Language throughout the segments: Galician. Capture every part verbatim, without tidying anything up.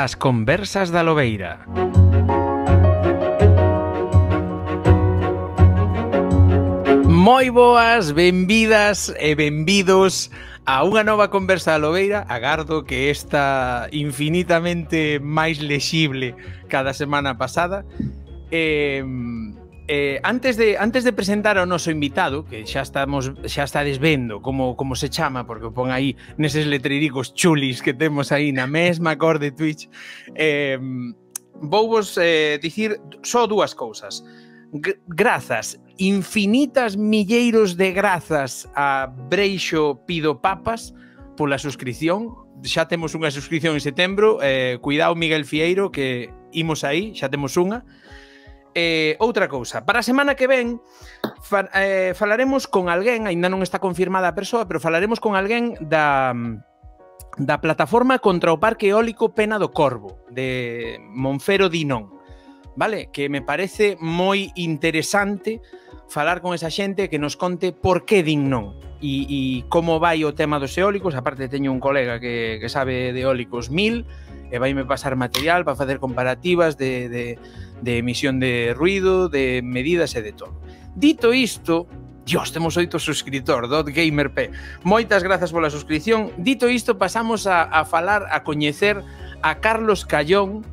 As conversas da Lobeira. Moi boas, benvidas e benvidos a unha nova conversa da Lobeira. Agardo que esta infinitamente máis lexible cada semana pasada. Eh, eh, antes de antes de presentar ao noso invitado, que xa estamos xa estades vendo como como se chama, porque o pon aí neses letreiricos chulis que temos aí na mesma cor de Twitch, eh, vou vos eh, dicir só dúas cousas. Grazas, infinitas milleiros de grazas a Breixo Pido Papas pola suscripción. Xa temos unha suscripción en setembro. Eh, cuidado, Miguel Fieiro, que imos aí, xa temos unha. Eh, outra cousa, para a semana que ven fa, eh, falaremos con alguén, aínda non está confirmada a persoa, pero falaremos con alguén da, da plataforma contra o Parque Eólico Pena do Corvo, de Monfero Dinón, vale? Que me parece moi interesante falar con esa xente que nos conte por que din non e, e como vai o tema dos eólicos. Aparte teño un colega que, que sabe de eólicos mil e vaime pasar material para facer comparativas de, de, de emisión de ruido, de medidas e de todo. Dito isto, Dios, temos oito suscritor, .gamerp. Moitas grazas pola suscripción. Dito isto, pasamos a, a falar, a coñecer a Carlos Callón,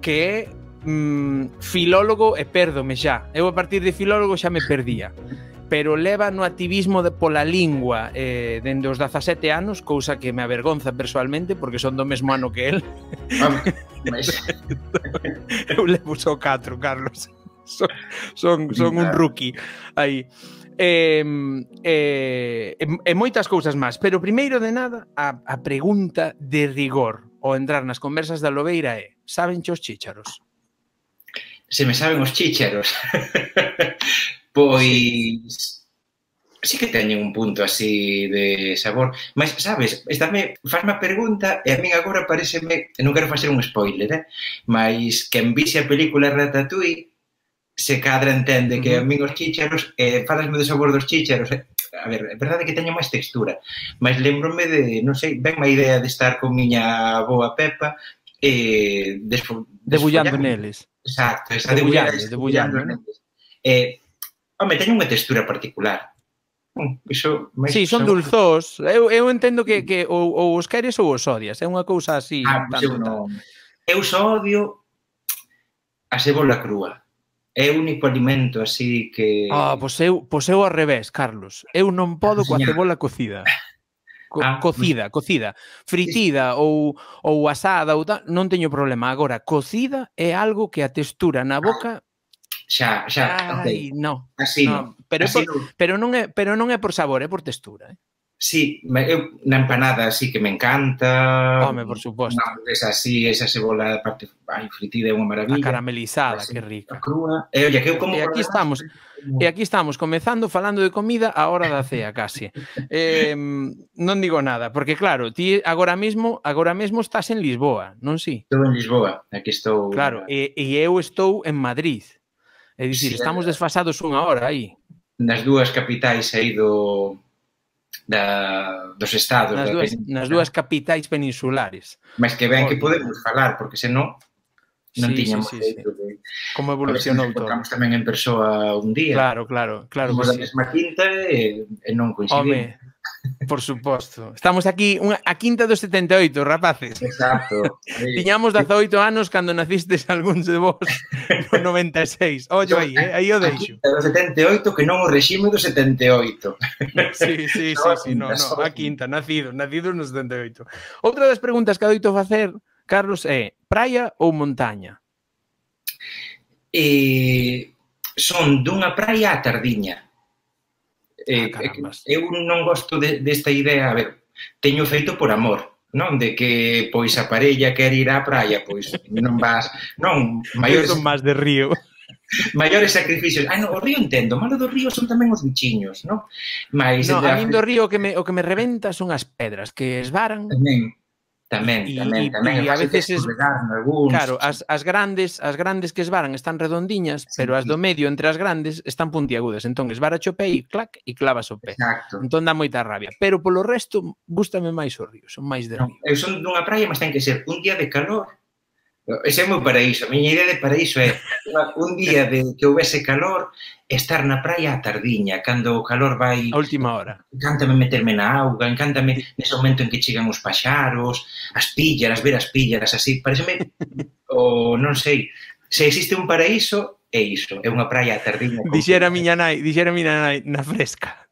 que é mm, filólogo, e pérdome xa. Eu a partir de filólogo xa me perdía. Pero leva no activismo de, pola lingua eh, dende os dezasete anos, cousa que me avergonza persoalmente porque son do mesmo ano que el. Mas... Eu levo só catro, Carlos. Son, son, son un rookie aí. Eh, eh, e moitas cousas máis. Pero primeiro de nada, a, a pregunta de rigor ao entrar nas conversas da Lobeira é: saben os chícharos? Se me saben os chícharos. Pois sí que teñen un punto así de sabor, mas sabes, estáme, fasme a pregunta e a min agora pareceme, non quero facer un spoiler, eh? Mas quen vise a película Ratatouille se cadra entende que a min os chícharos, eh, falasme do sabor dos chícharos, eh? A ver, é verdade que teño máis textura, mas lembrome de, non sei, ben má idea de estar con miña boa Pepa e eh, debullando neles. Exacto, esa debullando, debullando neles. Eh, Home, teñen unha textura particular. Iso, sí, son dulzós. Eu, eu entendo que, que ou, ou os queres ou os odias. É unha cousa así. Ah, tanto, eu non. Eu só odio a cebola crúa. É o único alimento así que... Ah, pois eu, pois eu ao revés, Carlos. Eu non podo coa cebola cocida. Co ah, cocida, pues... cocida. Fritida sí. ou, ou asada ou tal, non teño problema. Agora, cocida é algo que a textura na boca... Xa, xa, Ai, ok. No. Así no. non. Pero, así por, non. pero, non é, pero non é por sabor, é por textura. Eh? Sí, eu, na empanada sí que me encanta. Home, por suposto. Unha hamburguesa así, esa cebola parte ai, fritida é unha maravilla. A caramelizada, así, que rica. A crúa. E, oye, que eu como e aquí estamos, e aquí estamos comezando falando de comida a hora da cea, casi. eh, non digo nada, porque claro, ti agora mesmo, agora mesmo estás en Lisboa, non si? Estou en Lisboa, aquí estou. Claro, e, e eu estou en Madrid. É dicir, sí, estamos desfasados unha hora aí. Nas dúas capitais aí do, da, dos estados. Nas, da dúas, nas dúas capitais peninsulares. Mas que ben que podemos falar, porque senón non sí, tiñamos sí, feito sí, sí. de... Como evolucionou todo. Tocamos tamén en persoa un día. Claro, claro, claro. Somos que da sí. mesma quinta e, e non coincidimos. Home, por suposto. Estamos aquí, unha, a quinta dos setenta e oito, rapaces. Exacto. Tiñamos dezaoito anos cando nacistes algúns de vos no noventa e seis. Ollo aí, eh? Aí o deixo. A quinta do setenta e oito que non o regime do setenta e oito. Sí, sí, sí, sí, no, no, a quinta, nacido, nacido no setenta e oito. Outra das preguntas que adoito facer, Carlos, é praia ou montaña? Eh, son dunha praia á tardiña. Eh, ah, eu non gosto de, desta idea, a ver, teño feito por amor, non? De que, pois, a parella quer ir á praia, pois, non vas, non, maiores... son máis de río. Maiores sacrificios. Ah, no, o río entendo, o malo do río son tamén os bichiños, non? Mais, no, a min do río o que me, o que me reventa son as pedras, que esvaran... Tamén. Tamén, y, tamén, y, tamén. Y a veces es, algúns... claro, as, as grandes as grandes que esvaran están redondiñas, sí, pero as do medio entre as grandes están puntiagudas. Entón esvara o pé e clac, e clavas o pé. Exacto. Entón dá moita rabia. Pero polo resto, gústame máis o río, son máis de río. No, eu son dunha praia, mas ten que ser un día de calor Ese é o meu paraíso. A miña idea de paraíso é un día de que houvese calor, estar na praia a tardiña, cando o calor vai... A última hora. Encántame meterme na auga, encántame nese momento en que chegan os paxaros, as píllaras, ver as píllaras, así. Pareceme, o non sei, se existe un paraíso, é iso, é unha praia a tardiña. Dixera miña nai, dixera miña nai, na fresca.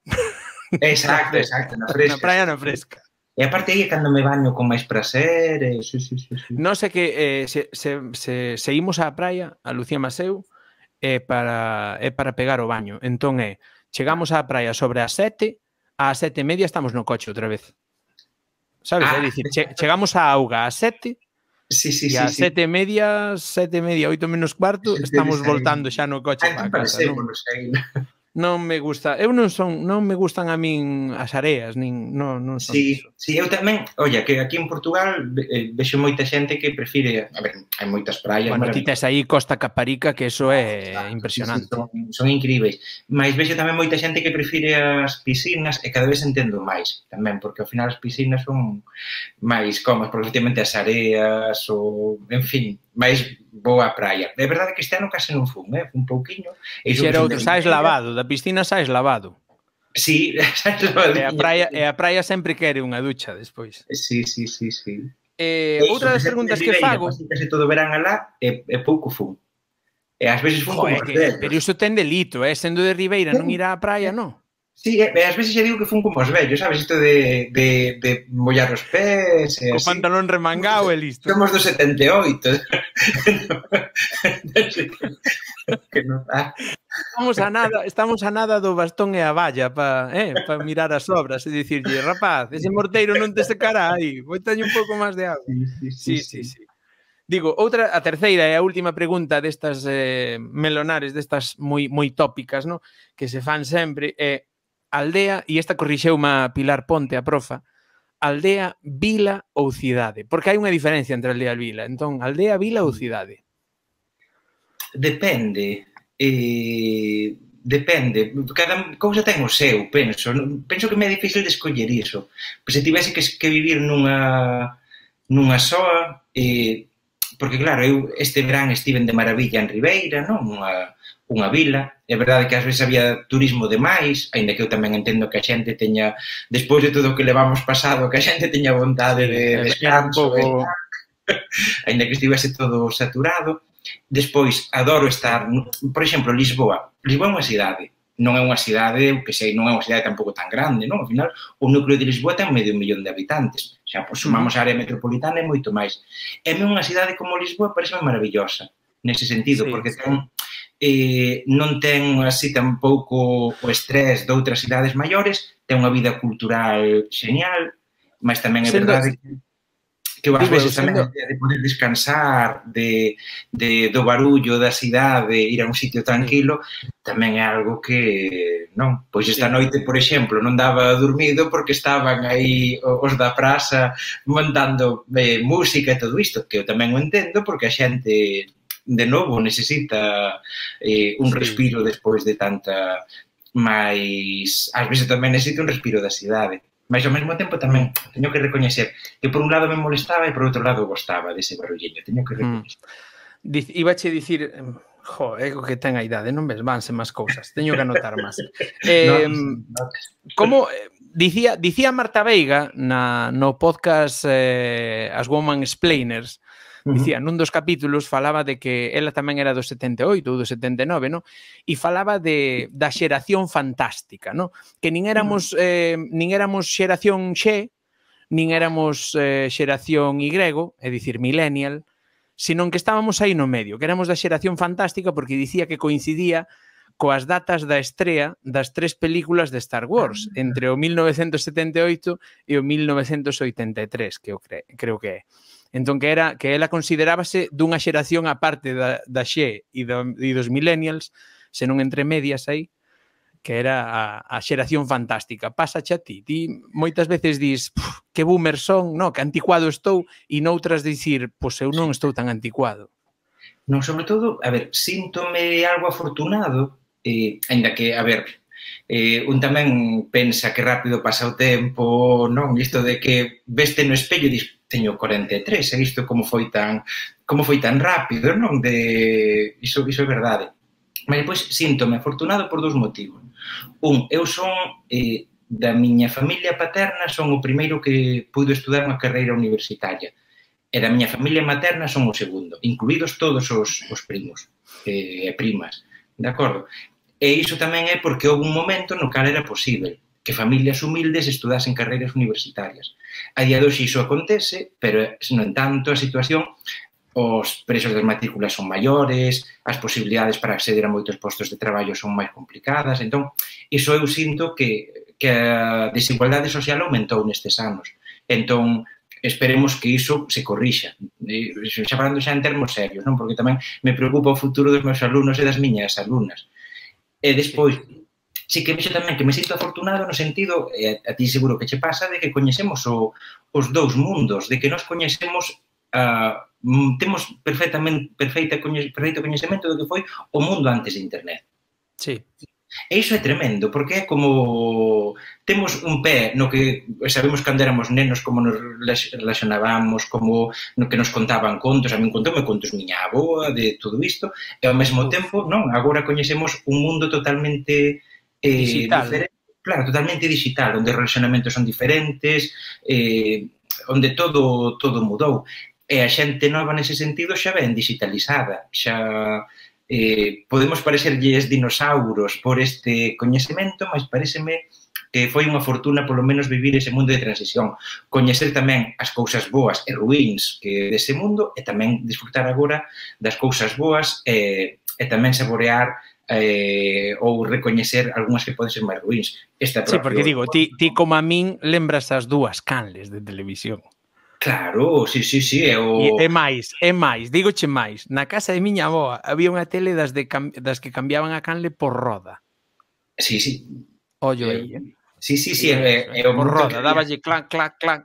Exacto, exacto, na fresca. Na praia na fresca. E aparte aí é cando me baño con máis prazer, e... sí, sí, sí, sí. Non sei que eh, se, se, se, se imos á praia, a Lucía Maseu, é para, é para pegar o baño. Entón é, chegamos á praia sobre as sete, ás sete e media estamos no coche outra vez. Sabes? Ah. É dicir, che, chegamos á auga ás sete, sí, sí, e ás sí, sete e media, sete e media, oito menos cuarto, sí, estamos voltando xa no coche para casa. Non? Non me gusta, eu non son, non me gustan a min as areas, nin non, non son sí, iso. Sí, eu tamén, olla, que aquí en Portugal eh, vexo moita xente que prefire, a ver, hai moitas praias, bueno, ti tes aí Costa Caparica, que eso é ah, impresionante. Sí, sí, son, son incríveis, mas vexo tamén moita xente que prefire as piscinas e cada vez entendo máis tamén, porque ao final as piscinas son máis cómodas, porque efectivamente as areas ou, en fin, máis boa praia. É verdade que este ano case non fun, eh? Fun pouquiño. E xera outro, sais lavado, da piscina sais lavado. Sí, sais lavado. E a praia, e a praia sempre quere unha ducha despois. Sí, sí, sí, sí. Eh, outra das preguntas que fago... Case todo verán alá e, e pouco fun. E ás veces fun como que, pero iso ten delito, eh? Sendo de Ribeira non irá á praia, non? Sí, e ás veces xa digo que fun como os vellos, sabes? Isto de, de, de mollar os pés e o así. Pantalón remangado e listo. Somos do setenta e oito. Que non dá. Estamos a nada, estamos a nada do bastón e a valla para eh, pa mirar as obras e dicirlle, rapaz, ese morteiro non te secará aí, vou teño un pouco máis de agua. Sí, sí, sí. Sí, sí, sí. sí. Digo, outra, a terceira e a última pregunta destas eh, melonares, destas moi moi tópicas, no? Que se fan sempre, é aldea, e esta corrixeuma a Pilar Ponte, a profa, aldea, vila ou cidade? Porque hai unha diferencia entre aldea e vila. Entón, aldea, vila ou cidade? Depende. Eh, depende. Cada cousa ten o seu, penso. Penso que me é difícil de escoller iso. Pois se tivese que, que vivir nunha nunha soa, eh, porque claro, eu este verán estiven de maravilla en Ribeira, non? Unha, unha vila. É verdade que ás veces había turismo de máis, aínda que eu tamén entendo que a xente teña, despois de todo o que levamos pasado, que a xente teña vontade de descanso, pouco... aínda que estivese todo saturado. Despois, adoro estar, por exemplo, Lisboa. Lisboa é unha cidade, non é unha cidade, que sei, non é unha cidade tampouco tan grande, non? Ao final, o núcleo de Lisboa ten medio millón de habitantes. Xa, pois, sumamos a área metropolitana e moito máis. E unha cidade como Lisboa parece maravillosa, nese sentido, sí, porque ten... Eh, non ten así tampouco o estrés de outras cidades maiores, ten unha vida cultural genial, mas tamén é verdade que, que ás veces tamén a idea de poder descansar de, de, do barullo da cidade, ir a un sitio tranquilo, tamén é algo que, non? Pois esta noite, por exemplo, non daba dormido porque estaban aí os da praza montando eh, música e todo isto, que eu tamén o entendo porque a xente... de novo, necesita eh, un sí. respiro despois de tanta, mais ás veces tamén necesita un respiro da cidade, mas ao mesmo tempo tamén teño que recoñecer que por un lado me molestaba e por outro lado gostaba dese barulliño, teño que recoñecer. Mm. Ibache dicir, jo, é o que ten a idade, non ves, vanse máis cousas, teño que anotar máis. Eh, no, no. Como dicía, dicía Marta Veiga na, no podcast eh, As Woman Explainers, dicía, nun dos capítulos falaba de que ela tamén era do setenta e oito ou do setenta e nove, no? E falaba de, da xeración fantástica, no? Que nin éramos, eh, nin éramos xeración X, nin éramos eh, xeración Y, é dicir, millennial, senón que estábamos aí no medio, que éramos da xeración fantástica porque dicía que coincidía coas datas da estrea das tres películas de Star Wars, entre o mil novecentos setenta e oito e o mil novecentos oitenta e tres, que eu cre creo que é. Entón, que era que ela considerábase dunha xeración aparte da, da X e, do, e dos millennials, senón entre medias aí, que era a, a xeración fantástica. Pásache a ti. Ti moitas veces dis, que boomer son, no, que anticuado estou, e noutras dicir, pois eu non estou tan anticuado. Non, sobre todo, a ver, síntome algo afortunado, eh, ainda que, a ver, eh, un tamén pensa que rápido pasa o tempo, non? Isto de que veste no espello e dis, teño corenta e tres, e isto como foi tan como foi tan rápido, non? De iso, iso é verdade. Mas depois síntome afortunado por dous motivos. Un, eu son eh, da miña familia paterna, son o primeiro que puido estudar unha carreira universitaria. E da miña familia materna son o segundo, incluídos todos os, os primos e eh, primas, de acordo? E iso tamén é porque houve un momento no cal era posible que familias humildes estudasen carreiras universitarias. A día de hoxe iso acontece, pero, no entanto, a situación, os preços das matrículas son maiores, as posibilidades para acceder a moitos postos de traballo son máis complicadas, entón, iso eu sinto que, que a desigualdade social aumentou nestes anos. Entón, esperemos que iso se corrixa. Xa falando xa en termos serios, non? Porque tamén me preocupa o futuro dos meus alumnos e das miñas alumnas. E despois, sí que vexo tamén que me sinto afortunado no sentido, e a ti seguro que che pasa, de que coñecemos o, os dous mundos, de que nos coñecemos, uh, temos perfectamente, perfeita, perfeito coñecemento do que foi o mundo antes de Internet. Sí. E iso é tremendo, porque é como temos un pé no que sabemos cando éramos nenos como nos relacionábamos, como no que nos contaban contos, a min contoume contos miña avoa de todo isto, e ao mesmo tempo, non, agora coñecemos un mundo totalmente eh, digital. diferente, claro, totalmente digital, onde os relacionamentos son diferentes, eh, onde todo todo mudou. E a xente nova nese sentido xa ven digitalizada, xa eh, podemos parecerlles dinosauros por este coñecemento, mas pareceme que foi unha fortuna polo menos vivir ese mundo de transición, coñecer tamén as cousas boas e ruíns que dese mundo e tamén disfrutar agora das cousas boas e, e tamén saborear eh, ou recoñecer algunhas que poden ser máis ruíns. Esta sí, porque digo, ti, ti como a min lembras as dúas canles de televisión. Claro, sí, sí, sí. É, o... e, e máis, e máis, dígoche máis, na casa de miña avoa había unha tele das, de, das que cambiaban a canle por roda. Sí, sí. Ollo eh, aí, eh? Sí, sí, sí. Eh, eh, por roda, dáballe clac, clac, clac.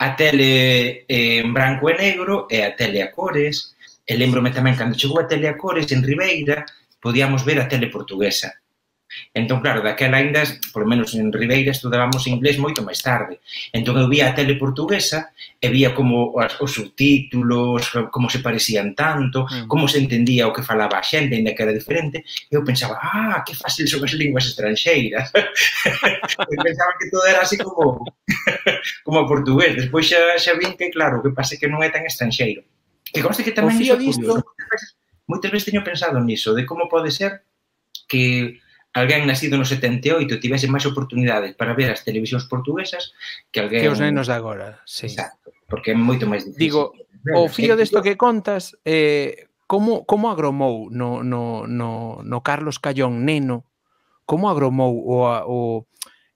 A tele en branco e negro e a tele a cores. E lembrome tamén, cando chegou a tele a cores en Ribeira, podíamos ver a tele portuguesa. Entón, claro, daquela ainda, por lo menos en Ribeira, estudábamos inglés moito máis tarde. Entón, eu vía a tele portuguesa e vía como os, os subtítulos, como se parecían tanto, mm. como se entendía o que falaba a xente, ainda que era diferente, e eu pensaba, ah, que fácil son as linguas estranxeiras. Eu pensaba que todo era así como como portugués. Despois xa, xa vin que, claro, o que pasa é que non é tan estranxeiro. Que conste que tamén iso é curioso. Moitas veces teño pensado niso, de como pode ser que alguén nacido no setenta e oito tivese máis oportunidades para ver as televisións portuguesas que alguén... Que os nenos de agora, sí. Exacto, porque é moito máis difícil. Digo, o fío desto que contas, eh, como, como agromou no, no, no, no Carlos Callón neno, como agromou o, o,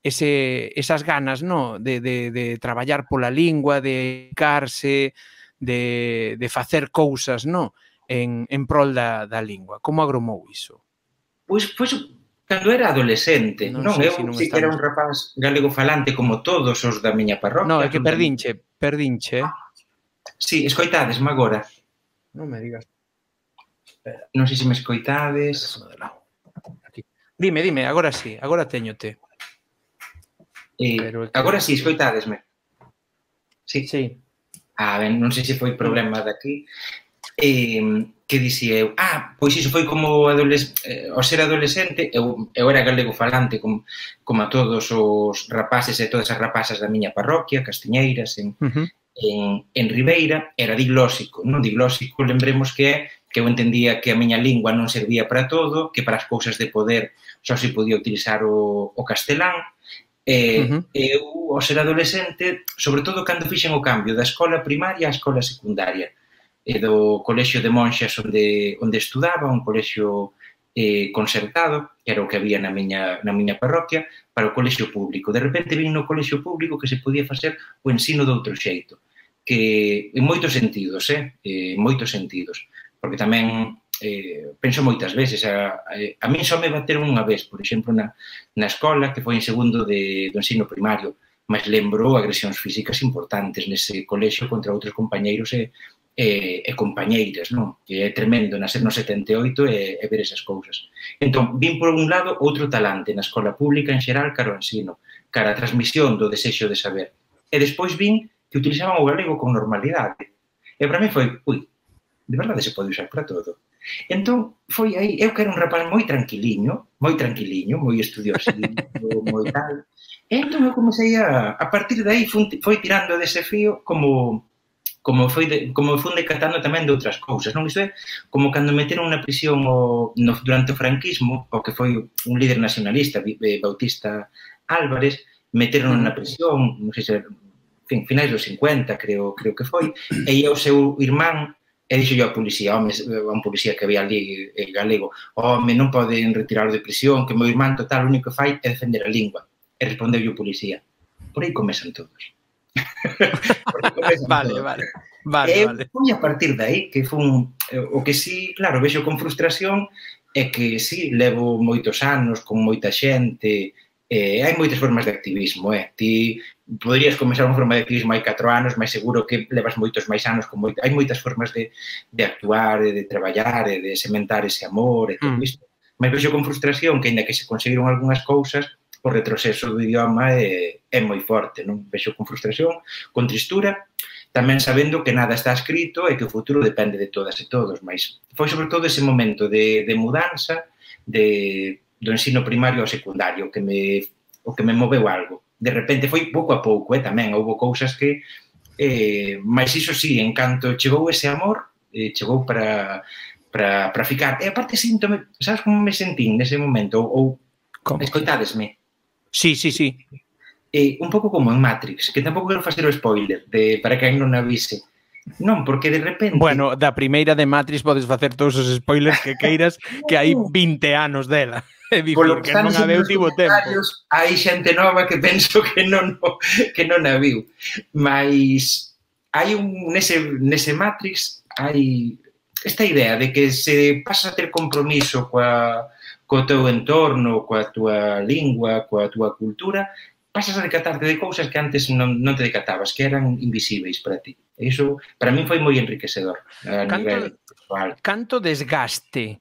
ese, esas ganas, no, de, de, de traballar pola lingua, de dedicarse, de, de facer cousas, no, en, en prol da, da lingua. Como agromou iso? Pois, pois cando era adolescente, non? non? Eu si, non si que era un rapaz galego falante como todos os da miña parroquia. Non, é que perdinche, perdinche. Si, sí, escoitadesme agora. Non me digas. Espera. Non sei se me escoitades. Aquí. Dime, dime, agora sí, agora teñote. Eh, Pero que... Agora sí, escoitadesme. Sí. Sí. Ah, ben, non sei se foi problema daqui. Eh, que dixía eu? Ah, pois iso foi como adoles... eh, ao ser adolescente, eu, eu era galego falante como, como a todos os rapaces e todas as rapazas da miña parroquia, Castiñeiras, en, uh -huh. en, en Ribeira, era diglósico, non diglósico, lembremos que é que eu entendía que a miña lingua non servía para todo, que para as cousas de poder só se podía utilizar o, o castelán, e uh -huh. eu, ao ser adolescente, sobre todo cando fixen o cambio da escola primaria á escola secundaria, e do colexio de monxas onde, onde estudaba, un colexio eh, concertado, que era o que había na miña, na miña parroquia, para o colexio público. De repente vin no colexio público que se podía facer o ensino de outro xeito, que en moitos sentidos, eh, en moitos sentidos, porque tamén eh, penso moitas veces, a, a, a min só me bateron unha vez, por exemplo, na, na escola, que foi en segundo de, do ensino primario, mas lembro agresións físicas importantes nese colexio contra outros compañeiros e E, e compañeiras, non? Que é tremendo nacer no setenta e oito e, e ver esas cousas. Entón, vin por un lado outro talante na escola pública en xeral cara ao ensino, cara a transmisión do desexo de saber. E despois vin que que utilizaban o galego con normalidade. E para mí foi, ui, de verdade se pode usar para todo. Entón, foi aí, eu que era un rapaz moi tranquiliño, moi tranquiliño, moi estudiosiño, moi tal. E entón eu comecei a, a partir de aí, foi, foi tirando dese fío como... como foi de, como fun decatando tamén de outras cousas, non? Isto é como cando meteron na prisión o, no, durante o franquismo, o que foi un líder nacionalista, Bautista Álvarez, meteron na prisión, non sei se, en fin, finais dos cincuenta, creo, creo que foi, e ia o seu irmán e dixo yo a policía, home, a un policía que había ali eh, galego, home, non poden retirarlo de prisión, que meu irmán total o único que fai é defender a lingua. E respondeu o policía, por aí comezan todos. Vale, todo. vale. Vale, e vale. foi a partir de aí que fun, o que sí, claro, vexo con frustración é que sí, levo moitos anos con moita xente, eh, hai moitas formas de activismo, eh? Ti poderías comenzar unha forma de activismo hai catro anos, mas seguro que levas moitos máis anos, con moito, hai moitas formas de, de actuar, de traballar, de sementar ese amor e todo isto. Mm. Mas vexo con frustración que, ainda que se conseguiron algunhas cousas, o retroceso do idioma é, é moi forte, non? Vexo con frustración, con tristura, tamén sabendo que nada está escrito e que o futuro depende de todas e todos, mas foi sobre todo ese momento de, de mudanza de, do ensino primario ao secundario que me, o que me moveu algo. De repente foi pouco a pouco, eh, tamén, houve cousas que, eh, mas iso sí, en canto chegou ese amor, eh, chegou para, para, para ficar. E aparte síntome, sabes como me sentín nese momento? Ou, ou escoitadesme? Sí, sí, sí. Eh, un pouco como en Matrix, que tampouco quero facer o spoiler de, para quen non avise. Non, porque de repente... Bueno, da primeira de Matrix podes facer todos os spoilers que queiras, que hai vinte anos dela. É dicir, que non a veu tivo tempo. Hai xente nova que penso que non, que non a viu. Mas hai un, nese, nese Matrix hai esta idea de que se pasa a ter compromiso coa... co teu entorno, coa túa lingua, coa túa cultura, pasas a decatarte de cousas que antes non, non te decatabas, que eran invisíveis para ti. E iso, para min, foi moi enriquecedor a canto, nivel sexual. Canto desgaste,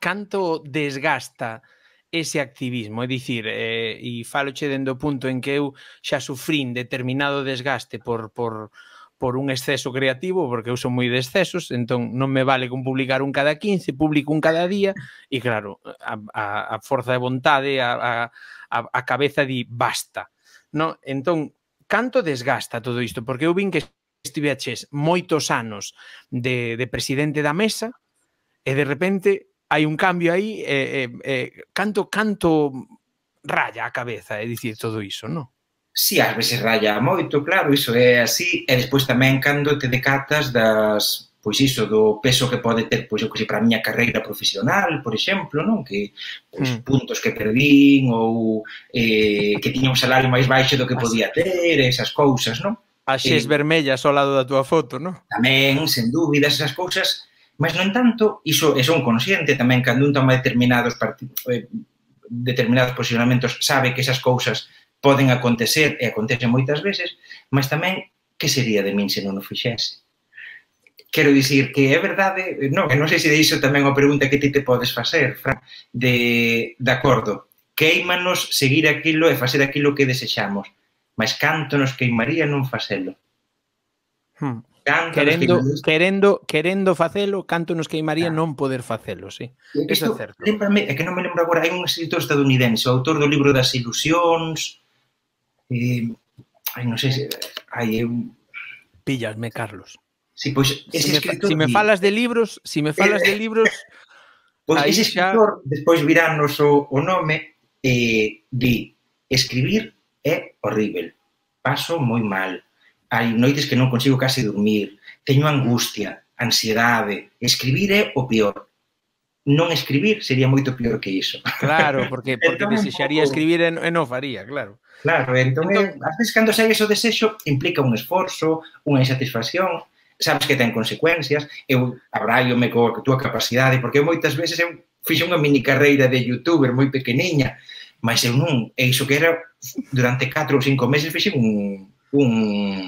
canto desgasta ese activismo? É dicir, eh, e faloche dende o punto en que eu xa sufrín determinado desgaste por... por por un exceso creativo, porque eu son moi de excesos, entón non me vale con publicar un cada quince, publico un cada día, e claro, a, a, a forza de vontade, a, a, a cabeza di basta. No? Entón, canto desgasta todo isto? Porque eu vin que estiveches moitos anos de, de presidente da mesa, e de repente hai un cambio aí, e, e, e canto, canto raya a cabeza, é dicir, todo iso, non? Si, ás veces raya moito, claro, iso é así, e despois tamén cando te decatas das, pois iso, do peso que pode ter, pois eu que sei, para a miña carreira profesional, por exemplo, non? Que, pois, mm. puntos que perdín, ou eh, que tiña un salario máis baixo do que podía ter, esas cousas, non? As xes eh, vermellas ao lado da túa foto, non? Tamén, sen dúbidas, esas cousas, mas, no entanto, iso é son consciente tamén, cando un toma determinados, eh, determinados posicionamentos, sabe que esas cousas poden acontecer, e acontecen moitas veces, mas tamén, que sería de min se non o fixese? Quero dicir que é verdade, non, non sei se de iso tamén a pregunta que ti te podes facer, Fran, de, de acordo, queimanos seguir aquilo e facer aquilo que desexamos, mas canto nos queimaría non facelo? Hmm. Querendo, querendo, querendo facelo, canto nos queimaría ah. non poder facelo, sí. Isto, é certo. Lembrame, é que non me lembro agora, hai un escritor estadounidense, o autor do libro das ilusións, Eh, ai, non sei se... Ai, eu... Pillasme, Carlos. Sí, pois, ese si me, escritor... Si me falas de libros, si me falas eh, de libros... Pois ese escritor, xa... despois virános o, o nome, eh, di, escribir é horrível, paso moi mal, hai noites que non consigo case dormir, teño angustia, ansiedade, escribir é o peor. Non escribir sería moito peor que iso. Claro, porque, porque desexaría escribir e non faría, claro. Claro, entón, entón ás veces cando sai o desexo implica un esforzo, unha insatisfacción, sabes que ten consecuencias, eu abraiome coa túa capacidade, porque eu moitas veces eu fixe unha mini carreira de youtuber moi pequeniña, mas eu non, e iso que era durante catro ou cinco meses fixe un, un,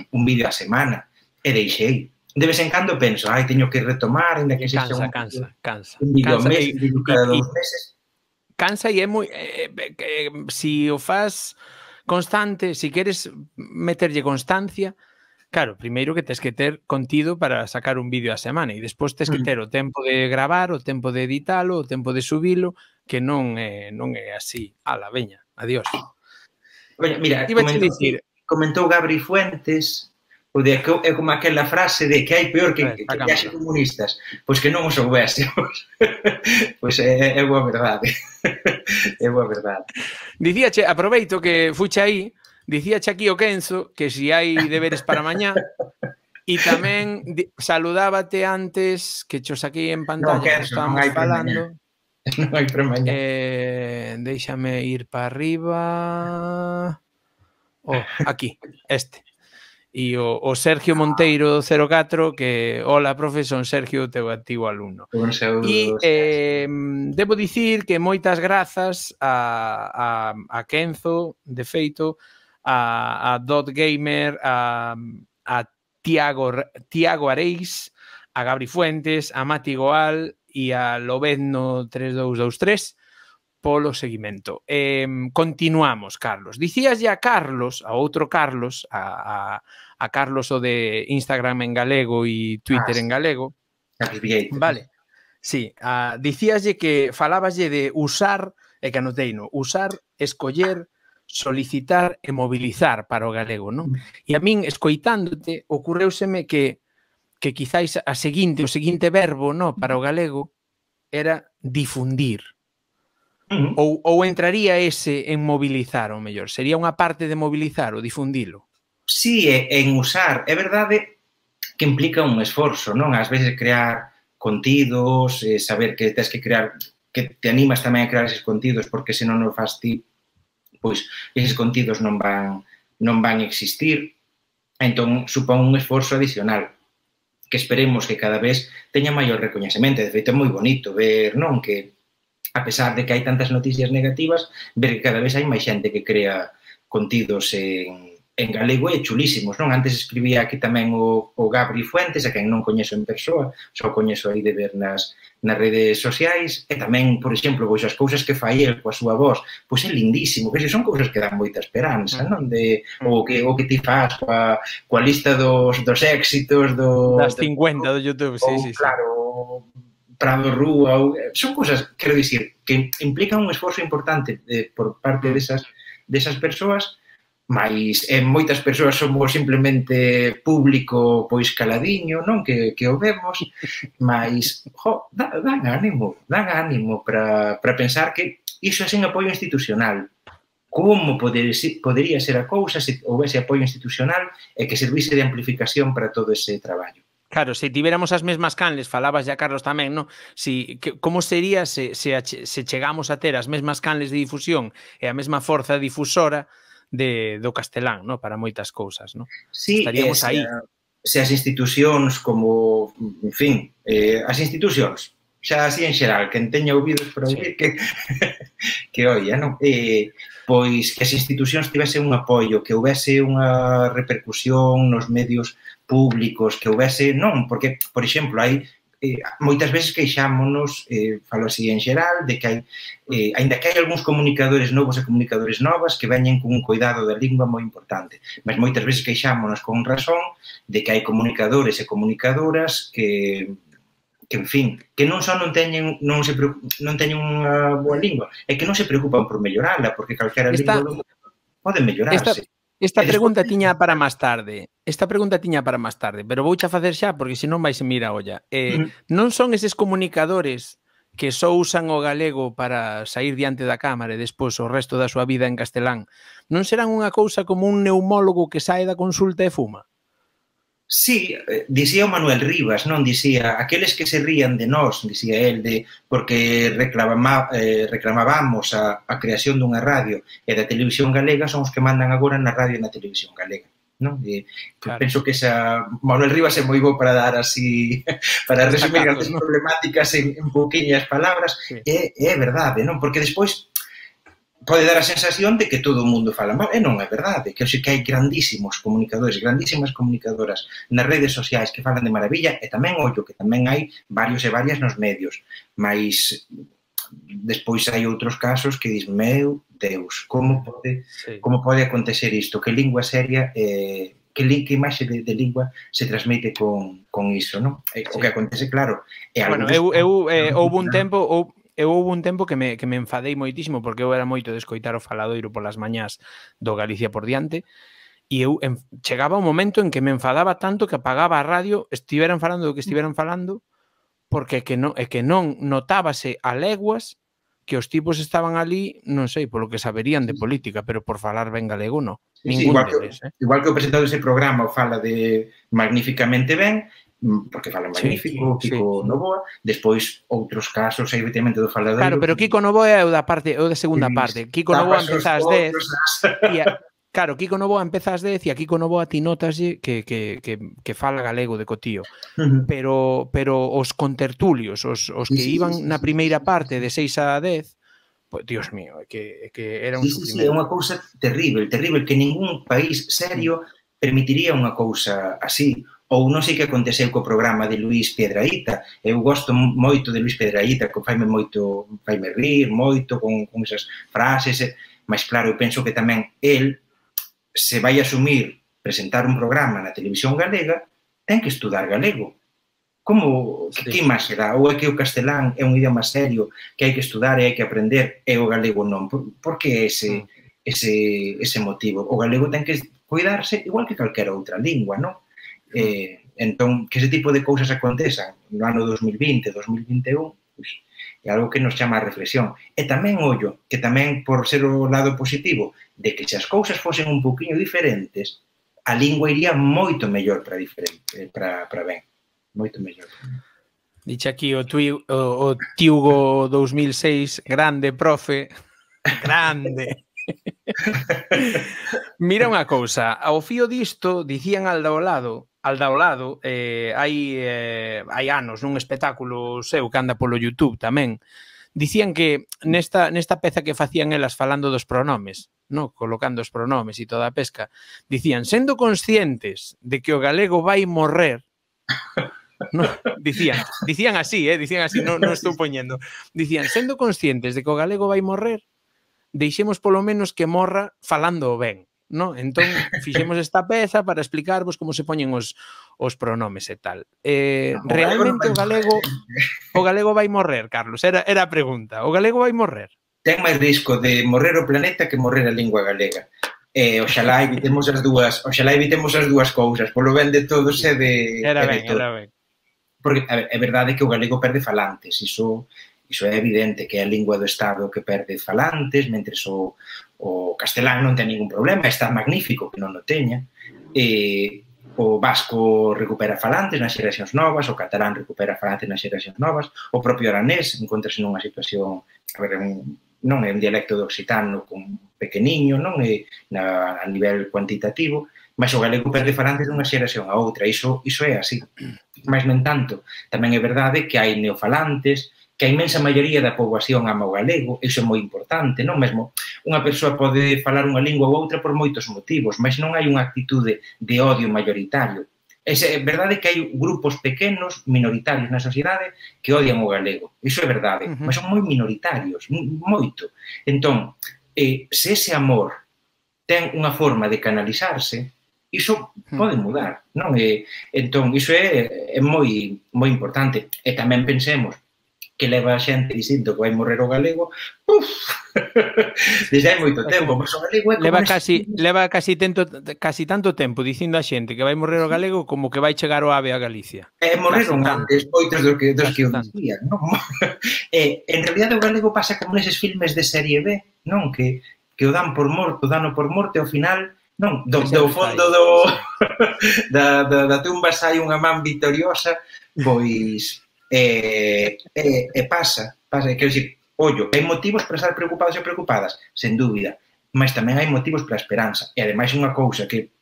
un vídeo a semana, e deixei. De vez en cando penso, ai, teño que retomar, ainda que sexa un, cansa, cansa, un vídeo cansa, mes, un vídeo cada dos meses. Cansa e é moi... Eh, eh, si o faz constante, si queres meterlle constancia, Claro, primeiro que tes que ter contido para sacar un vídeo a semana e despois tes que ter o tempo de gravar, o tempo de editalo, o tempo de subilo, que non é, non é así. Ala, veña, adiós. Oye, mira, Ibache comentou, dicir, comentou Gabri Fuentes o de que é como aquela frase de que hai peor que, que viaxe comunistas, pois que non os soubésemos. Pois é, é boa verdade. É boa verdade. Dicíache, aproveito que fuche aí, dicíache aquí o Kenzo que si hai deberes para mañá e tamén saludábate antes que cho saquei en pantalla, no, que estábamos non falando. Non hai para mañá. Eh, déixame ir para arriba. Oh, aquí, este. E o, o Sergio Monteiro cero catro que, hola, profe, son Sergio, teu antigo alumno. Un saúdo. E eh, debo dicir que moitas grazas a, a, a Kenzo, de feito, a, a Dot Gamer, a, a Tiago, Tiago Areis, a Gabri Fuentes, a Mati Goal e a Lobezno tres dous dous tres polo seguimento. Eh, continuamos, Carlos. Dicías ya a Carlos, a outro Carlos, a, a, a Carlos o de Instagram en galego e Twitter ah, en galego. Vale. Sí, a, dicíaslle que falabaslle de usar, e que anoteino, usar, escoller, solicitar e mobilizar para o galego, non? E a min, escoitándote, ocurreuseme que que quizáis a seguinte, o seguinte verbo, no, para o galego era difundir. Uh-huh. Ou, ou entraría ese en mobilizar, ou mellor? Sería unha parte de mobilizar ou difundilo? Sí, en usar. É verdade que implica un esforzo, non? Ás veces crear contidos, eh, saber que tens que crear, que te animas tamén a crear eses contidos, porque se non o fas ti, pois eses contidos non van, non van existir. Entón, supón un esforzo adicional que esperemos que cada vez teña maior recoñecemento. De feito, é moi bonito ver, non? Que a pesar de que hai tantas noticias negativas, ver que cada vez hai máis xente que crea contidos en, en galego e chulísimos, non? Antes escribía aquí tamén o, o Gabri Fuentes, a quen non coñezo en persoa, só coñezo aí de ver nas, nas redes sociais, e tamén, por exemplo, pois as cousas que fai el coa súa voz, pois é lindísimo, que son cousas que dan moita esperanza, non? De, o, que, o que ti faz coa, coa lista dos, dos éxitos, do, das cincuenta do YouTube, sí, ou, sí, sí. Claro, Prado Rúa, ou, son cousas, quero dicir, que implican un esforzo importante eh, por parte desas, desas persoas, mas eh, moitas persoas somos simplemente público pois caladiño, non? Que, que o vemos, mas jo, dan, dan ánimo, dan ánimo para, para pensar que iso é sen apoio institucional. Como poder, podería ser a cousa se houvese apoio institucional e que servise de amplificación para todo ese traballo? Claro, se tiveramos as mesmas canles, falabas ya, Carlos, tamén, non? Si, que, como sería se, se, se chegamos a ter as mesmas canles de difusión e a mesma forza difusora de, do castelán, non? Para moitas cousas, non? Sí, estaríamos aí. Se as institucións como, en fin, eh, as institucións, xa así en xeral, quen teña ouvidos para ouvir, sí. que, que oia, non? Eh, pois que as institucións tivesen un apoio, que houvese unha repercusión nos medios públicos, que houvese, non, porque, por exemplo, hai eh, moitas veces queixámonos, eh, falo así en xeral, de que hai, eh, ainda que hai algúns comunicadores novos e comunicadores novas que veñen con un cuidado da lingua moi importante, mas moitas veces queixámonos con razón de que hai comunicadores e comunicadoras que que, en fin, que non só non teñen non se non teñen unha boa lingua, é que non se preocupan por mellorala, porque calquera esta, lingua pode mellorarse. Esta... Esta pregunta tiña para máis tarde. Esta pregunta tiña para máis tarde, pero vouche a facer xa porque senón vais a mirar a olla. Eh, mm. Non son eses comunicadores que só usan o galego para sair diante da cámara e despois o resto da súa vida en castelán. Non serán unha cousa como un neumólogo que sae da consulta e fuma? Sí, dicía o Manuel Rivas, non? Dicía, aqueles que se rían de nós, dicía el, de, porque reclama, eh, reclamábamos a, a creación dunha radio e da televisión galega, son os que mandan agora na radio e na televisión galega, non? E, claro. Penso que esa Manuel Rivas é moi bo para dar así, para resumir grandes ¿no? problemáticas en, en pouquiñas palabras, sí. e, e é verdade, non? Porque despois pode dar a sensación de que todo o mundo fala mal, e non é verdade, que que hai grandísimos comunicadores, grandísimas comunicadoras nas redes sociais que falan de maravilla, e tamén, ollo, que tamén hai varios e varias nos medios, mas despois hai outros casos que dis, meu Deus, como pode, sí. como pode acontecer isto, que lingua seria e, que, que imaxe de, de lingua se transmite con, con iso, non? E, o que acontece, claro, é algo... Bueno, eu, eu eh, houve un tempo, ou, eu houve un tempo que me, que me enfadei moitísimo porque eu era moito de escoitar o faladoiro polas mañás do Galicia por diante e eu en, chegaba un momento en que me enfadaba tanto que apagaba a radio, estiveran falando do que estiveran falando, porque que non, é que non notábase a leguas que os tipos estaban ali, non sei, polo que saberían de política, pero por falar ben galego, non. Sí, sí, igual, deles, que, eh? igual que o presentador dese programa o fala de magníficamente ben, porque fala magnífico, sí, Kiko sí. Novoa, despois outros casos, evidentemente, do faladoiro. Claro, pero Kiko Novoa é o da parte, o da segunda parte. Kiko Novoa empeza ás dez, e a, claro, Kiko Novoa empeza ás dez e a Kiko Novoa ti notas que, que, que, que fala galego de cotío. Uh-huh. Pero, pero os contertulios, os, os que sí, iban sí, sí, na primeira sí, parte de seis a dez, pues, Dios mío, é que, é que era un sí, sufrimento. Sí, sí, é unha cousa terrible, terrible, que ningún país serio permitiría unha cousa así. Ou non sei que aconteceu co programa de Luís Piedrahita. Eu gosto moito de Luís Piedrahita, que faime moito, faime rir moito con, con esas frases, mas claro, eu penso que tamén el se vai asumir presentar un programa na televisión galega, ten que estudar galego. Como, sí. que imaxe dá? Ou é que o castelán é un idioma serio que hai que estudar e hai que aprender e o galego non? Por, por que ese, ese, ese motivo? O galego ten que cuidarse igual que calquera outra lingua, non? Eh, entón, que ese tipo de cousas acontezan no ano dos mil vinte, dos mil vinte e un, pues, é algo que nos chama a reflexión. E tamén, ollo, que tamén por ser o lado positivo de que se as cousas fosen un poquinho diferentes, a lingua iría moito mellor para diferente, para, para ben. Moito mellor. Dixe aquí o, tui, o, o Tiugo dous mil seis, grande, profe, grande. Mira unha cousa, ao fío disto, dicían al do lado, al do lado, eh, hai, eh, hai anos nun espectáculo seu que anda polo YouTube tamén, dicían que nesta, nesta peza que facían elas falando dos pronomes, no, colocando os pronomes e toda a pesca, dicían, sendo conscientes de que o galego vai morrer, no, dicían, dicían así, eh, dicían así, non no estou poñendo, dicían, sendo conscientes de que o galego vai morrer, deixemos polo menos que morra falando ben, no? Entón, fixemos esta peza para explicarvos como se poñen os, os pronomes e tal. Eh, no, realmente o galego o galego vai morrer, Carlos, era, era a pregunta. O galego vai morrer? Ten máis risco de morrer o planeta que morrer a lingua galega. Eh, oxalá evitemos as dúas, oxalá evitemos as dúas cousas, polo ben de todos e de... Era ben, era ben. Porque a ver, é verdade que o galego perde falantes, iso... Iso é evidente que é a lingua do Estado que perde falantes, mentres o, o castelán non ten ningún problema, está magnífico que non o teña. E, o vasco recupera falantes nas xeracións novas, o catalán recupera falantes nas xeracións novas, o propio aranés encontrase nunha situación, a ver, un, non é un dialecto do occitano con pequeniño, non é na, a nivel cuantitativo, mas o galego perde falantes dunha xeración a outra, iso, iso é así. Mas, no entanto, tamén é verdade que hai neofalantes, que a inmensa maioría da poboación ama o galego, iso é moi importante, non? Mesmo unha persoa pode falar unha lingua ou outra por moitos motivos, mas non hai unha actitude de odio maioritario. É verdade que hai grupos pequenos, minoritarios na sociedade, que odian o galego. Iso é verdade, uh-huh. mas son moi minoritarios, moito. Entón, eh, se ese amor ten unha forma de canalizarse, iso pode mudar, non? E, entón, iso é, é moi, moi importante. E tamén pensemos que leva a xente dicindo que vai morrer o galego, uf, desde hai moito tempo, mas o galego é como... Leva casi, leva casi, tento, casi tanto tempo dicindo a xente que vai morrer o galego como que vai chegar o ave a Galicia. E morreron antes, moitos dos que, dos que o dicían, non? E, en realidad o galego pasa como neses filmes de serie B, non? Que, que o dan por morto, dano por morte, ao final, non? Do, do fondo do, da, da, da tumba sai unha man victoriosa, pois... E, e, e pasa, pasa, quero dicir, ollo, hai motivos para estar preocupados e preocupadas, sen dúbida, mas tamén hai motivos para a esperanza. E ademais unha cousa que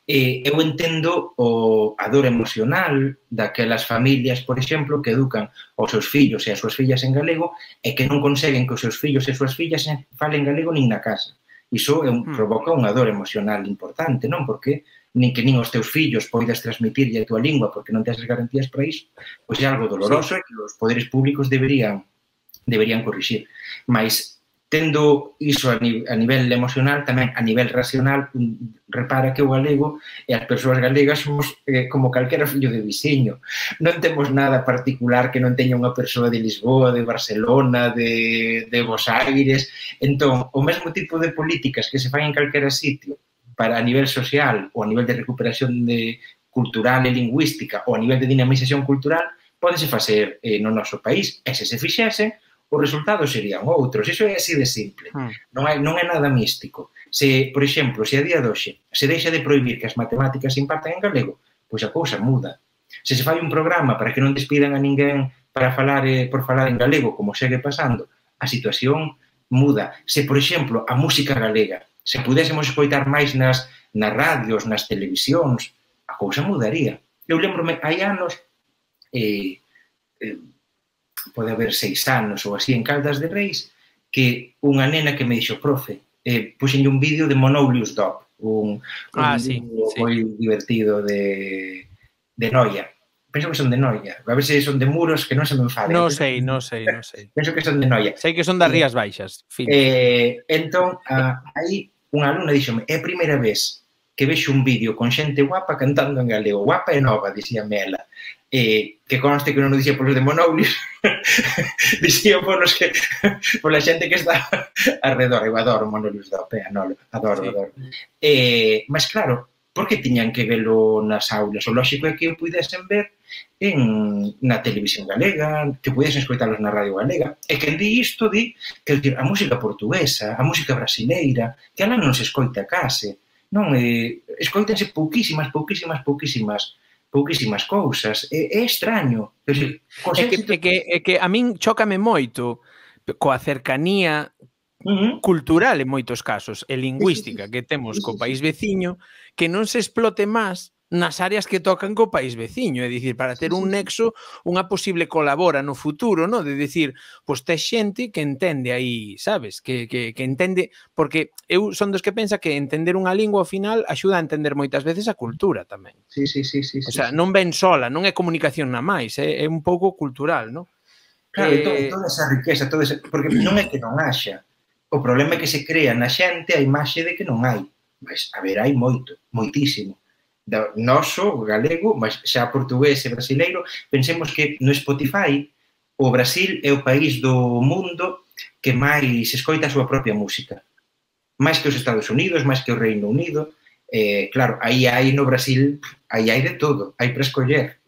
eh, eu entendo o, a dor emocional daquelas familias, por exemplo, que educan os seus fillos e as súas fillas en galego e que non conseguen que os seus fillos e as súas fillas falen galego nin na casa. Iso é un, provoca unha dor emocional importante, non? Porque nin que nin os teus fillos poidas transmitirlle a tua lingua porque non tens as garantías para iso, pois é algo doloroso sí. E que os poderes públicos deberían deberían corrixir. Mas tendo iso a, ni, a nivel emocional, tamén a nivel racional, repara que o galego e as persoas galegas somos eh, como calquera fillo de viciño. Non temos nada particular que non teña unha persoa de Lisboa, de Barcelona, de, de Bos Aires. Entón, o mesmo tipo de políticas que se fan en calquera sitio para a nivel social ou a nivel de recuperación de cultural e lingüística ou a nivel de dinamización cultural pódense facer eh, no noso país. E se se fixesen, os resultados serían outros. Iso é así de simple. Hmm. Non, hai, non é nada místico. Se, por exemplo, se a día de hoxe se deixa de prohibir que as matemáticas se impartan en galego, pois a cousa muda. Se se fai un programa para que non despidan a ninguén para falar eh, por falar en galego, como segue pasando, a situación muda. Se, por exemplo, a música galega, se pudésemos escoitar máis nas, nas radios, nas televisións, a cousa mudaría. Eu lembro-me, hai anos, eh, eh, pode haber seis anos ou así en Caldas de Reis, que unha nena que me dixo, profe, eh, puxenlle un vídeo de Monoulius Dop, un, un ah, sí, vídeo sí. moi divertido de, de Noia. Penso que son de Noia. A ver se son de Muros, que non se me enfaden. Non sei, non sei, non sei. Penso que son de Noia. Sei que son das Rías Baixas. Fin. Eh, entón, a, aí unha alumna díxome, é a primeira vez que vexo un vídeo con xente guapa cantando en galego. Guapa e nova, dixíame ela. Eh, que conste que non o dixía polos de Monoulius, dixía polos que, pola xente que está alrededor. Eu adoro Monoulius Dop, eh, adoro, adoro, sí. adoro. Eh, mas claro, por que tiñan que velo nas aulas? O lógico é que o pudesen ver en, na televisión galega, que pudesen escoitalos na radio galega. E quen di isto, di que a música portuguesa, a música brasileira, que alá non se escoita case, non, eh, escoítense pouquísimas, pouquísimas, pouquísimas pouquísimas cousas. É, é extraño. É que, é, que, é que a min chócame moito coa cercanía uh-huh. cultural en moitos casos, e lingüística que temos co país veciño, que non se explote máis nas áreas que tocan co país veciño, é dicir, para ter un nexo, unha posible colabora no futuro, no? De dicir, pois tes xente que entende aí, sabes? Que, que, que entende, porque eu son dos que pensa que entender unha lingua ao final axuda a entender moitas veces a cultura tamén. Sí, sí, sí, sí. O sea, sí, non ven sola, non é comunicación na máis, é, é un pouco cultural, non? Claro, eh... toda esa riqueza, toda esa... porque non é que non haxa. O problema é que se crea na xente a imaxe de que non hai. Mas, a ver, hai moito, moitísimo. Do noso, galego, mas xa portugués e brasileiro, pensemos que no Spotify o Brasil é o país do mundo que máis escoita a súa propia música. Máis que os Estados Unidos, máis que o Reino Unido. Eh, claro, aí hai no Brasil, aí hai de todo, hai para escoller.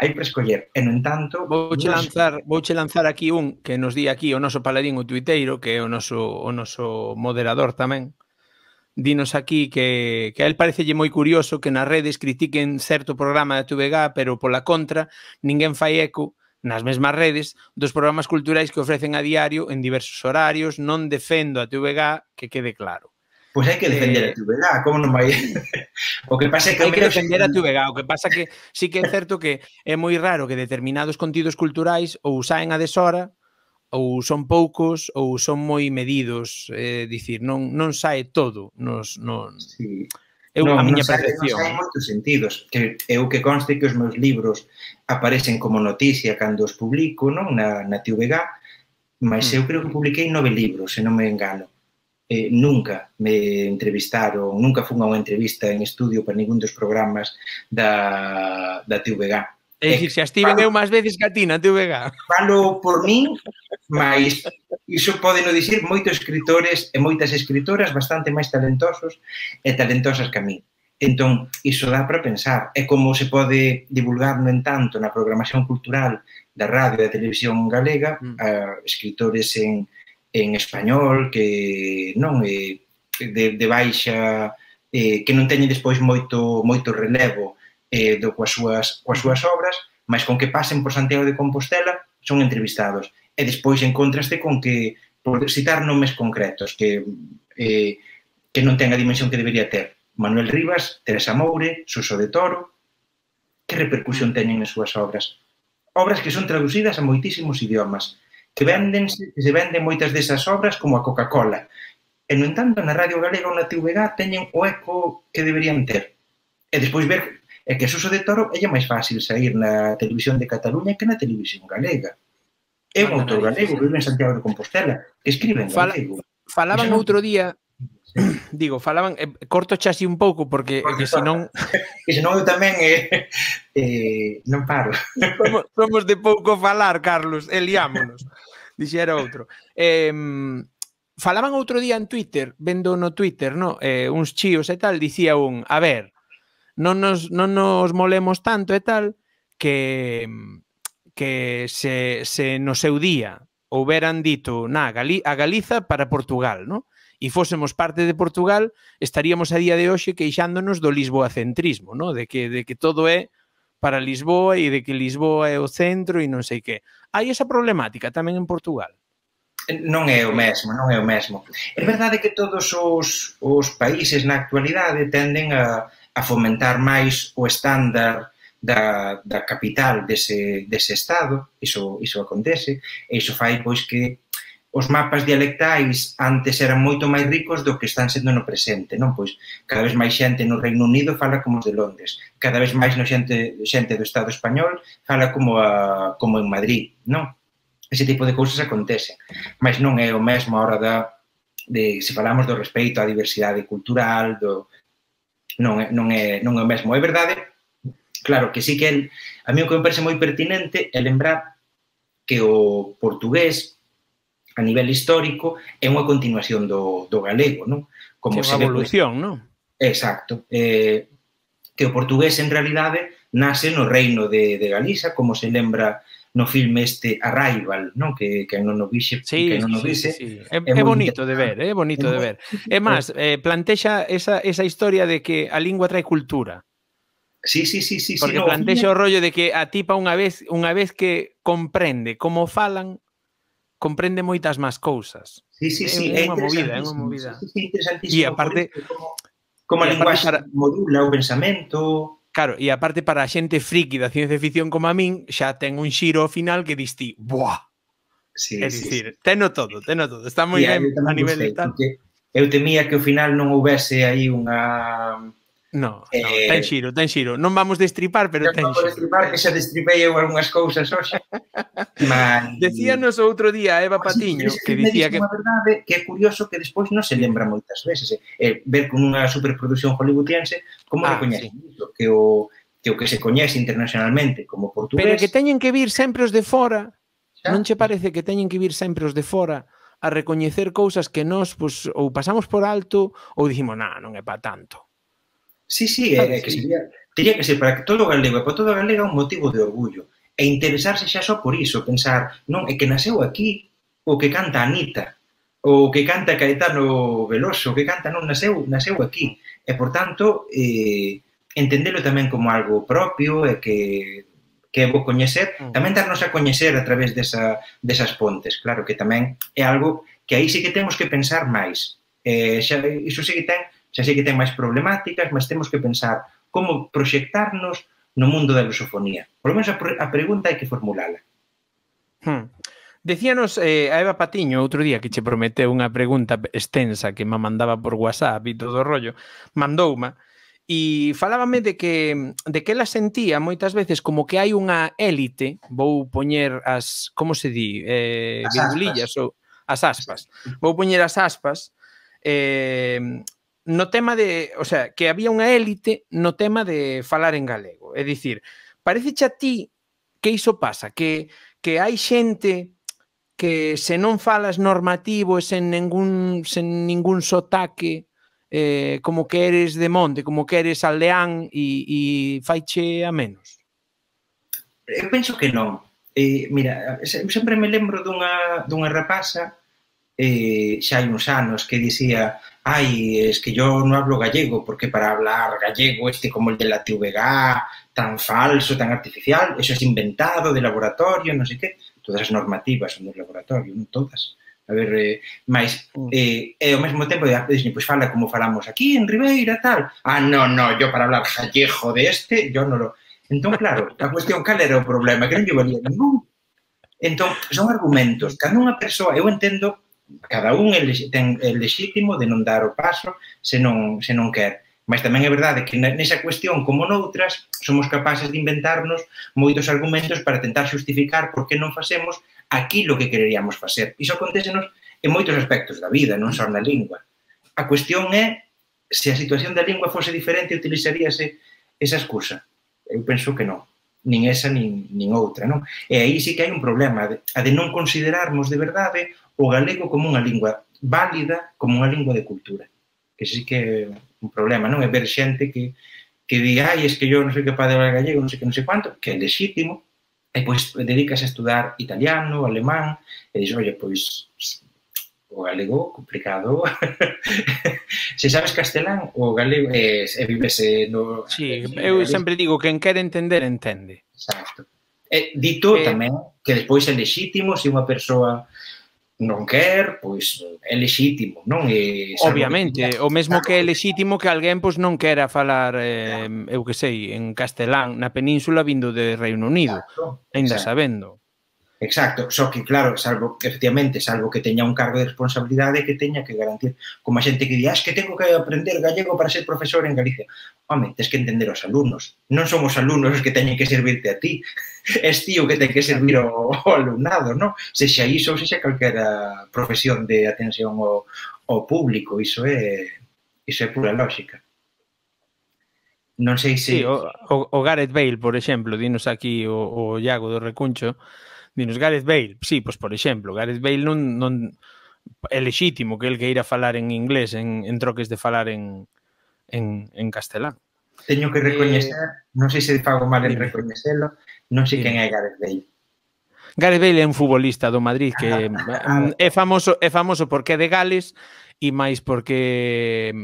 hai para escoller. E, no entanto... Vouche lanzar, vouche lanzar aquí un que nos di aquí o noso paladín o tuiteiro, que é o noso, o noso moderador tamén. Dinos aquí que, que a él parecelle moi curioso que nas redes critiquen certo programa da T V G, pero pola contra ninguén fai eco nas mesmas redes dos programas culturais que ofrecen a diario en diversos horarios. Non defendo a T V G, que quede claro. Pois hai que defender eh, a T V G, como non vai? O que pasa é que... Hai que defender a T V G, o que pasa que sí que é certo que é moi raro que determinados contidos culturais ou saen a deshora, ou son poucos, ou son moi medidos, é eh, dicir, non, non sae todo nos... Non... Sí. Eu, non, a miña non sae, percepción. Non sae en moitos sentidos. Que eu que conste que os meus libros aparecen como noticia cando os publico, non? Na, na T V G, mas mm. eu creo que publiquei nove libros, se non me engano. Eh, nunca me entrevistaron, nunca fun a unha entrevista en estudio para ningún dos programas da, da T V G. É dicir, xa estiven eu máis veces que a ti na T V G. Falo por min, mas iso podeno dicir moitos escritores e moitas escritoras bastante máis talentosos e talentosas que a min. Entón, iso dá para pensar. É como se pode divulgar, no entanto, na programación cultural da radio e da televisión galega, mm. a escritores en, en español que non é de, de baixa, eh, que non teñen despois moito, moito relevo eh, do, coas, súas, coas súas obras, mas con que pasen por Santiago de Compostela son entrevistados. E despois encontraste con que, por citar nomes concretos, que, eh, que non ten a dimensión que debería ter. Manuel Rivas, Teresa Moure, Suso de Toro, que repercusión teñen as súas obras? Obras que son traducidas a moitísimos idiomas, que, venden, que se venden moitas desas obras como a Coca-Cola. E, no entanto, na Radio Galega ou na T V G teñen o eco que deberían ter. E despois ver é que Suso de Toro é máis fácil sair na televisión de Cataluña que na televisión galega. É un autor galego que vive en Santiago de Compostela, que escribe en galego. Falaban outro día, digo, falaban, eh, corto chasí un pouco, porque que senón... Que senón eu tamén eh, eh, non paro. Somos, somos de pouco falar, Carlos, e liámonos. Dixera outro. Eh, falaban outro día en Twitter, vendo no Twitter, no, eh, uns chíos e tal, dicía un, a ver, non nos, non nos molemos tanto e tal, que... que se, se no seu día houberan dito na, Gali, a Galiza para Portugal, no? E fósemos parte de Portugal, estaríamos a día de hoxe queixándonos do lisboacentrismo, no? De que, de que todo é para Lisboa e de que Lisboa é o centro e non sei que. Hai esa problemática tamén en Portugal? Non é o mesmo, non é o mesmo. É verdade que todos os, os países na actualidade tenden a, a fomentar máis o estándar Da, da capital dese, dese estado, iso, iso acontece, e iso fai pois que os mapas dialectais antes eran moito máis ricos do que están sendo no presente, non? Pois cada vez máis xente no Reino Unido fala como os de Londres, cada vez máis no xente, xente do Estado español fala como, a, como en Madrid, non? Ese tipo de cousas acontecen, mas non é o mesmo a hora da, de, se falamos do respeito á diversidade cultural, do, non, é, non, é, non é o mesmo. É verdade. Claro, que sí que el, a mí o que me parece moi pertinente é lembrar que o portugués, a nivel histórico, é unha continuación do, do galego, non? Como se ve, evolución, non? Exacto. Eh, que o portugués, en realidade, nace no reino de, de Galiza, como se lembra no filme este Arrival, non? Que, que non o vixe, sí, que non o sí, vixe. Sí, sí. É, é bonito de ver, é bonito de ver. É máis, eh, plantexa esa, esa historia de que a lingua trae cultura. Sí, sí, sí, sí. Porque sí, no, plantexa o rollo de que a tipa unha vez unha vez que comprende como falan, comprende moitas máis cousas. Sí, sí, sí. É, é unha movida, é unha movida. Sí, sí, interesantísimo. E aparte, como, como a linguaxe para... modula o pensamento. Claro, e aparte para a xente friki da ciencia ficción como a min, xa ten un xiro ao final que dis ti, buah. Sí, é sí, dicir, sí. teno todo, teno todo. Está moi ben a nivel de tal. Eu temía que ao final non houvese aí unha... No, eh, no, ten xiro, ten xiro. Non vamos destripar, pero ten xiro. Non vamos destripar, que xa destripei eu algunhas cousas hoxe. Mas... Decíanos outro día a Eva Patiño, que, que dicía que... Unha verdade que é curioso que despois non se lembra moitas veces. Eh? Eh, ver con unha superproducción hollywoodiense como ah, recoñece sí. iso, que o, que o que se coñece internacionalmente como portugués... Pero que teñen que vir sempre os de fora. Xa? Non che parece que teñen que vir sempre os de fora a recoñecer cousas que nós pues, ou pasamos por alto ou dicimos, nah, non é para tanto. Sí, sí, é, que sería, teria que ser para que todo o galego e para todo o galega un motivo de orgullo e interesarse xa só por iso, pensar, non, é que naseu aquí o que canta Anita, o que canta Caetano Veloso, o que canta, non, naseu, naseu aquí, e por tanto eh, entendelo tamén como algo propio e que, que é bo coñecer, tamén darnos a coñecer a través desa, desas pontes, claro que tamén é algo que aí sí que temos que pensar máis, eh, xa, iso sí que ten xa sei que ten máis problemáticas, mas temos que pensar como proxectarnos no mundo da lusofonía. Por lo menos a, a pregunta hai que formulala. Hmm. Decíanos eh, a Eva Patiño outro día que che prometeu unha pregunta extensa que me mandaba por WhatsApp e todo o rollo, mandouma, e falábame de que, de que ela sentía moitas veces como que hai unha élite, vou poñer as, como se di, eh, virgulillas ou as aspas, vou poñer as aspas, eh, no tema de, o sea, que había unha élite no tema de falar en galego. É dicir, pareceche a ti que iso pasa, que, que hai xente que se non falas normativo e sen ningún, sen ningún sotaque, eh, como que eres de monte, como que eres aldeán e, e faiche a menos? Eu penso que non. Eh, mira, sempre me lembro dunha, dunha rapasa eh, xa hai uns anos que dicía ai, es que yo no hablo gallego porque para hablar gallego este como el de la T V G tan falso, tan artificial, eso es inventado de laboratorio, non sei que, todas as normativas son do laboratorio, non todas. A ver, eh, máis, eh, e ao mesmo tempo, pois pues fala como falamos aquí en Ribeira, tal. Ah, no, no, yo para hablar gallego de este, yo non lo... Entón, claro, a cuestión cal era o problema, que non lle valía ningún. Entón, son argumentos, cada unha persoa, eu entendo, cada un ten el lexítimo de non dar o paso se non, se non quer. Mas tamén é verdade que nesa cuestión, como noutras, somos capaces de inventarnos moitos argumentos para tentar xustificar por que non facemos aquilo que quereríamos facer. Iso acontecenos en moitos aspectos da vida, non só na lingua. A cuestión é se a situación da lingua fose diferente, utilizaríase esa excusa. Eu penso que non. Nin esa, nin, nin outra, non? E aí sí que hai un problema, a de non considerarmos de verdade o galego como unha lingua válida, como unha lingua de cultura. Que sí que é un problema, non? É ver xente que, que di, ai, es que yo non sei capaz de hablar gallego, non sei que, non sei quanto, que é legítimo, e pois dedicas a estudar italiano, alemán, e dixes, oye, pois, o galego, complicado. Se sabes castelán, o galego, e eh, vives no... Sí, eu sempre digo, quen quere entender, entende. Exacto. E dito eh, tamén que despois é legítimo se unha persoa non quer, pois é legítimo, non? E, obviamente, o mesmo que é legítimo que alguén pois non quera falar, eh, eu que sei, en castelán na península vindo de Reino Unido, ainda sabendo. Exacto, só que claro, salvo, efectivamente, salvo que teña un cargo de responsabilidade que teña que garantir, como a xente que di, ah, es que tengo que aprender gallego para ser profesor en Galicia. Home, tens que entender os alumnos. Non son os alumnos os que teñen que servirte a ti. Es ti o que ten que servir ao, ao alumnado, non? Sexa iso ou sexa calquera profesión de atención ao, ao público. Iso é, iso é pura lógica. Non sei se... Sí, o, o, o Gareth Bale, por exemplo, dinos aquí o, o Iago do Recuncho, dinos Gareth Bale, sí, pois por exemplo, Gareth Bale non, non é lexítimo que el que ir a falar en inglés en, en troques de falar en, en, en castelán. Teño que recoñecer, eh, non sei se fago mal en recoñecelo, non sei quen é Gareth Bale. Gareth Bale é un futbolista do Madrid que ah, é famoso é famoso porque é de Gales e máis porque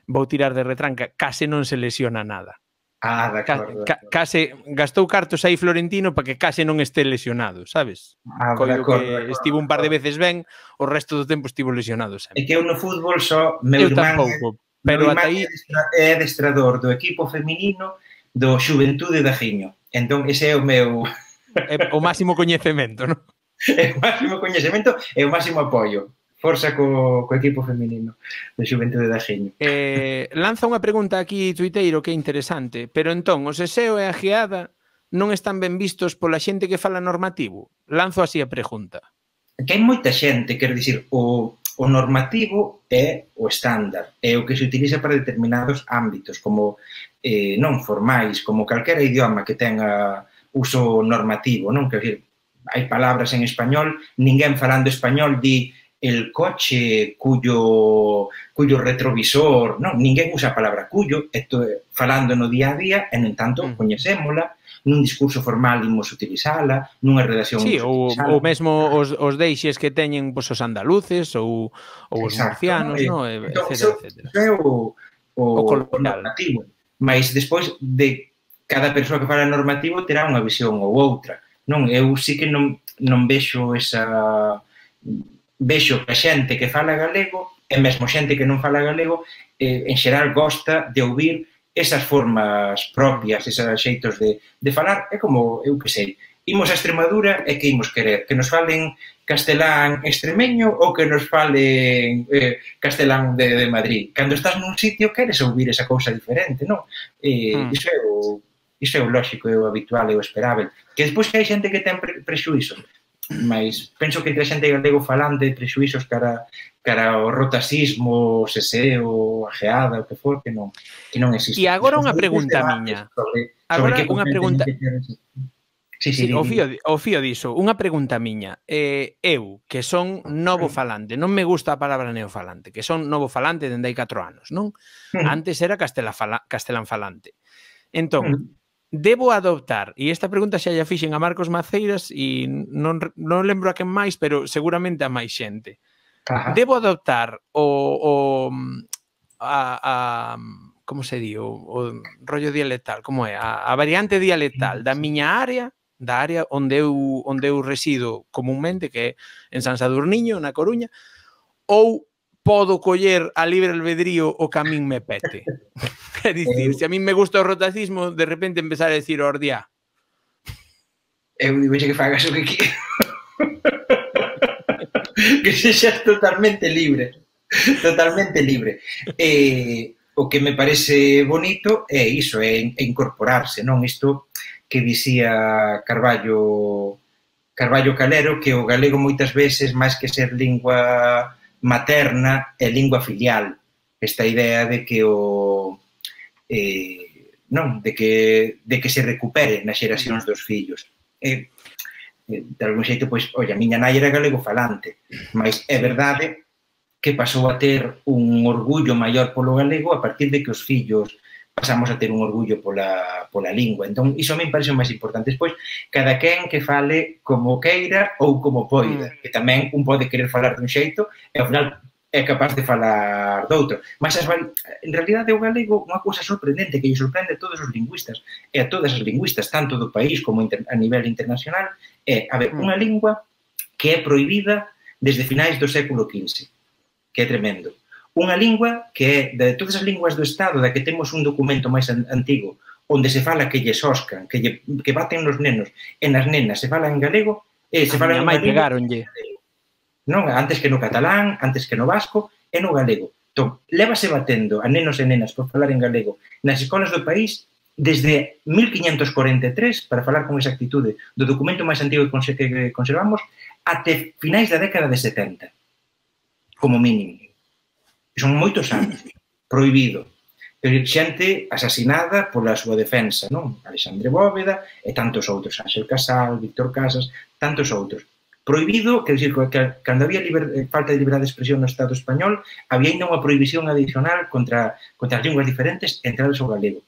vou tirar de retranca, case non se lesiona nada. Ah, de acordo. Ca, case gastou cartos aí Florentino para que case non este lesionado, sabes? Ah, de acordo, que estivo un par de veces ben, o resto do tempo estivo lesionado sempre. É que eu no fútbol só meu irmán, tampouco, pero ata aí é adestrador do equipo feminino do Xuventude da Giño. Entón ese é o meu é o máximo coñecemento, non? É o máximo coñecemento e o máximo apoio. Forza co, co equipo feminino de Xuventude da Giño. Eh, lanza unha pregunta aquí, tuiteiro, que é interesante. Pero entón, o seseo e a geada non están ben vistos pola xente que fala normativo? Lanzo así a pregunta. Que hai moita xente, quero dicir, o, o normativo é o estándar, é o que se utiliza para determinados ámbitos, como eh, non formais, como calquera idioma que tenga uso normativo, non? Quero dicir, hai palabras en español, ninguén falando español di el coche cuyo, cuyo retrovisor, non, ninguén usa a palabra cuyo, esto falando no día a día, e, no entanto, mm. coñecémola, nun discurso formal imos utilizala, nunha redacción sí, ou, ou mesmo os, os deixes que teñen pues, os andaluces ou, ou os murcianos, no? E, entón, etcétera, etcétera. Iso é o, o, o normativo, mas despois de cada persoa que fala normativo terá unha visión ou outra, non? Eu sí que non, non vexo esa... vexo que a xente que fala galego e mesmo xente que non fala galego eh, en xeral gosta de ouvir esas formas propias, esos xeitos de, de falar. É como, eu que sei, imos a Extremadura e que imos querer? Que nos falen castelán extremeño ou que nos falen eh, castelán de, de Madrid? Cando estás nun sitio queres ouvir esa cousa diferente, non? Eh, mm. Iso é o, iso é o lógico, é o habitual, é o esperável. Que despois que hai xente que ten pre prexuízos, mas penso que entre a xente galego falante prexuízos cara, cara ao rotacismo, o seseo, a geada, o que for, que non, que non existe. E agora unha pregunta miña. Sobre, agora sobre unha pregunta... Sí, sí, sí, o, fío, o fío diso, unha pregunta miña. Eh, eu, que son novo falante, non me gusta a palabra neofalante, que son novo falante dende hai catro anos, non? Antes era castelán falante. Entón, debo adoptar, e esta pregunta xa lla fixen a Marcos Maceiras e non, non lembro a quen máis, pero seguramente a máis xente. Ajá. Debo adoptar o, o a, a como se di, o, o rollo dialectal, como é? A, a variante dialectal da miña área, da área onde eu, onde eu resido comúnmente, que é en San Sadurniño, na Coruña, ou podo coller a libre albedrío o que a min me pete. É dicir, eu... se a min me gusta o rotacismo, de repente empezar a decir ordiá. Eu digo que fagas o que quero. Que sexas totalmente libre. Totalmente libre. Eh, o que me parece bonito é iso, é incorporarse, non? Isto que dicía Carballo Carballo Calero que o galego moitas veces, máis que ser lingua materna, é lingua filial. Esta idea de que o... Eh, non, de que, de que se recupere nas xeracións dos fillos. Eh, de algún xeito, pois, oi, a miña nai era galego falante, mas é verdade que pasou a ter un orgullo maior polo galego a partir de que os fillos pasamos a ter un orgullo pola, pola lingua. Entón, iso a mí me parece o máis importante. Despois, cada quen que fale como queira ou como poida, que tamén un pode querer falar dun xeito e ao final é capaz de falar doutro. Mas, as, en realidade, o galego, unha cousa sorprendente que lle sorprende a todos os lingüistas e a todas as lingüistas, tanto do país como a nivel internacional, é, a ver, unha lingua que é prohibida desde finais do século quince, que é tremendo. Unha lingua que é, de todas as linguas do Estado, da que temos un documento máis antigo, onde se fala que lle soscan, que, lle, que baten nos nenos e nas nenas se fala en galego, e se fala en galego. Non, antes que no catalán, antes que no vasco, e no galego. Entón, lévase batendo a nenos e nenas por falar en galego nas escolas do país desde mil quinhentos corenta e tres, para falar con exactitude do documento máis antigo que conservamos, até finais da década de setenta, como mínimo. Son moitos anos, prohibido. Xente asasinada pola súa defensa, non? Alexandre Bóveda e tantos outros, Ángel Casal, Víctor Casas, tantos outros. Prohibido, quer dizer, que cando había falta de liberdade de expresión no Estado español, había ainda unha prohibición adicional contra, contra as linguas diferentes entradas ao galego.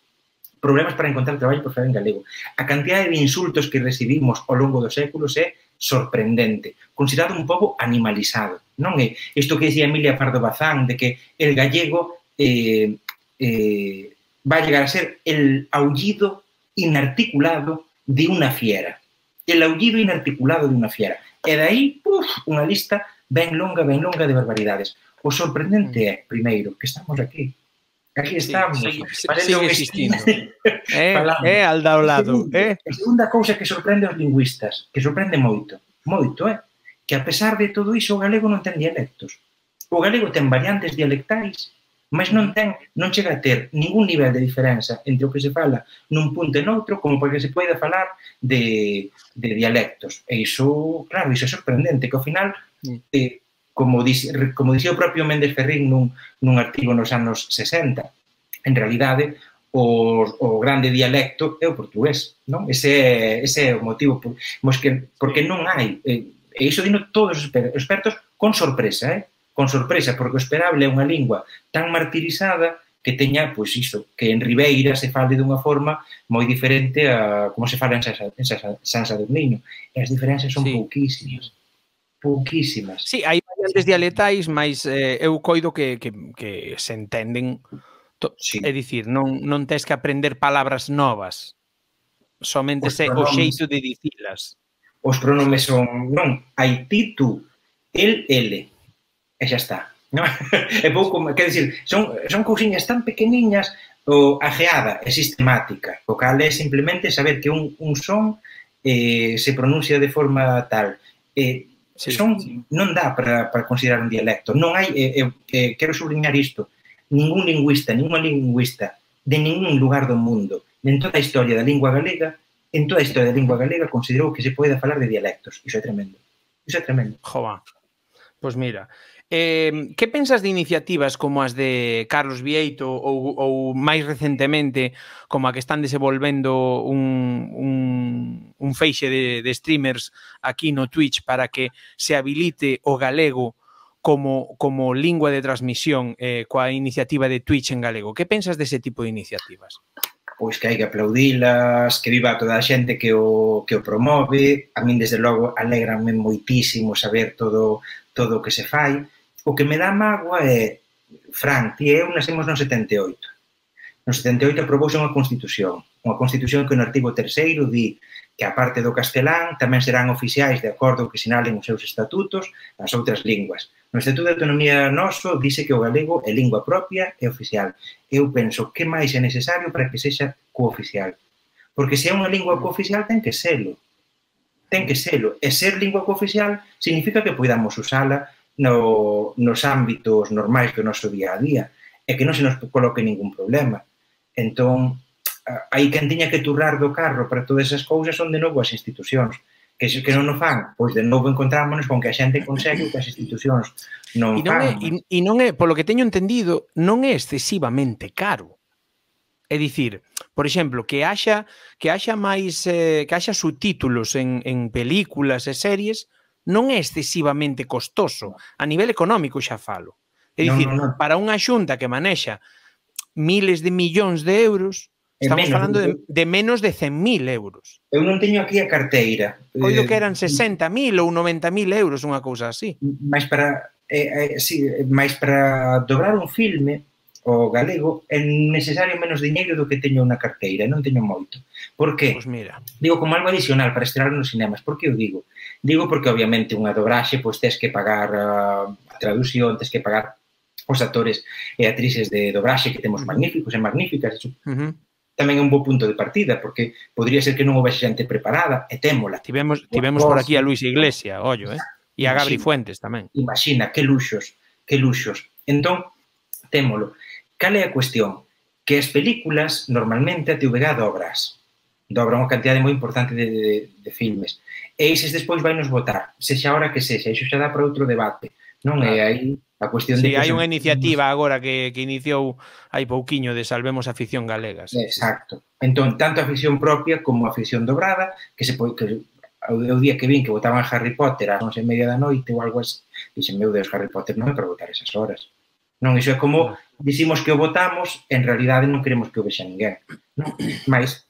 Problemas para encontrar traballo por falar en galego. A cantidade de insultos que recibimos ao longo dos séculos é sorprendente, considerado un pobo animalizado, non é isto que dicía Emilia Pardo Bazán, de que el gallego eh, eh, va a llegar a ser el aullido inarticulado de unha fiera. El aullido inarticulado de unha fiera. E dai, uf, unha lista ben longa, ben longa de barbaridades. O sorprendente é, primeiro, que estamos aquí. Aquí estamos. Sí, sigue existindo. É, é al ao lado. A segunda cousa que sorprende aos lingüistas, que sorprende moito, moito, é, que a pesar de todo iso o galego non ten dialectos. O galego ten variantes dialectais, mas non ten, non chega a ter ningún nivel de diferenza entre o que se fala nun punto e noutro, como porque se poida falar de, de dialectos. E iso, claro, iso é sorprendente, que ao final, eh, como, dice, como dicía o propio Méndez Ferrín nun, nun artigo nos anos sesenta, en realidade, o, o grande dialecto é o portugués, non? Ese é, ese é o motivo, por, que, porque non hai, e iso dino todos os expertos con sorpresa, eh? con sorpresa, porque o esperable é unha lingua tan martirizada que teña, pois iso, que en Ribeira se fale dunha forma moi diferente a como se fala en San Sadurniño. E as diferencias son sí. pouquísimas. Pouquísimas. Sí, hai variantes dialectais, mas eh, eu coido que, que, que se entenden. Sí. É dicir, non, non tens que aprender palabras novas, somente se o xeito de dicilas. Os pronomes son, non, hai ti, tú, el, ele, e xa está. Non? É pouco, quer dizer, son, son cousiñas tan pequeniñas, o ajeada é sistemática, o cal é simplemente saber que un, un son eh, se pronuncia de forma tal. Eh, sí, son, sí. Non dá para, para considerar un dialecto. Non hai, eh, eh, quero subliñar isto, ningún lingüista, ninguna lingüista de ningún lugar do mundo, en toda a historia da lingua galega, en toda a historia da lingua galega considerou que se pode falar de dialectos. Iso é tremendo. Iso é tremendo. Jova. Pois mira, eh, que pensas de iniciativas como as de Carlos Vieito ou, ou máis recentemente como a que están desenvolvendo un, un, un feixe de, de streamers aquí no Twitch para que se habilite o galego como, como lingua de transmisión eh, coa iniciativa de Twitch en galego? Que pensas dese tipo de iniciativas? Pois que hai que aplaudilas, que viva toda a xente que o, que o promove. A min, desde logo, alegranme moitísimo saber todo, todo o que se fai. O que me dá mágoa é, Fran, ti e eu nascemos no setenta e oito. No setenta e oito aprobouse unha constitución. Unha constitución que no artigo terceiro di que a parte do castelán tamén serán oficiais de acordo que sinalen os seus estatutos as outras linguas. No Estatuto de Autonomía noso dice que o galego é lingua propia e oficial. Eu penso que máis é necesario para que sexa cooficial. Porque se é unha lingua cooficial ten que selo. Ten que selo. E ser lingua cooficial significa que podamos usala no, nos ámbitos normais do noso día a día e que non se nos coloque ningún problema. Entón, aí quen tiña que turrar do carro para todas esas cousas son de novo as institucións. que se que non o fan, pois de novo encontrámonos con que a xente consegue que as institucións non e non é, fan. e, e non é, polo que teño entendido, non é excesivamente caro. É dicir, por exemplo, que haxa que haxa máis eh, que haxa subtítulos en, en películas e series non é excesivamente costoso. A nivel económico xa falo. É dicir, non, non, non. para unha xunta que manexa miles de millóns de euros, estamos menos, falando de, de menos de cen mil euros. Eu non teño aquí a carteira. Coido que eran sesenta mil ou noventa mil euros, unha cousa así. Mais para, eh, eh, sí, mais para dobrar un filme o galego é necesario menos diñeiro do que teño na carteira, non teño moito. Por que? Pues mira. Digo como algo adicional para estrear nos cinemas. Por que o digo? Digo porque obviamente unha dobraxe pois tes que pagar a traducción, tes que pagar os actores e actrices de dobraxe que temos uh -huh. magníficos e magníficas. Uh -huh. Tamén é un bo punto de partida, porque podría ser que non houvese xente preparada, e témola. Tivemos, tivemos por aquí a Luis Iglesia, ollo, eh? E a Gabri Fuentes tamén. Imagina, que luxos, que luxos. Entón, témolo. Cal é a cuestión? Que as películas, normalmente, a T V G dobras. Dobra unha cantidade moi importante de, de, de filmes. E eses despois vai nos votar, sexa a hora que sexa. Iso xa dá para outro debate. Non é aí a cuestión sí, de... Sí, hai unha iniciativa agora que, que iniciou hai pouquiño de Salvemos a Ficción Galega. Sí. Exacto. Entón, tanto a ficción propia como a ficción dobrada, que se pode... Que, o día que vin que votaban Harry Potter ás once e media da noite ou algo así, dixen, meu Deus, Harry Potter non é para votar esas horas. Non, iso é como dicimos que o votamos, en realidade non queremos que o vexa ninguén. Non? Mas,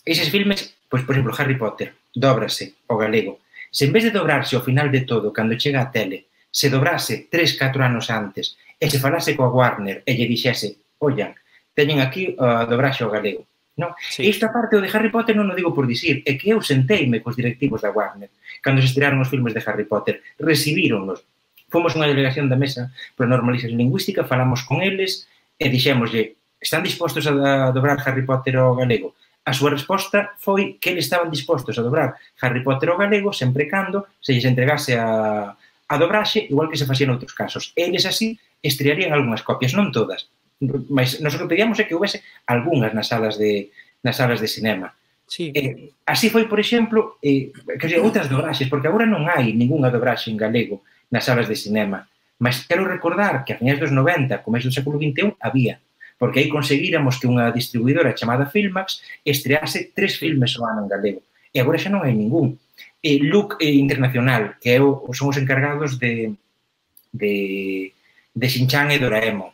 eses filmes, pois, por exemplo, Harry Potter, dóbrase ao galego. Se en vez de dobrarse ao final de todo, cando chega a tele, se dobrase tres, catro anos antes e se falase coa Warner e lle dixese, ollan, teñen aquí a uh, dobraxe ao galego. Non? Sí. E isto aparte o de Harry Potter non o digo por dicir, é que eu senteime cos directivos da Warner cando se estrearon os filmes de Harry Potter, recibíronnos. Fomos unha delegación da Mesa para Normalización Lingüística, falamos con eles e dixémoslle, están dispostos a dobrar Harry Potter ao galego? A súa resposta foi que eles estaban dispostos a dobrar Harry Potter ao galego sempre cando se lles entregase a, a dobraxe, igual que se facía en outros casos. Eles así estrearían algunhas copias, non todas, mas nos o que pedíamos é que houvese algunhas nas salas de, nas salas de cinema. Sí. Eh, así foi, por exemplo, eh, que sei, outras dobraxes, porque agora non hai ningunha dobraxe en galego nas salas de cinema. Mas quero recordar que a finais dos noventa, comezo do século vinte e un, había. Porque aí conseguíramos que unha distribuidora chamada Filmax estrease tres filmes ao ano en galego. E agora xa non hai ningún. E Look eh, Internacional, que é o, son os encargados de, de, de Shin-Chan e Doraemon.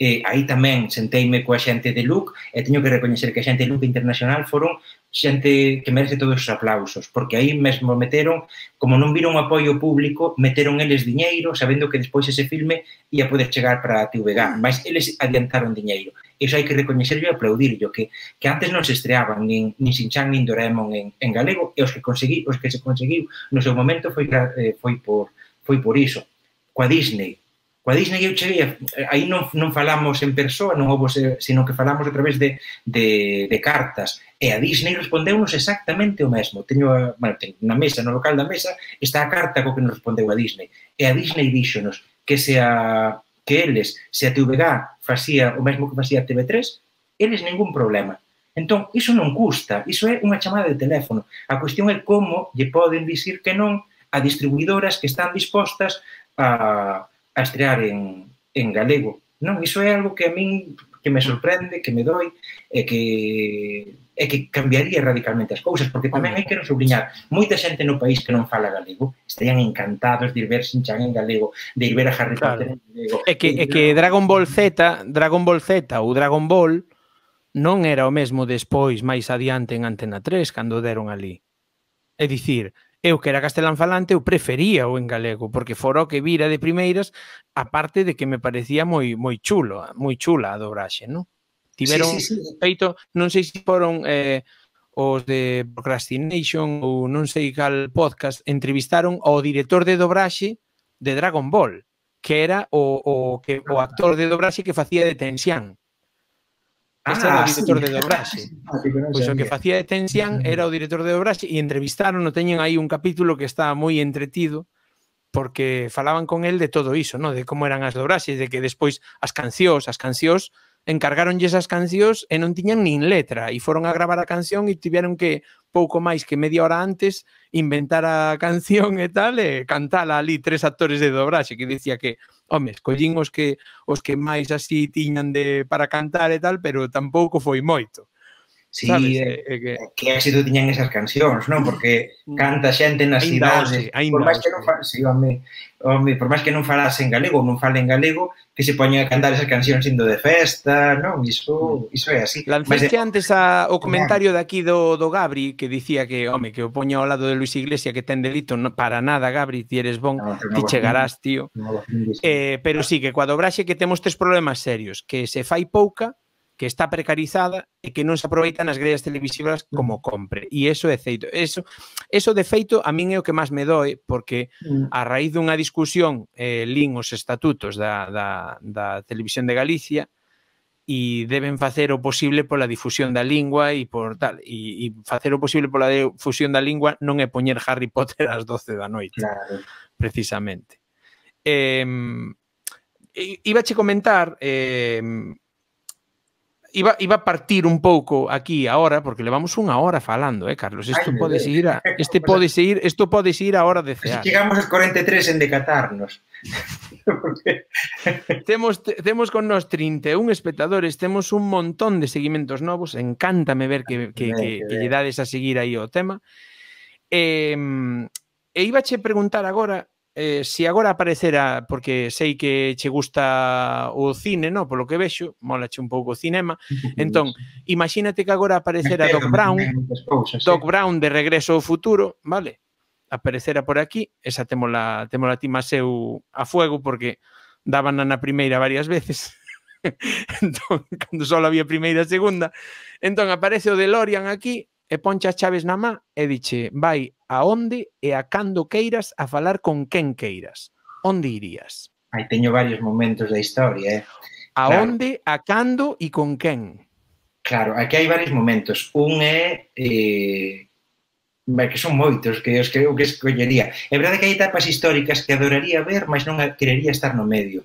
E aí tamén senteime coa xente de Look e teño que recoñecer que a xente de Look Internacional foron xente que merece todos os aplausos, porque aí mesmo meteron, como non viron o apoio público, meteron eles diñeiro, sabendo que despois ese filme ia poder chegar para a T V G, mas eles adiantaron diñeiro. Iso hai que recoñecerlo e aplaudirlo, que, que antes non se estreaban nin, nin Shin-Chan nin Doraemon en, en galego, e os que consegui, os que se conseguiu no seu momento foi, eh, foi, por, foi por iso. Coa Disney, Coa Disney eu cheguei, aí non, non falamos en persoa, non houve, sino que falamos a través de, de, de cartas. E a Disney respondeu-nos exactamente o mesmo. Teño, a, bueno, teño na mesa, no local da mesa, está a carta co que nos respondeu a Disney. E a Disney díxonos que se a, que eles, se a T V G facía o mesmo que facía a T V tres, eles ningún problema. Entón, iso non custa, iso é unha chamada de teléfono. A cuestión é como lle poden dicir que non a distribuidoras que están dispostas a a estrear en, en galego. Non, iso é algo que a min que me sorprende, que me doi, e que é que cambiaría radicalmente as cousas, porque tamén hai que non subliñar, moita xente no país que non fala galego estarían encantados de ir ver Shin-Chan en galego, de ir ver a Harry claro. Potter en galego. É que, é que Dragon Ball Z, Dragon Ball Z ou Dragon Ball non era o mesmo despois, máis adiante en Antena tres, cando deron ali. É dicir, eu que era castelán falante, eu prefería o en galego, porque fora o que vira de primeiras, aparte de que me parecía moi moi chulo, moi chula a dobraxe, non? Tiveron sí, sí, sí. feito, non sei se foron eh, os de Procrastination ou non sei cal podcast, entrevistaron ao director de dobraxe de Dragon Ball, que era o, o, que, o actor de dobraxe que facía de Tensian. Este ah, era o director sí. de dobraxe. Pois o que facía de Tensian era o director de dobraxe e entrevistaron, no teñen aí un capítulo que está moi entretido porque falaban con el de todo iso, no? De como eran as dobraxes, de que despois as cancións, as cancións encargaronlle esas cancións e non tiñan nin letra, e foron a gravar a canción e tiveron que, pouco máis que media hora antes, inventar a canción e tal, e cantala ali tres actores de dobraxe, que dicía que, home, escollín os que, os que máis así tiñan de, para cantar e tal, pero tampouco foi moito. Sí, é, eh, que... que éxito tiñan esas cancións, non? Porque canta xente nas cidades, por máis que non fa... sí, home, home, por máis que non falasen galego, non falen galego, que se poñen a cantar esas cancións indo de festa, non? Iso, iso é así. Lanceste de... antes a, o comentario de aquí do, do Gabri, que dicía que, home, que o poña ao lado de Luis Iglesias, que ten delito, no, para nada, Gabri, ti eres bon, no, ti chegarás, tío. No, eh, pero sí, que coa dobraxe que temos tres problemas serios, que se fai pouca, que está precarizada e que non se aproveita nas grellas televisivas como compre. E iso é feito. Eso, eso de feito, a min é o que máis me doe, porque a raíz dunha discusión eh, lín os estatutos da, da, da Televisión de Galicia e deben facer o posible pola difusión da lingua e por tal. E, e facer o posible pola difusión da lingua non é poñer Harry Potter ás doce da noite, claro. Precisamente. Eh, Ibache comentar... Eh, Iba, iba a partir un pouco aquí ahora, porque levamos unha hora falando, eh, Carlos? Isto pode seguir a, este pode seguir, isto pode seguir a hora de cear. Se chegamos aos cuarenta e tres en decatarnos. temos, te, temos con nós trinta e un espectadores, temos un montón de seguimentos novos, encántame ver que, que, que, que lle dades a seguir aí o tema. E, e ibache preguntar agora, Eh, se agora aparecera, porque sei que che gusta o cine, no? Polo que vexo, molache un pouco o cinema, entón, imagínate que agora aparecera Doc Brown, Doc Brown de Regreso ao Futuro, vale? Aparecera por aquí, esa témola, témola ti Maseu a fuego, porque daban na primeira varias veces, entón, cando só había primeira e segunda, entón aparece o DeLorean aquí, e ponche as chaves na má e diche, vai a onde e a cando queiras a falar con quen queiras. Onde irías? Aí teño varios momentos da historia, eh? A claro. Onde, a cando e con quen? Claro, aquí hai varios momentos. Un é... Eh, que son moitos que os que eu que escollería. É verdade que hai etapas históricas que adoraría ver, mas non querería estar no medio.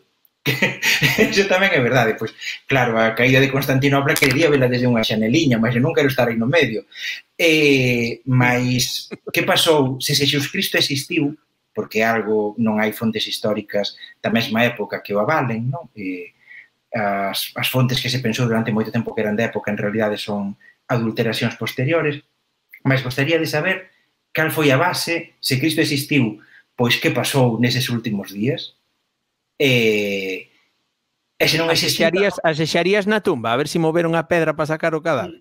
Eso tamén é verdade, pois claro, a caída de Constantinopla quería vela desde unha xaneliña, mas eu non quero estar aí no medio. Eh, mas que pasou? Se Xesucristo existiu, porque algo non hai fontes históricas da mesma época que o avalen, non? Eh, as, as fontes que se pensou durante moito tempo que eran de época en realidade son adulteracións posteriores, mas gostaría de saber cal foi a base, se Cristo existiu, pois que pasou neses últimos días. E, e se non asexarías, asexarías na tumba a ver se moveron a pedra para sacar o cadáver.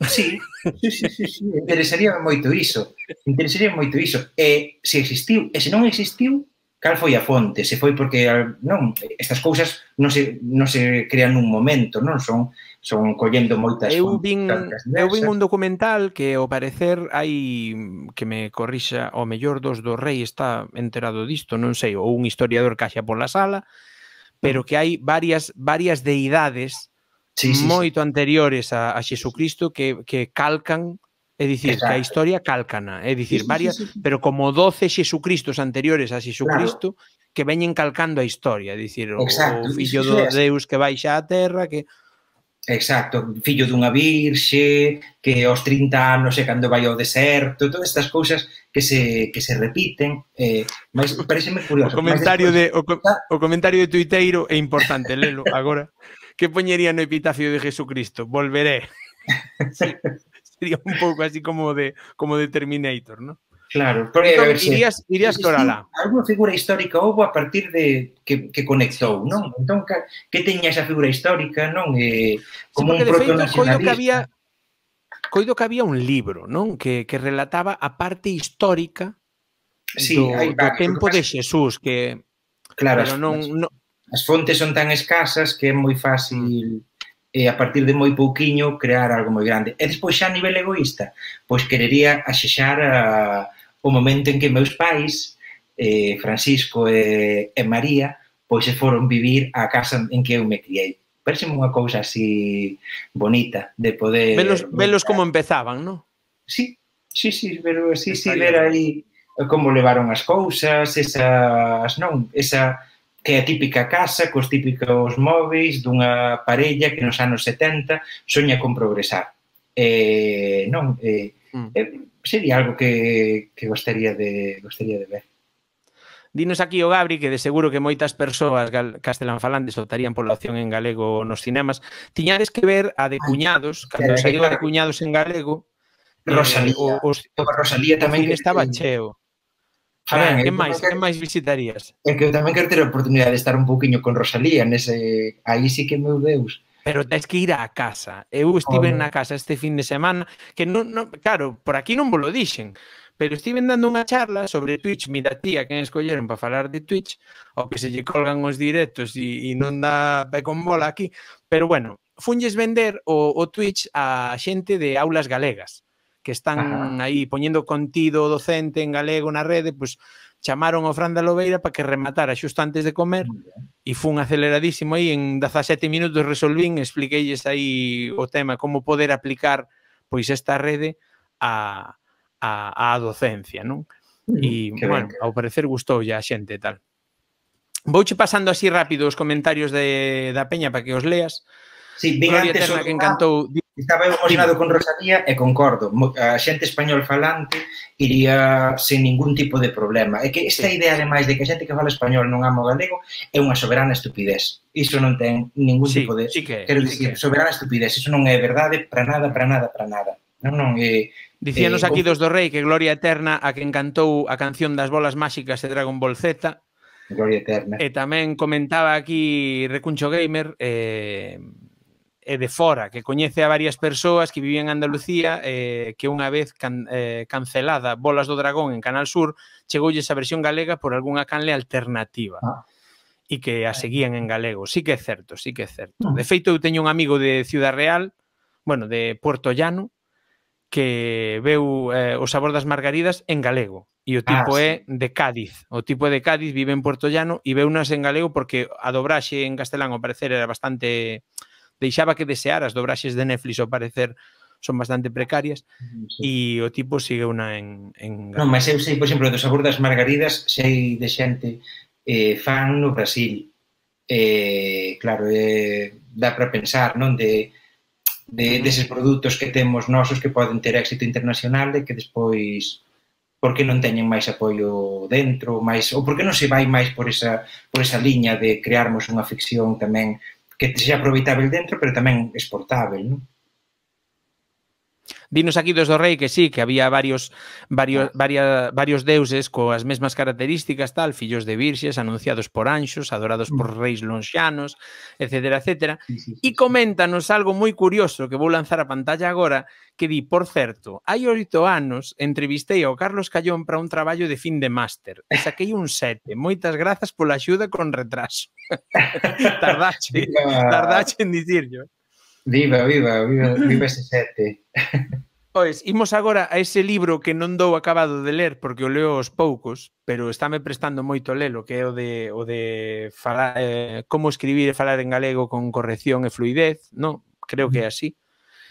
Sí, sí, sí, sí, sí. Interesaría moito iso. Interesaría moito iso. E se existiu, e se non existiu, cal foi a fonte? Se foi porque non, estas cousas non se non se crean nun momento, non son son collendo moitas eu vin, eu vin un documental que ao parecer hai que me corrixa, o mellor dos do rei está enterado disto, non sei, ou un historiador caixa pola sala, pero que hai varias varias deidades sí, sí, moito sí. anteriores a, a Xesucristo que, que calcan, é dicir, exacto. Que a historia calcana, é dicir, sí, varias, sí, sí, sí. Pero como doce Xesucristos anteriores a Xesucristo claro. Que veñen calcando a historia, é dicir, o, o fillo do Deus que baixa á terra, que exacto, fillo dunha virxe, que aos trinta anos é cando vai ao deserto, todas estas cousas que se, que se repiten, eh, mas pareceme curioso. O comentario, despois, de, o, co, o comentario de tuiteiro é importante, lelo agora. Que poñería no epitafio de Jesucristo? Volveré. Sí, sería un pouco así como de, como de Terminator, ¿no? Claro, porque entón, irías, irías corala. Alguna figura histórica houve a partir de que, que conectou, non? Entón, que teña esa figura histórica, non? Eh, como sí, un protonacionalista. Que había, coido que había un libro, non? Que, que relataba a parte histórica sí, do, hai do tempo de Xesús, que claro, pero non, as, non... as fontes son tan escasas que é moi fácil e a partir de moi pouquiño crear algo moi grande. E despois xa a nivel egoísta, pois querería axexar a, o momento en que meus pais, eh, Francisco e, e María, pois se foron vivir á casa en que eu me criei. Parece unha cousa así bonita de poder... Velos, velos como empezaban, non? Sí, sí, sí, pero sí, sí, ver aí como levaron as cousas, esas, non, esa... que é a típica casa cos típicos móveis dunha parella que nos anos setenta soña con progresar. Eh, non, eh, Mm. eh, sería algo que, que gostaría de gostaría de ver. Dinos aquí o Gabri que de seguro que moitas persoas castelanfalantes optarían pola opción en galego nos cinemas. Tiñades que ver a de Cuñados, cando saiu a de Cuñados en galego, Rosalía, eh, o, os, Rosalía tamén o cine que estaba cheo. A ver, que máis, que máis visitarías? É que eu tamén quero ter a oportunidade de estar un pouquiño con Rosalía nese, aí sí que, meu Deus. Pero tens que ir á casa. Eu estive oh, na casa este fin de semana, que non, non, claro, por aquí non vos lo dixen, pero estive dando unha charla sobre Twitch, mira tía, quen escolleron para falar de Twitch, o que se lle colgan os directos e, e non dá pe con bola aquí, pero bueno, funlles vender o, o Twitch a xente de aulas galegas, que están Ajá. aí poñendo contido docente en galego na rede, pois chamaron ao Fran da Lobeira para que rematara xusto antes de comer e fun aceleradísimo aí, en dezasete minutos resolvín, expliqueilles aí o tema, como poder aplicar pois esta rede a, a, a docencia, non? E, mm, bueno, ben. Ao parecer gustou ya a xente e tal. Vouche pasando así rápido os comentarios de, da peña para que os leas. Sí, vin Gloria antes Eterna, o que encantou... Estaba emocionado con Rosalía e concordo. A xente español falante iría sin ningún tipo de problema. É que esta sí. idea, ademais, de que a xente que fala español non ama o galego é unha soberana estupidez. Iso non ten ningún sí, tipo de... Sí que, Quero sí dicir, que. soberana estupidez. Iso non é verdade para nada, para nada, para nada. Non, non, é... Dicíanos eh, aquí dos do Rei que Gloria Eterna a que encantou a canción das bolas máxicas de Dragon Ball Z. Gloria Eterna. E tamén comentaba aquí Recuncho Gamer... Eh, e de fora, que coñece a varias persoas que vivían en Andalucía, eh, que unha vez can, eh, cancelada Bolas do Dragón en Canal Sur, chegoulles a versión galega por algunha canle alternativa. Ah. E que a seguían en galego. Sí que é certo, sí que é certo. De feito, eu teño un amigo de Ciudad Real, bueno, de Puerto Llano, que veu eh, O sabor das margaridas en galego. E o tipo ah, sí. é de Cádiz. O tipo é de Cádiz, vive en Puerto Llano e veunas en galego porque a dobraxe en castelán ao parecer era bastante... deixaba que desear, as dobraxes de Netflix ao parecer son bastante precarias e sí. o tipo sigue unha en, en... Non, mas eu sei, por exemplo, do sabor das margaridas sei de xente eh, fan no Brasil. Eh, claro, eh, dá para pensar, non? De, de, deses produtos que temos nosos que poden ter éxito internacional e que despois por que non teñen máis apoio dentro, máis, ou por que non se vai máis por esa, por esa liña de crearmos unha ficción tamén que sexa aproveitável dentro, pero tamén exportável, non? Dinos aquí dos do Rei que sí, que había varios varios, varias, varios deuses coas mesmas características, tal, fillos de virxes, anunciados por anxos, adorados por reis lonxanos, etcétera, etcétera. Sí, sí, sí, e coméntanos algo moi curioso que vou lanzar a pantalla agora, que di, por certo, hai oito anos entrevistei ao Carlos Callón para un traballo de fin de máster e saquei un sete. Moitas grazas pola axuda con retraso. tardache, tardache en dicirlo. Viva, viva, viva, viva ese sete. Pois, imos agora a ese libro que non dou acabado de ler porque o leo aos poucos, pero estáme prestando moito lelo, que é o de o de falar, eh, como escribir e falar en galego con corrección e fluidez, non? Creo que é así.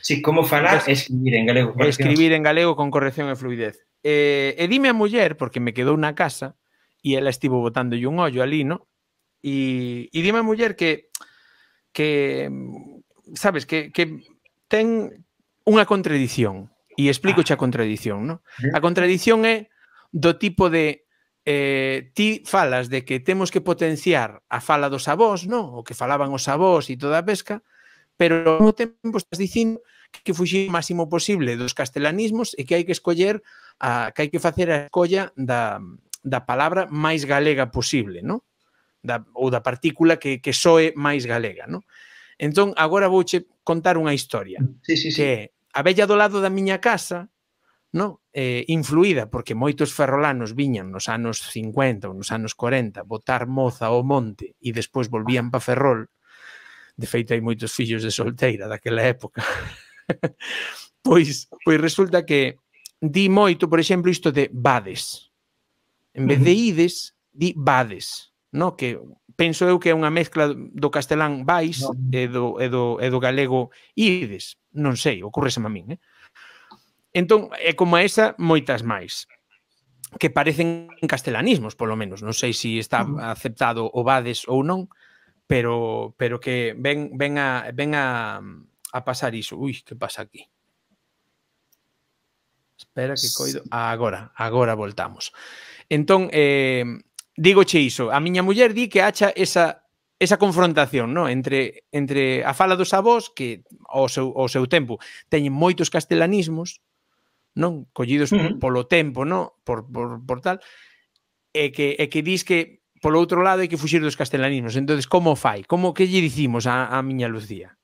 Sí, como falar e escribir en galego. Escribir en galego con corrección e fluidez. Eh, e dime a muller, porque me quedou na casa, e ela estivo botándolle un ollo ali, non? E, e dime a muller que que sabes, que, que ten unha contradición, e explicoche a contradición, non? A contradición é do tipo de eh, ti falas de que temos que potenciar a fala dos avós, non? O que falaban os avós e toda a pesca, pero ao mesmo tempo estás dicindo que fuxir o máximo posible dos castelanismos e que hai que escoller, a, que hai que facer a escolla da, da palabra máis galega posible, non? Da, ou da partícula que, que soe máis galega, non? Entón, agora vouche contar unha historia, sí, sí, sí. que é a vella do lado da miña casa, no? eh, influída porque moitos ferrolanos viñan nos anos cincuenta ou nos anos corenta botar moza ao monte e despois volvían pa Ferrol. De feito, hai moitos fillos de solteira daquela época. pois, pois resulta que di moito, por exemplo, isto de vades. En vez de ides, di vades, no? Que penso eu que é unha mezcla do castelán vais no. e, do, e, do, e do galego ides. Non sei, ocurreseme a min, eh? Entón, é como esa, moitas máis. que parecen castelanismos, polo menos. Non sei se está aceptado o Vades ou non, pero pero que ven ven a ven a a pasar iso. Ui, que pasa aquí? Espera que coido. Agora, agora voltamos. Entón, eh, dígoche iso. A miña muller di que acha esa esa confrontación, no? entre, entre a fala dos avós, que ao seu, ao seu tempo teñen moitos castelanismos, non? Collidos uh -huh. polo tempo, no? por, por, por tal, e que, e que dis que polo outro lado hai que fuxir dos castelanismos. Entonces, como fai? Como que lle dicimos a, a miña Lucía?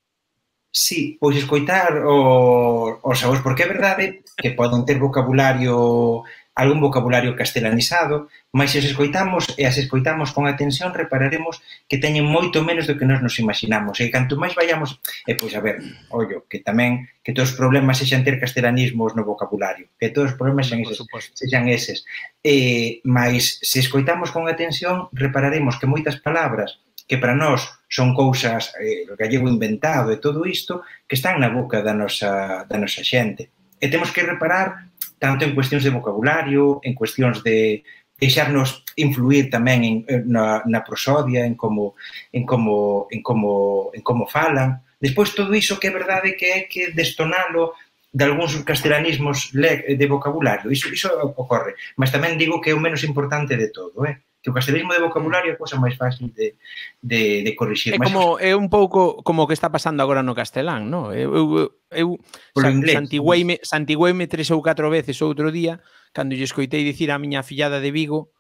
Sí, pois escoitar o, os avós, porque é verdade que poden ter vocabulario, algún vocabulario castelanizado, mas se os escoitamos e as escoitamos con atención, repararemos que teñen moito menos do que nós nos imaginamos. E canto máis vayamos, e pois a ver, ollo, que tamén que todos os problemas sexan ter castelanismos no vocabulario, que todos os problemas sexan eses. Sexan eses. E, mas se escoitamos con atención, repararemos que moitas palabras que para nós son cousas, eh, gallego inventado e todo isto, que están na boca da nosa, da nosa xente. E temos que reparar tanto en cuestións de vocabulario, en cuestións de deixarnos influir tamén en, na, na prosodia, en como, en, como, en, como, en como falan. Despois, todo iso que é verdade que é que destonalo de algúns castelanismos de vocabulario. Iso, iso ocorre. Mas tamén digo que é o menos importante de todo, eh? Que o castelismo de vocabulario é a cousa máis fácil de, de, de corrixir. É como é un pouco como o que está pasando agora no castelán, non? Eu, eu, eu santigüeime, santigüeime tres ou catro veces outro día cando lle escoitei dicir a miña fillada de Vigo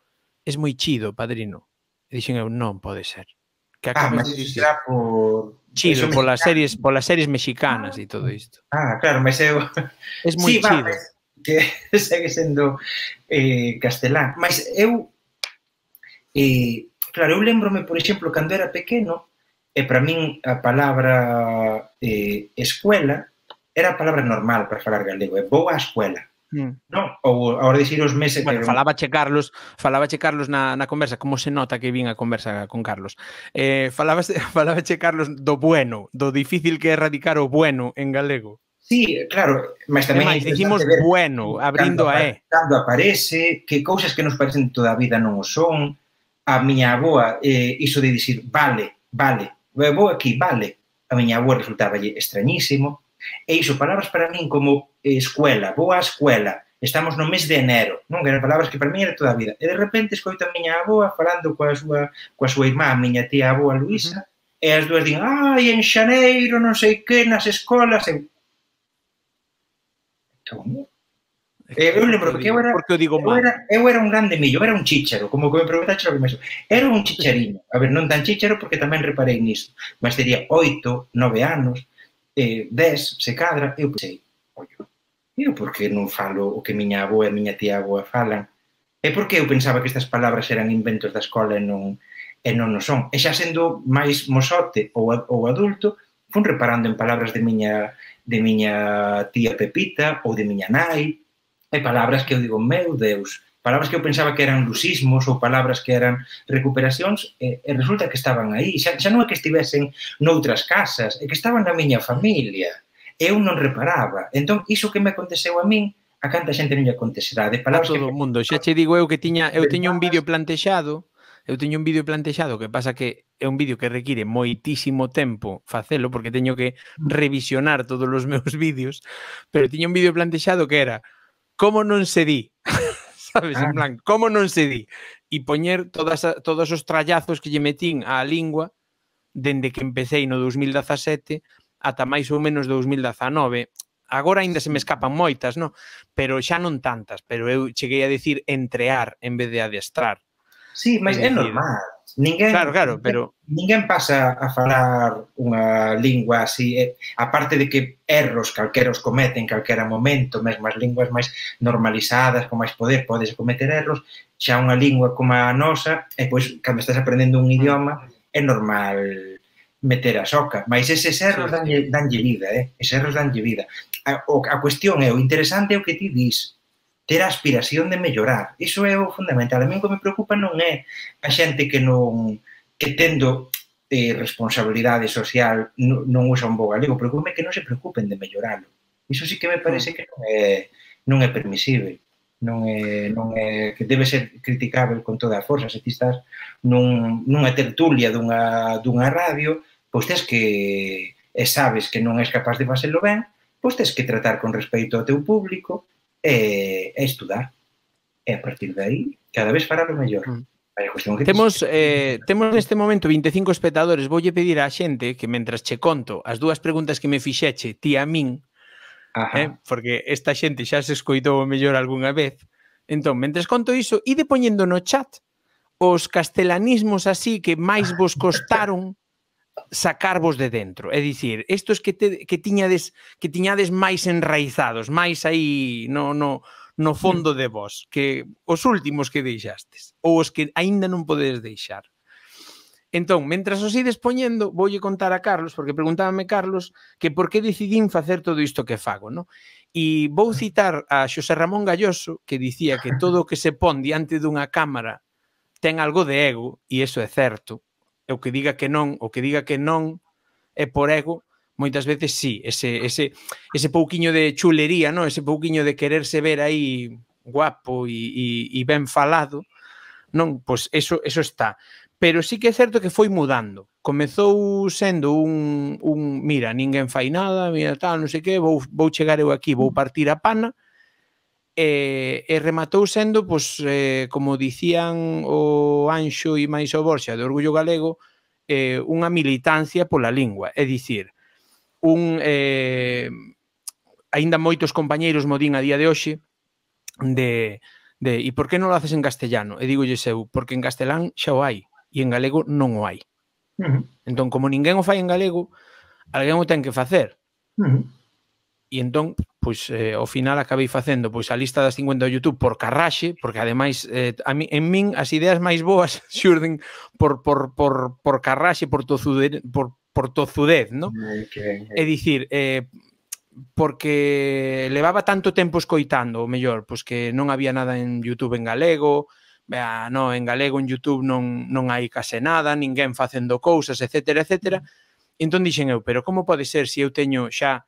es moi chido, padrino. E dixen eu, non pode ser. Que ah, mas iso será por... Chido, polas series, polas series mexicanas e todo isto. Ah, claro, mas eu... Es moi sí, chido. Va, que segue sendo eh, castelán. Mas eu... E, claro, eu lembrome, por exemplo, cando era pequeno, e para min a palabra eh, escuela era a palabra normal para falar galego, é vou á escuela. Mm. Non? Ou agora dicir os meses... Bueno, que... falabache Carlos, falabache Carlos na, na conversa, como se nota que vin a conversa con Carlos. Eh, falabache, falabache Carlos do bueno, do difícil que é erradicar o bueno en galego. Sí, claro, mas tamén... máis, dicimos bueno, abrindo a E. Cando aparece, que cousas que nos parecen toda a vida non o son. A miña avoa, eh, iso de dicir vale, vale, vou aquí, vale, a miña avoa resultaba extrañísimo, e iso, palabras para min como escuela, vou á escuela, estamos no mes de enero, non? Eran palabras que para min era toda a vida, e de repente escoito a miña avoa falando coa súa, coa súa irmá, a miña tía avoa Luisa, uh -huh. e as dúas din, ai, en xaneiro, non sei que, nas escolas, e... Como? Eu lembro que eu era, eu, digo eu, era, eu era un grande millo, era un chícharo, como que me preguntaxe o que me xo. Era un chichariño, a ver, non tan chícharo porque tamén reparei nisto, mas teria oito, nove anos, eh, dez, se cadra, eu pensei, ollo, eu por que non falo o que miña avoa e miña tía avoa falan? E por que eu pensaba que estas palabras eran inventos da escola e non, e non o son? E xa sendo máis mozote ou, ou adulto, fun reparando en palabras de miña, de miña tía Pepita ou de miña nai, e palabras que eu digo, meu Deus, palabras que eu pensaba que eran lusismos ou palabras que eran recuperacións, e, e resulta que estaban aí. Xa, xa non é que estivesen noutras casas, é que estaban na miña familia. Eu non reparaba. Entón, iso que me aconteceu a min, a canta xente non lle acontecerá. De palabras a todo o que... mundo. Xa che digo eu que tiña, eu teño un vídeo plantexado, eu teño un vídeo plantexado, que pasa que é un vídeo que require moitísimo tempo facelo, porque teño que revisionar todos os meus vídeos, pero tiño un vídeo plantexado que era como non se di, sabes, ah. en plan, como non se di, e poñer todas a, todos os trallazos que lle metín á lingua dende que empecéi no dos mil dezasete ata máis ou menos dos mil dezanove. Agora ainda se me escapan moitas, no? Pero xa non tantas, pero eu cheguei a decir entrear en vez de adestrar. Sí, mas é, é normal. Ninguén, claro, claro, pero... ninguén pasa a falar unha lingua así, eh, aparte de que erros calquera os cometen en calquera momento, mesmo as linguas máis normalizadas, con máis poder, podes cometer erros, xa unha lingua como a nosa, e pois, cando estás aprendendo un idioma, é normal meter a soca, mas eses erros danlle, danlle vida, eh? Eses erros danlle vida. A, a cuestión é, o interesante é o que ti dis, ter a aspiración de mellorar. Iso é o fundamental. A mí o que me preocupa non é a xente que non que tendo eh, responsabilidade social non, non usa un bo galego. Preocupa que non se preocupen de melloralo. Iso sí que me parece que non é, non é permisible. non é, non é que debe ser criticável con toda a forza. Se ti estás nun, nunha tertulia dunha, dunha radio, pois tens que, e sabes que non és capaz de facelo ben, pois tens que tratar con respeito ao teu público e, e estudar. E a partir de aí, cada vez fará o mellor. Mm. Temos, eh, temos neste momento vinte e cinco espectadores. Voulle pedir á xente que, mentras che conto as dúas preguntas que me fixeche ti a min, eh, porque esta xente xa se escoitou o mellor algunha vez, entón, mentres conto iso, ide poñendo no chat os castelanismos así que máis vos costaron sacarvos de dentro. É dicir, estos que, te, que, tiñades, que tiñades máis enraizados, máis aí no... no no fondo de vos, que os últimos que deixastes, ou os que aínda non podedes deixar. Entón, mentras os ides poñendo, voulle contar a Carlos, porque preguntábame Carlos que por que decidín facer todo isto que fago, non? E vou citar a Xosé Ramón Galloso, que dicía que todo o que se pon diante dunha cámara ten algo de ego, e iso é certo. E o que diga que non, o que diga que non é por ego, moitas veces sí, ese, ese, ese pouquiño de chulería, ¿no? Ese pouquiño de quererse ver aí guapo e, e, e ben falado, non? Pois eso, eso está. Pero sí que é certo que foi mudando. Comezou sendo un, un mira, ninguén fai nada, mira tal, non sei que, vou, vou chegar eu aquí, vou partir a pana, e, e rematou sendo, pois, eh, como dicían o Anxo e máis o Borxa de Orgullo Galego, eh, unha militancia pola lingua, é dicir, un eh, aínda moitos compañeiros modín a día de hoxe de, de e por que non lo haces en castellano? E digo eu, porque en castelán xa o hai e en galego non o hai. Uh-huh. Entón, como ninguén o fai en galego, alguén o ten que facer. Uh-huh. E entón, pois, eh, ao final acabei facendo pois a lista das cincuenta do YouTube por carraxe, porque ademais eh, a mi, en min as ideas máis boas xurden por, por, por, por carraxe, por tozudez, por por tozudez, ¿no? Okay, okay. É dicir, eh, porque levaba tanto tempo escoitando, o mellor, pois que non había nada en YouTube en galego, ah, no, en galego en YouTube non, non hai case nada, ninguén facendo cousas, etcétera, etcétera. Entón dixen eu, pero como pode ser se eu teño xa,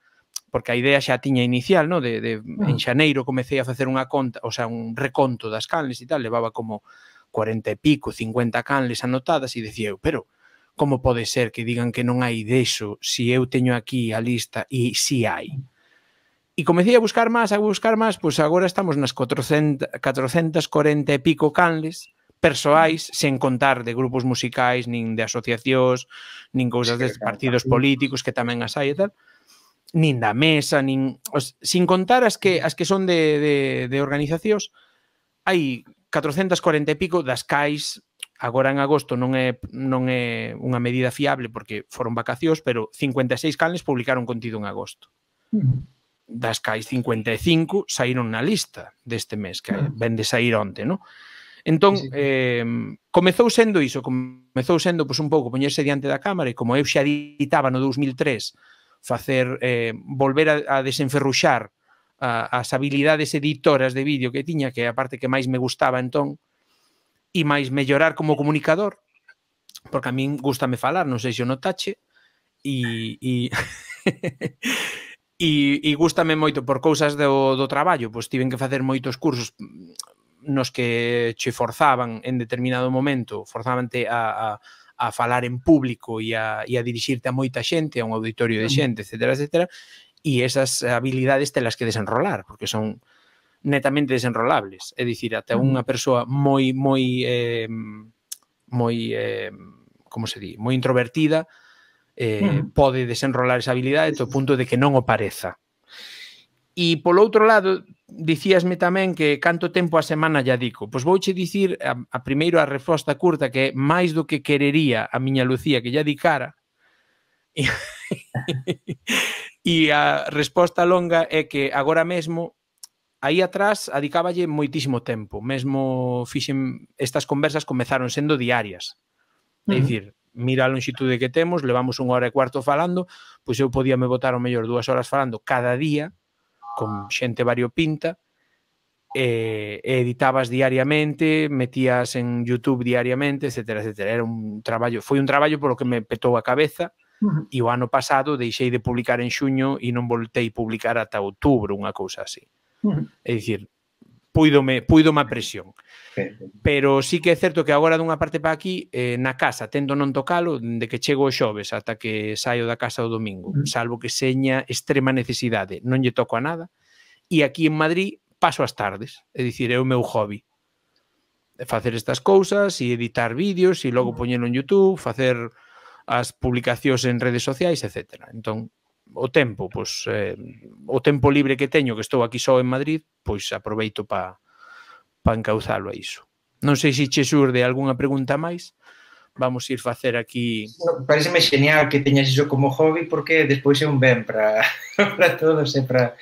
porque a idea xa tiña inicial, no? de, de, en xaneiro comecei a facer unha conta, o sea, un reconto das canles e tal, levaba como cuarenta e pico, cincuenta canles anotadas, e decía eu, pero como pode ser que digan que non hai deso se eu teño aquí a lista e si hai? E comecei a buscar máis, a buscar máis, pois agora estamos nas catrocentas cuarenta e pico canles persoais, sen contar de grupos musicais, nin de asociacións, nin cousas de partidos políticos, que tamén as hai e tal, nin da mesa, nin, os, sin contar as que, as que son de, de, de organizacións, hai catrocentas cuarenta e pico das cais. Agora en agosto non é, non é unha medida fiable porque foron vacacións, pero cincuenta e seis canles publicaron contido en agosto. Uh-huh. Das cais cincuenta e cinco saíron na lista deste mes, que uh-huh. ven de sair onte, non? Entón, sí, sí. Eh, comezou sendo iso, comezou sendo pues, un pouco poñerse diante da cámara e como eu xa editaba no dous mil tres facer, eh, volver a, a desenferruxar a, as habilidades editoras de vídeo que tiña, que é a parte que máis me gustaba entón, e máis mellorar como comunicador, porque a min gústame falar, non sei se o notache, e, e, e, e gústame moito por cousas do, do traballo, pois tiven que facer moitos cursos nos que che forzaban en determinado momento, forzavante a, a, a falar en público e a, e a dirixirte a moita xente, a un auditorio de xente, etcétera, etcétera, e esas habilidades telas que desenrolar, porque son netamente desenrolables, é dicir, ata unha persoa moi, moi, eh, moi, eh, como se di, moi introvertida, eh, uh-huh. pode desenrolar esa habilidade ao punto de que non o pareza. E, polo outro lado, dicíasme tamén que canto tempo a semana lla dico. Pois vouche dicir, a, a primeiro a resposta curta, que é máis do que querería a miña Lucía que lla dicara, e, e a resposta longa é que agora mesmo aí atrás adicáballe moitísimo tempo, mesmo fixen, estas conversas comezaron sendo diarias. É dicir, mira a longitude que temos, levamos unha hora e cuarto falando, pois eu podía me botar o mellor dúas horas falando cada día, con xente variopinta, e, e editabas diariamente, metías en YouTube diariamente, etcétera, etcétera. Era un traballo, foi un traballo polo que me petou a cabeza, uh-huh. e o ano pasado deixei de publicar en xuño e non voltei publicar ata outubro, unha cousa así. Uh-huh. É dicir, puidome, puidome a presión. Pero sí que é certo que agora dunha parte para aquí, eh, na casa, tendo non tocalo, de que chego o xoves ata que saio da casa o domingo, salvo que seña extrema necesidade, non lle toco a nada. E aquí en Madrid paso as tardes, é dicir, é o meu hobby. Facer estas cousas e editar vídeos e logo poñelo en YouTube, facer as publicacións en redes sociais, etcétera. Entón, o tempo, pois, eh, o tempo libre que teño, que estou aquí só en Madrid, pois aproveito para pa encauzalo a iso. Non sei se che surde algunha pregunta máis. Vamos ir facer aquí... No, pareceme genial que teñas iso como hobby porque despois é un ben para para todos e para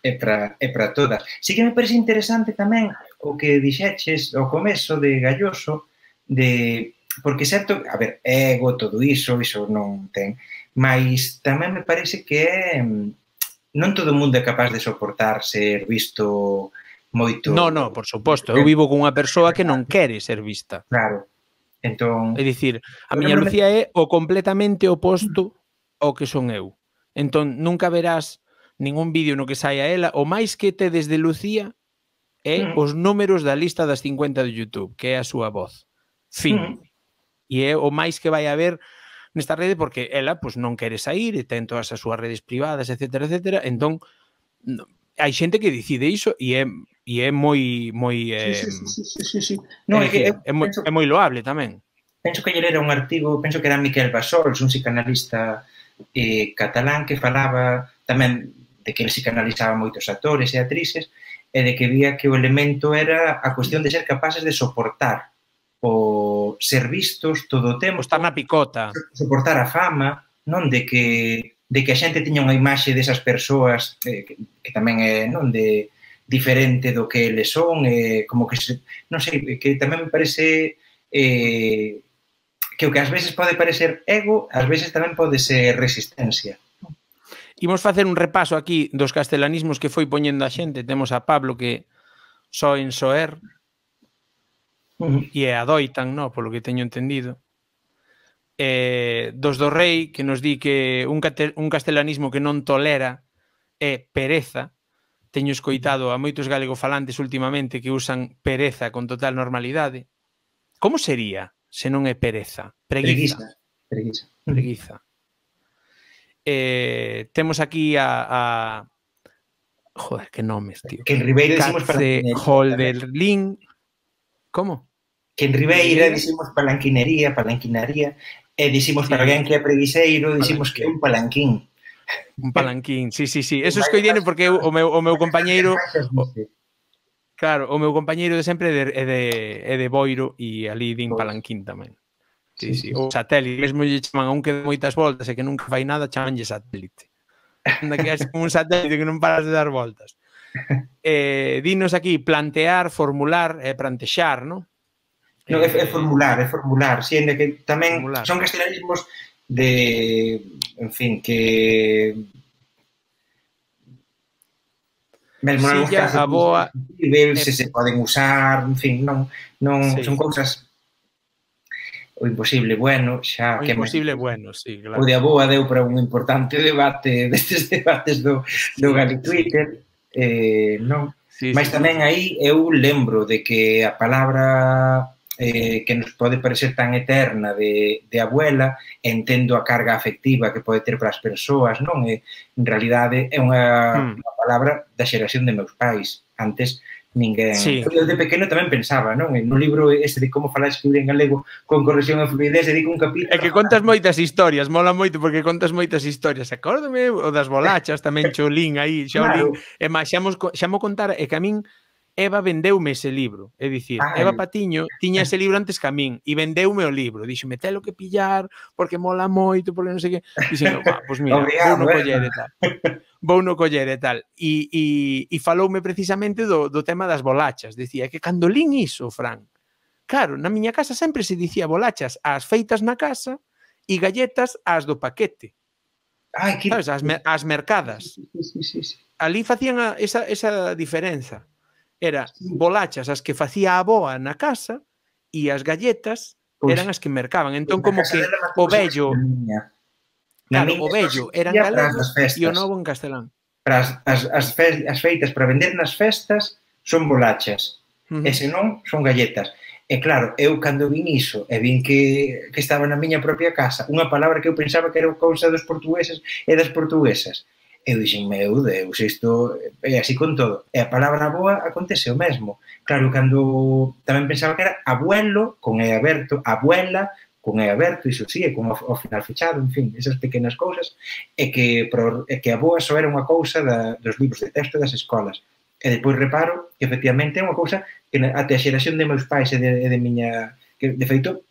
e para e para todas. Sí que me parece interesante tamén o que dixeches ao comezo de Galloso, de porque certo, a ver, ego, todo iso, iso non ten, mas tamén me parece que é, non todo o mundo é capaz de soportar ser visto moito... No, no, por suposto. Eu vivo con unha persoa que non quere ser vista. Claro. Entón... É dicir, a miña Lucía é o completamente oposto ao que son eu. Entón, nunca verás ningún vídeo no que saia ela. O máis que te desde Lucía é mm. os números da lista das cincuenta de YouTube, que é a súa voz. Fin. Mm. E é o máis que vai haber nesta rede porque ela pues, non quere sair e ten todas as súas redes privadas, etcétera, etcétera. Entón, no, hai xente que decide iso e é, e é moi moi eh, sí, sí, sí, sí, sí. No, é, que, é, moi, é moi loable tamén. Penso que lle era un artigo, penso que era Miquel Bassols, un psicanalista eh, catalán que falaba tamén de que ele psicanalizaba moitos actores e actrices e de que vía que o elemento era a cuestión de ser capaces de soportar o ser vistos todo o tempo, estar na picota, soportar a fama, non de que de que a xente tiña unha imaxe desas persoas eh, que, que tamén é non de diferente do que eles son, eh, como que se, non sei, que tamén me parece eh, que o que ás veces pode parecer ego, ás veces tamén pode ser resistencia. Imos facer un repaso aquí dos castelanismos que foi poñendo a xente. Temos a Pablo que só en soer uh-huh. e adoitan, no, polo que teño entendido. Eh, dos do Rei, que nos di que un, un castelanismo que non tolera é pereza. Teño escoitado a moitos galegofalantes últimamente que usan pereza con total normalidade. Como sería se non é pereza? Preguiza. Preguiza. Preguiza. Eh, temos aquí a, a... Joder, que nomes, tío. Que en Ribeira dicimos Holderlin. Como? Que en Ribeira dicimos palanquinería, palanquinaría. E dicimos, sí, para alguén que é preguiceiro, dicimos que é un palanquín. Un palanquín, sí, sí, sí. Eso es que viene porque o meu, o meu compañeiro... O, claro, o meu compañeiro de sempre é de, de, é de Boiro e ali din palanquín tamén. Sí, sí. O satélite, mesmo lle chaman a un que dá moitas voltas e que nunca fai nada, chamanlle satélite. Anda que é como un satélite que non paras de dar voltas. Eh, dinos aquí, plantear, formular, eh, plantexar, non? No, é, é formular, é formular, si, sí, que tamén formular. Son castelanismos de, en fin, que mesmo sí, ya, a boa se se poden usar, en fin, non, non sí. Son cousas o imposible bueno, xa o que imposible me... bueno, sí, claro. O de Aboa deu para un importante debate destes debates do, do Gali Twitter, eh, non? Sí, mas sí, tamén sí. Aí eu lembro de que a palabra Eh, que nos pode parecer tan eterna de, de abuela, entendo a carga afectiva que pode ter para as persoas, non? E, en realidade, é unha, mm. unha palabra da xeración de meus pais. Antes, ninguén... Sí. Eu de pequeno tamén pensaba, non? No libro este de como falar escribir en galego con corrección e fluidez, dedico un capítulo... É que contas moitas historias, mola moito porque contas moitas historias. Acórdame o das bolachas, tamén Cholín aí, Xaolín. Claro. E máis, xa mo contar, é que a min Eva vendeume ese libro, é dicir, Ay. Eva Patiño tiña ese libro antes que a min e vendeume o libro, díxome, telo que pillar porque mola moito, porque non sei que, dixen, va, pois mira, vou no coller e tal, vou no coller e tal, e, e, e faloume precisamente do, do tema das bolachas, dicía que cando lín iso, Fran, claro, na miña casa sempre se dicía bolachas as feitas na casa e galletas as do paquete, Ay, que... sabes, as, mer as mercadas, sí, sí, sí, sí. Ali facían a, esa, esa diferenza. Era bolachas as que facía a aboa na casa e as galletas pues, eran as que mercaban. Entón, como que o vello... Claro, o vello eran galegos e o novo en castelán. Para as, as, as, fe, as feitas para vender nas festas son bolachas, uh -huh. e se non, son galletas. E claro, eu cando vin iso e vin que, que estaba na miña propia casa unha palabra que eu pensaba que era cousa dos portugueses e das portuguesas, eu dixen, meu Deus, isto é así con todo. E a palabra aboa acontece o mesmo. Claro, cando tamén pensaba que era abuelo, con E aberto, abuela, con E aberto, iso sí, e con o, o final fechado, en fin, esas pequenas cousas, e que, pro, e que a boa só era unha cousa da, dos libros de texto das escolas. E depois reparo que, efectivamente, é unha cousa que até a xeración de meus pais e de, de miña... que, de feito,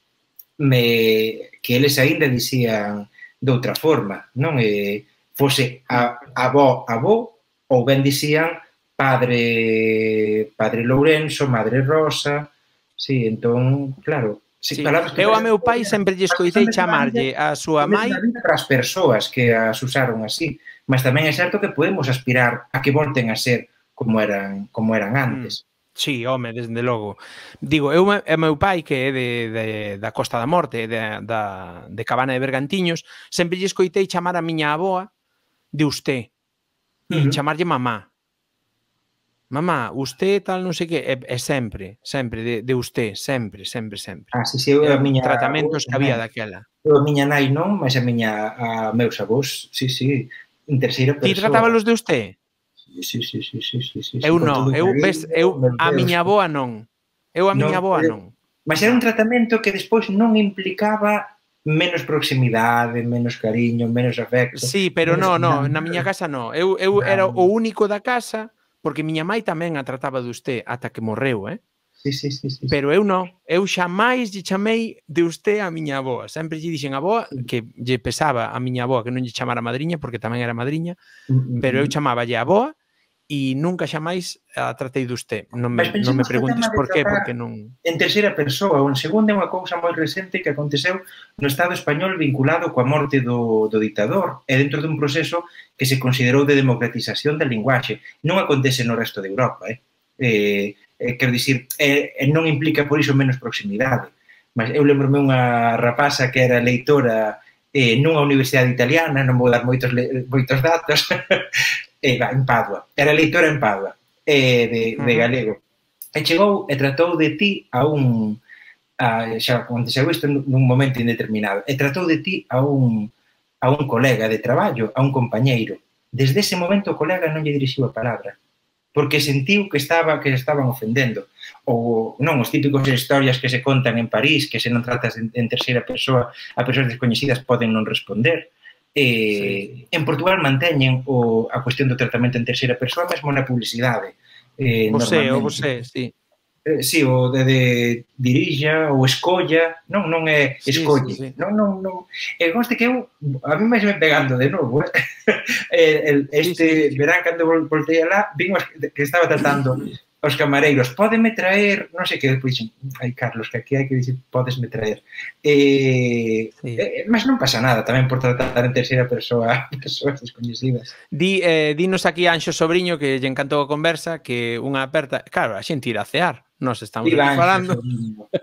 me, que eles aínda dicían de outra forma, non? E fose a, avó, avó, ou ben dicían padre, padre Lourenço, madre Rosa, sí, entón, claro... Sí. Eu a meu pai sempre lle escoitei chamarlle a súa mai para as persoas que as usaron así, mas tamén é certo que podemos aspirar a que volten a ser como eran como eran antes. Mm. Sí, home, desde logo. Digo, eu e meu pai, que é de, de, da Costa da Morte, de, da, de Cabana de Bergantiños, sempre lle escoitei chamar a miña aboa de usté e uh -huh. chamarlle mamá. Mamá, usted tal, non sei que, é, é sempre, sempre, de, de usted, sempre, sempre, sempre. Ah, sí, sí, eu a miña... Tratamentos que había daquela. Eu a miña nai non, mas a miña, a meus avós, sí, sí, en terceira persoa. Ti tratábalos de usted? Sí, sí, sí, sí, sí, sí. Eu non, eu, ves, eu, a miña aboa non. Eu a miña aboa non. Mas era un tratamento que despois non implicaba menos proximidade, menos cariño, menos afecto. Sí, pero non, non, na miña casa non. Eu, eu era o único da casa... Porque miña mai tamén a trataba de usted ata que morreu, eh? Sí, sí, sí, sí. Pero eu non. Eu xamais lle chamei de usted a miña aboa. Sempre lle dixen a aboa, que lle pesaba a miña aboa que non lle chamara madriña, porque tamén era madriña, pero eu chamáballe a aboa e nunca xamais a tratei de usted. Non me, non me preguntes por qué, porque non... En terceira persoa ou en segunda é unha cousa moi recente que aconteceu no Estado español vinculado coa morte do, do dictador e dentro dun proceso que se considerou de democratización da linguaxe. Non acontece no resto de Europa, eh? eh, eh quero dicir, eh, non implica por iso menos proximidade. Mas eu lembro-me unha rapaza que era leitora eh, nunha universidade italiana, non vou dar moitos, moitos datos, eh, en Padua. Era leitora en Padua, eh, de, de galego. E chegou e tratou de ti a un... A, xa aconteceu isto nun momento indeterminado. E tratou de ti a un, a un colega de traballo, a un compañeiro. Desde ese momento o colega non lle dirixiu a palabra, porque sentiu que estaba que estaban ofendendo. Ou non, os típicos historias que se contan en París, que se non tratas en, en terceira persoa a persoas descoñecidas poden non responder. Eh, sí. En Portugal manteñen o, a cuestión do tratamento en terceira persoa mesmo na publicidade. Eh, vosé, o vosé, sí. Eh, sí, o de, de dirija ou escolla, non, non é escolle. Sí, sí, sí. Non, non, non. E conste que eu, a mí máis me pegando de novo, eh? el, este sí, sí, sí. verán cando voltei alá, vimos que estaba tratando os camareiros, pódeme traer, non sei que, depois dixen, ai Carlos, que aquí hai que dicir, pódesme traer. Eh, sí. eh, mas non pasa nada tamén por tratar en terceira persoa persoas descoñecidas. Di, eh, dinos aquí a Anxo Sobriño, que lle encantou a conversa, que unha aperta, claro, a xente irá a cear. Nos estamos falando.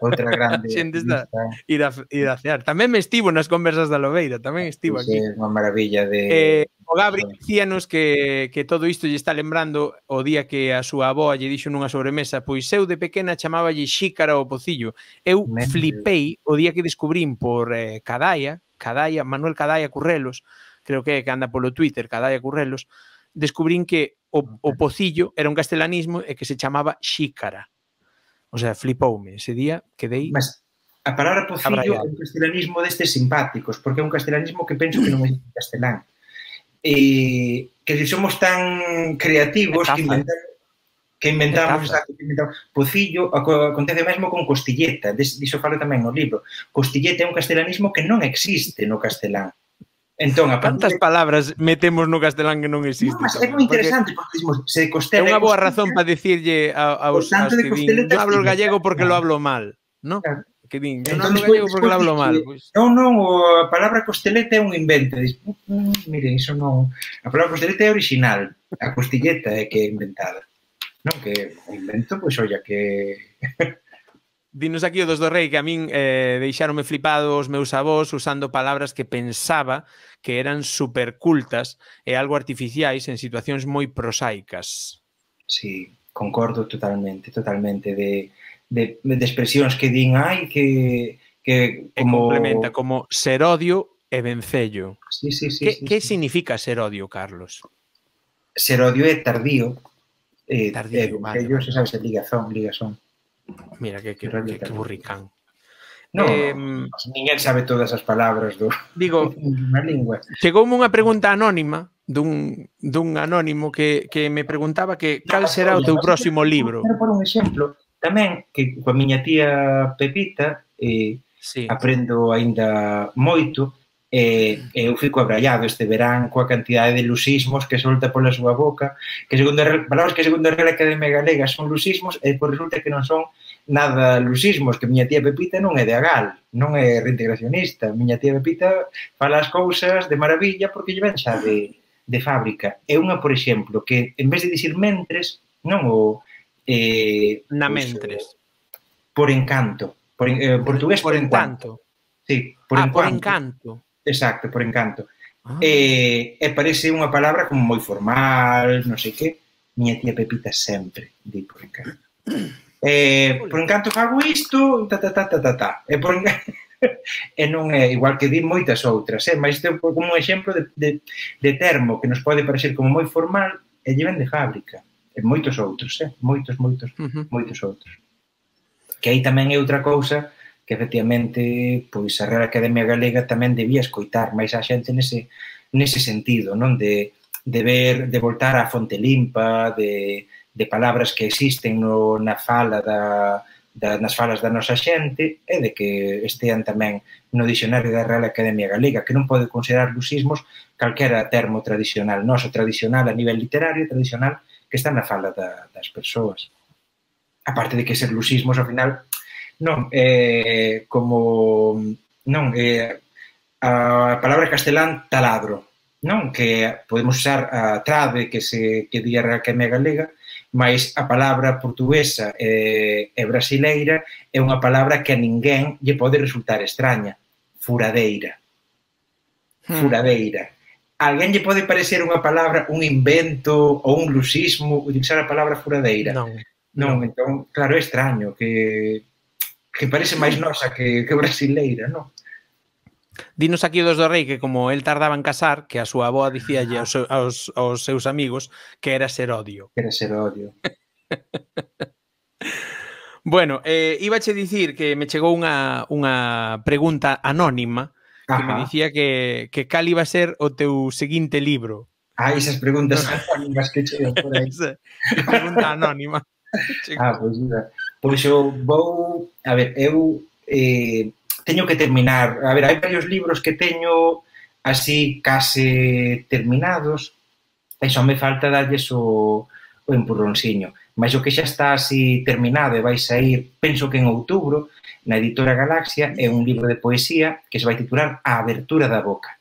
Outra grande. Xente está ir a, ir a cear. Tamén me estivo nas conversas da Lobeira, tamén estivo aquí. É unha maravilla de... Eh, o Gabri dicíanos que, que todo isto lle está lembrando o día que a súa aboa lle dixo nunha sobremesa, pois eu de pequena chamáballe xícara ao pocillo. Eu flipei o día que descubrín por eh, Cadaia, Cadaia, Manuel Cadaia Currelos, creo que é que anda polo Twitter, Cadaia Currelos, descubrín que o, o pocillo era un castelanismo e que se chamaba xícara. O sea, flipoume. Ese día quedei... Mas a palabra pocillo é un castelanismo destes simpáticos, porque é un castelanismo que penso que non é castelán. E que se somos tan creativos que inventamos, que inventamos, exacto, que inventamos pocillo, acontece mesmo con costilleta, diso falo tamén no libro. Costilleta é un castelanismo que non existe no castelán. Entón, a Cantas de... palabras metemos no castelán que non existe? No, mas é moi interesante, porque, porque se costela... É unha boa razón para dicirlle aos, aos que din, non hablo gallego porque lo hablo mal, non? Claro. Que din, yo non hablo gallego porque lo hablo mal. Pues... Non, non, a palabra costeleta é un invento. Diz, mm, miren, iso non... A palabra costeleta é original, a costilleta é que é inventada. Non, que o invento, pois, olla, que... Dinos aquí o dos do rei que a min eh, deixaronme flipado os meus avós usando palabras que pensaba que eran supercultas e algo artificiais en situacións moi prosaicas. Sí, concordo totalmente, totalmente, de, de, de expresións que din, ai, que, que como... E complementa como ser odio e vencello. Sí, sí, sí. Que, sí, que sí. significa ser odio, Carlos? Ser odio é tardío. Eh, tardío, eh, vale, vencello, vale. se sabes, é ligazón, ligazón. Mira, que, que, que, que burricán. No, eh, no, ninguén sabe todas as palabras do, digo, na lingua. Chegoume unha pregunta anónima dun, dun anónimo que, que me preguntaba que cal será o teu próximo libro. Quero por un exemplo, tamén, que coa miña tía Pepita eh, sí. aprendo aínda moito, e eh, eu fico abraiado este verán coa cantidade de lusismos que solta pola súa boca, que segundo a, palabras que segundo a Real Academia Galega son lusismos, e por resulta que non son nada lusismos, que miña tía Pepita non é de Agal, non é reintegracionista. Miña tía Pepita fala as cousas de maravilla porque lle ven xa de, de fábrica. É unha, por exemplo, que en vez de dicir mentres, non o... Eh, Na pues, mentres. Por encanto. Por, eh, por, portugués por, por encanto. Sí, por ah, encanto. por encanto. Exacto, por encanto. Ah. E, e parece unha palabra como moi formal, non sei que. Miña tía Pepita sempre di por encanto. Eh, por encanto fago isto, ta, ta, ta, ta, ta, ta. E, por encanto... e non é igual que di moitas outras, eh? Mas isto é como un exemplo de, de, de termo que nos pode parecer como moi formal e lle ven de fábrica. E moitos outros, eh? Moitos, moitos, uh-huh. moitos outros. Que aí tamén é outra cousa que efectivamente pois a Real Academia Galega tamén debía escoitar máis a xente nese, nese sentido, non? De, de ver, de voltar á fonte limpa, de de palabras que existen no, na fala da, da, nas falas da nosa xente e de que estean tamén no dicionario da Real Academia Galega, que non pode considerar lusismos calquera termo tradicional, noso tradicional a nivel literario, tradicional, que está na fala da, das persoas. Aparte de que ser lusismos, ao final, non, é como, non, é a palabra castelán taladro, non, que podemos usar a trave que se que di a Real Academia Galega, mas a palabra portuguesa e, e brasileira é unha palabra que a ninguén lle pode resultar extraña. Furadeira. Furadeira. A alguén lle pode parecer unha palabra, un invento ou un lusismo utilizar a palabra furadeira? Non. Non, non. Entón, claro, é extraño, que, que parece máis nosa que, que brasileira, non? Dinos aquí dos do Rei que como el tardaba en casar, que a súa avoa dicíalle aos, aos, aos seus amigos que era ser odio. Que era ser odio. Bueno, eh, íbache dicir que me chegou unha, unha pregunta anónima que Ajá. me dicía que, que cal iba a ser o teu seguinte libro. Ah, esas preguntas anónimas que chegan por aí. Esa pregunta anónima. Ah, pois pues, pois eu vou... A ver, eu... Eh, teño que terminar, a ver, hai varios libros que teño así case terminados e só me falta darlles o, o empurronciño, mas o que xa está así terminado e vai sair, penso que en outubro, na editora Galaxia, é un libro de poesía que se vai titular A abertura da boca.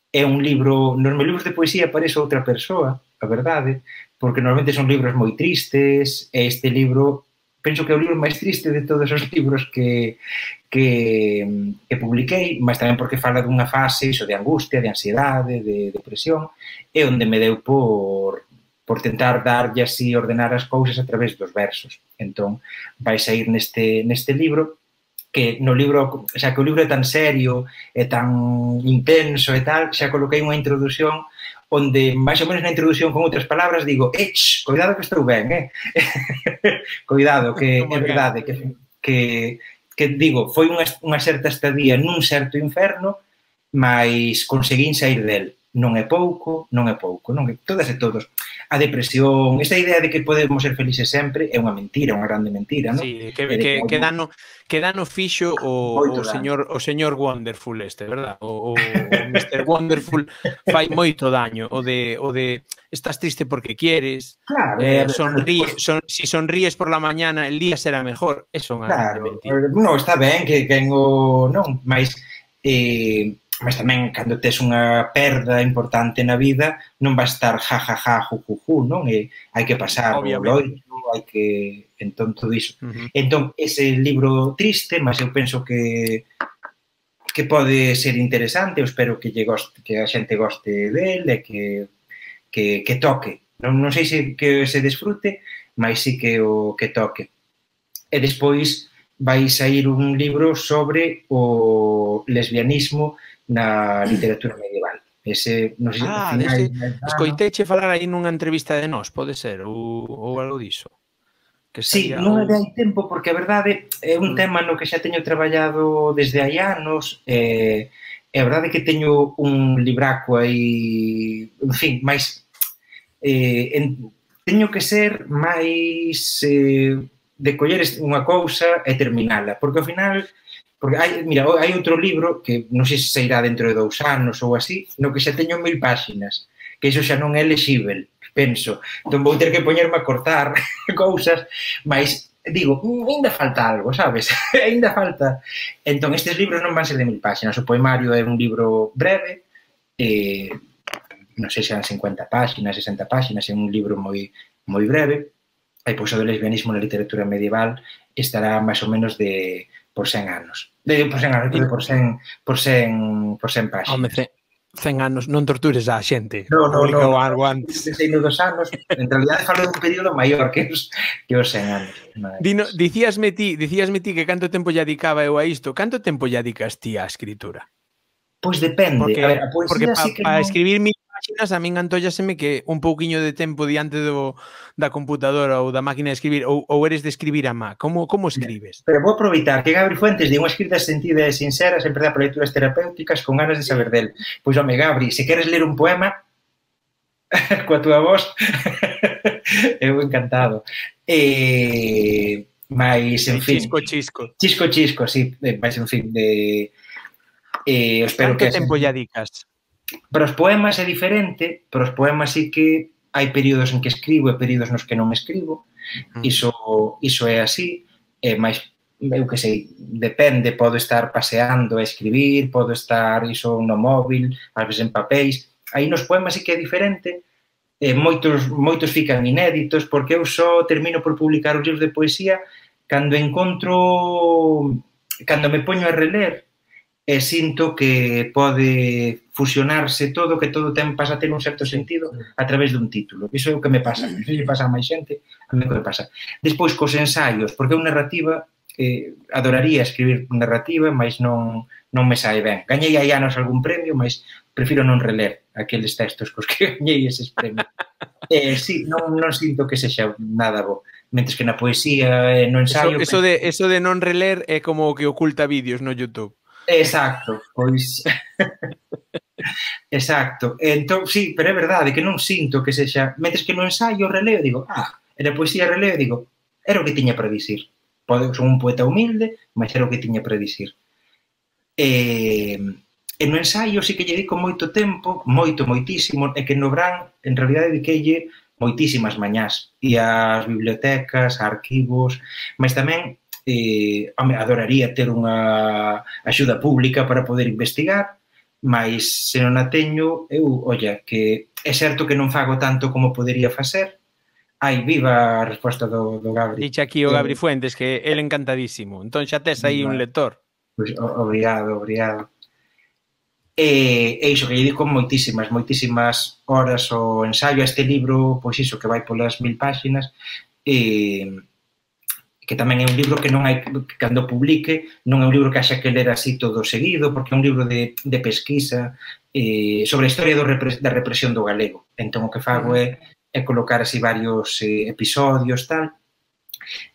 É un libro, nos meus libros de poesía aparece outra persoa, a verdade, porque normalmente son libros moi tristes, e este libro penso que é o libro máis triste de todos os libros que, que, que publiquei, mas tamén porque fala dunha fase iso de angustia, de ansiedade, de depresión, e onde me deu por, por tentar darlle así, ordenar as cousas a través dos versos. Entón, vai sair neste, neste libro, que no libro, xa que o libro é tan serio, é tan intenso e tal, xa coloquei unha introdución onde, máis ou menos na introdución con outras palabras, digo, ech, cuidado que estou ben, eh? Cuidado, que é verdade, que, que, que digo, foi unha, unha certa estadía nun certo inferno, mas conseguín sair del. Non é pouco, non é pouco, non é todas e todos. A depresión, esta idea de que podemos ser felices sempre é unha mentira, unha grande mentira, non? Sí, que, que, que, dano, que dano fixo o, o señor o señor Wonderful este, verdad? O, o, o mister Wonderful fai moito daño, o de o de estás triste porque quieres, claro, eh, sonríe, son, si sonríes por la mañana el día será mejor, eso é unha claro, grande mentira. Non, está ben que ten o non, mas eh mas tamén, cando tes unha perda importante na vida, non va a estar ja, ja, ja, ju, ju, ju, non? E hai que pasar o loito, hai que... Entón, todo iso. Uh-huh. Entón, ese libro triste, mas eu penso que que pode ser interesante, eu espero que, lle goste, que a xente goste del e que, que, que toque. Non, non sei se que se desfrute, mas sí que o que toque. E despois vai sair un libro sobre o lesbianismo na literatura medieval. Ese, non sei, Ah, finais dese, de ano. escoiteiche falar aí nunha entrevista de nós, pode ser, ou, ou algo diso. Que Sí, estaría, non é ou... de hai tempo, porque a verdade é un tema no que xa teño traballado desde hai anos, e é a verdade que teño un libraco aí, en fin, máis... Eh, en, teño que ser máis eh, de coller unha cousa e terminala, porque ao final... Porque hai, mira, hai outro libro que non sei se sairá dentro de dous anos ou así, no que xa teño mil páxinas, que iso xa non é lexível, penso. Entón vou ter que poñerme a cortar cousas, mas digo, ainda falta algo, sabes? Ainda falta. Entón estes libros non van ser de mil páxinas, o poemario é un libro breve, eh, non sei se eran cincuenta páxinas, sesenta páxinas, é un libro moi moi breve, e pois o do lesbianismo na literatura medieval estará máis ou menos de por cen anos. De, por cen anos, por cen, por cen, por cen páxinas. Home, cen anos, non tortures a xente. No, no, publicou no, algo no, antes. Desde dos anos, en realidad falo dun período maior que os, que os cen anos. Dino, dicíasme ti, dicíasme ti que canto tempo lle dedicaba eu a isto. Canto tempo lle dedicas ti á escritura? Pois depende. Porque, a ver, a poesía porque pa, sí que para non... escribir mil páxinas a min antollaseme que un pouquiño de tempo diante do, da computadora ou da máquina de escribir, ou, ou eres de escribir a má. Como, como escribes? Pero vou aproveitar que Gabri Fuentes di unha escrita sentida e sincera sempre dá para lecturas terapéuticas con ganas de saber del. Pois, home, Gabri, se queres ler un poema coa túa voz, eu encantado. E... Mais, en fin... Chisco, chisco. Chisco, chisco, sí. Mais, en fin, de... Eh, espero Canto que tempo lle dedicas? Para os poemas é diferente, para os poemas sí que hai períodos en que escribo e períodos nos que non escribo. Mm. Iso, iso é así, é máis, eu que sei, depende, podo estar paseando a escribir, podo estar iso no móvil, ás veces en papéis. Aí nos poemas sí que é diferente, eh, moitos, moitos fican inéditos, porque eu só termino por publicar os libros de poesía cando encontro, cando me poño a reler, e sinto que pode fusionarse todo, que todo ten, pasa a ter un certo sentido a través dun título. Iso é o que me pasa. Iso lle pasa a máis xente, a mí que me pasa. Despois, cos ensaios, porque eu narrativa, eh, adoraría escribir narrativa, mas non, non me sae ben. Gañei hai anos algún premio, mas prefiro non reler aqueles textos cos que gañei eses premios. Eh, sí, non, non sinto que sexa nada bo. Mentres que na poesía e no ensaio... Eso, eso, de, eso de non reler é como o que oculta vídeos no YouTube. Exacto, pois... Exacto. Entón, sí, pero é verdade que non sinto que sexa... Mentres que no ensaio releo, digo, ah, e na poesía releo, digo, era o que tiña para dicir. Pode, son un poeta humilde, mas era o que tiña para dicir. E, e no ensaio sí que lle dedico moito tempo, moito, moitísimo, e que no Bran, en realidad, dediqueille moitísimas mañás. E ás bibliotecas, a arquivos, mas tamén... Eh, home, adoraría ter unha axuda pública para poder investigar, mas se non a teño, eu, olla, que é certo que non fago tanto como podería facer. Ai, viva a resposta do, do Gabri. Dixe aquí o Gabri Fuentes que ele encantadísimo. Entón xa tes aí un lector. Pois, obrigado, obrigado. E, e iso, que lle digo moitísimas, moitísimas horas o ensaio a este libro, pois iso, que vai polas mil páxinas, e... que tamén é un libro que non hai, que cando publique, non é un libro que haxa que ler así todo seguido, porque é un libro de, de pesquisa eh, sobre a historia do repre, da represión do galego. Entón, o que fago é, é colocar así varios eh, episodios, tal.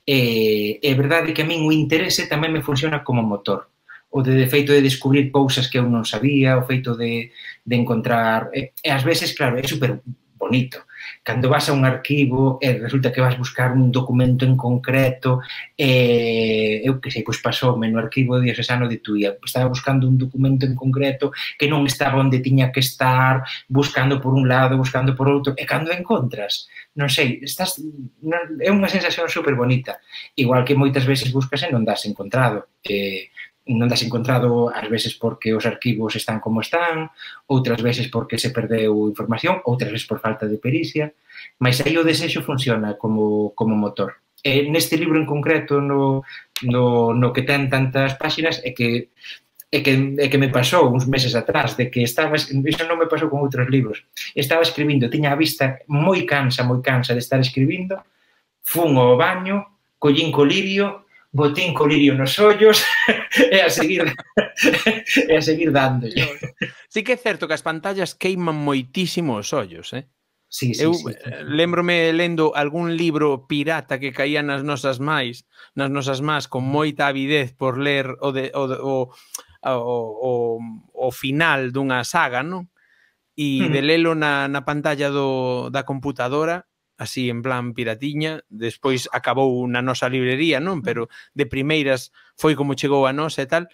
E é verdade que a min o interese tamén me funciona como motor. O de, de feito de descubrir cousas que eu non sabía, o feito de, de encontrar... E, e ás veces, claro, é super bonito. Cando vas a un arquivo e resulta que vas buscar un documento en concreto, e eu que sei, pois pasoume no arquivo diocesano de Tuía, estaba buscando un documento en concreto que non estaba onde tiña que estar, buscando por un lado, buscando por outro, e cando encontras, non sei, estás, non, é unha sensación super bonita, igual que moitas veces buscas e non das encontrado, e non das encontrado ás veces porque os arquivos están como están, outras veces porque se perdeu información, outras veces por falta de pericia, mas aí o desexo funciona como, como motor. E neste libro en concreto, no, no, no que ten tantas páxinas, é que, é que, é que me pasou uns meses atrás, de que estaba, iso non me pasou con outros libros, estaba escribindo, tiña a vista moi cansa, moi cansa de estar escribindo, fun ao baño, collín colirio, botín colirio nos ollos e a seguir e a seguir dándolle. Sí que é certo que as pantallas queiman moitísimo os ollos, eh? Sí, sí, Eu sí. lembrome lendo algún libro pirata que caía nas nosas máis, nas nosas más con moita avidez por ler o, de, o, o, o, o, o final dunha saga, non? E de lelo na, na pantalla do, da computadora, así en plan piratiña, despois acabou na nosa librería, non? Pero de primeiras foi como chegou a nosa e tal,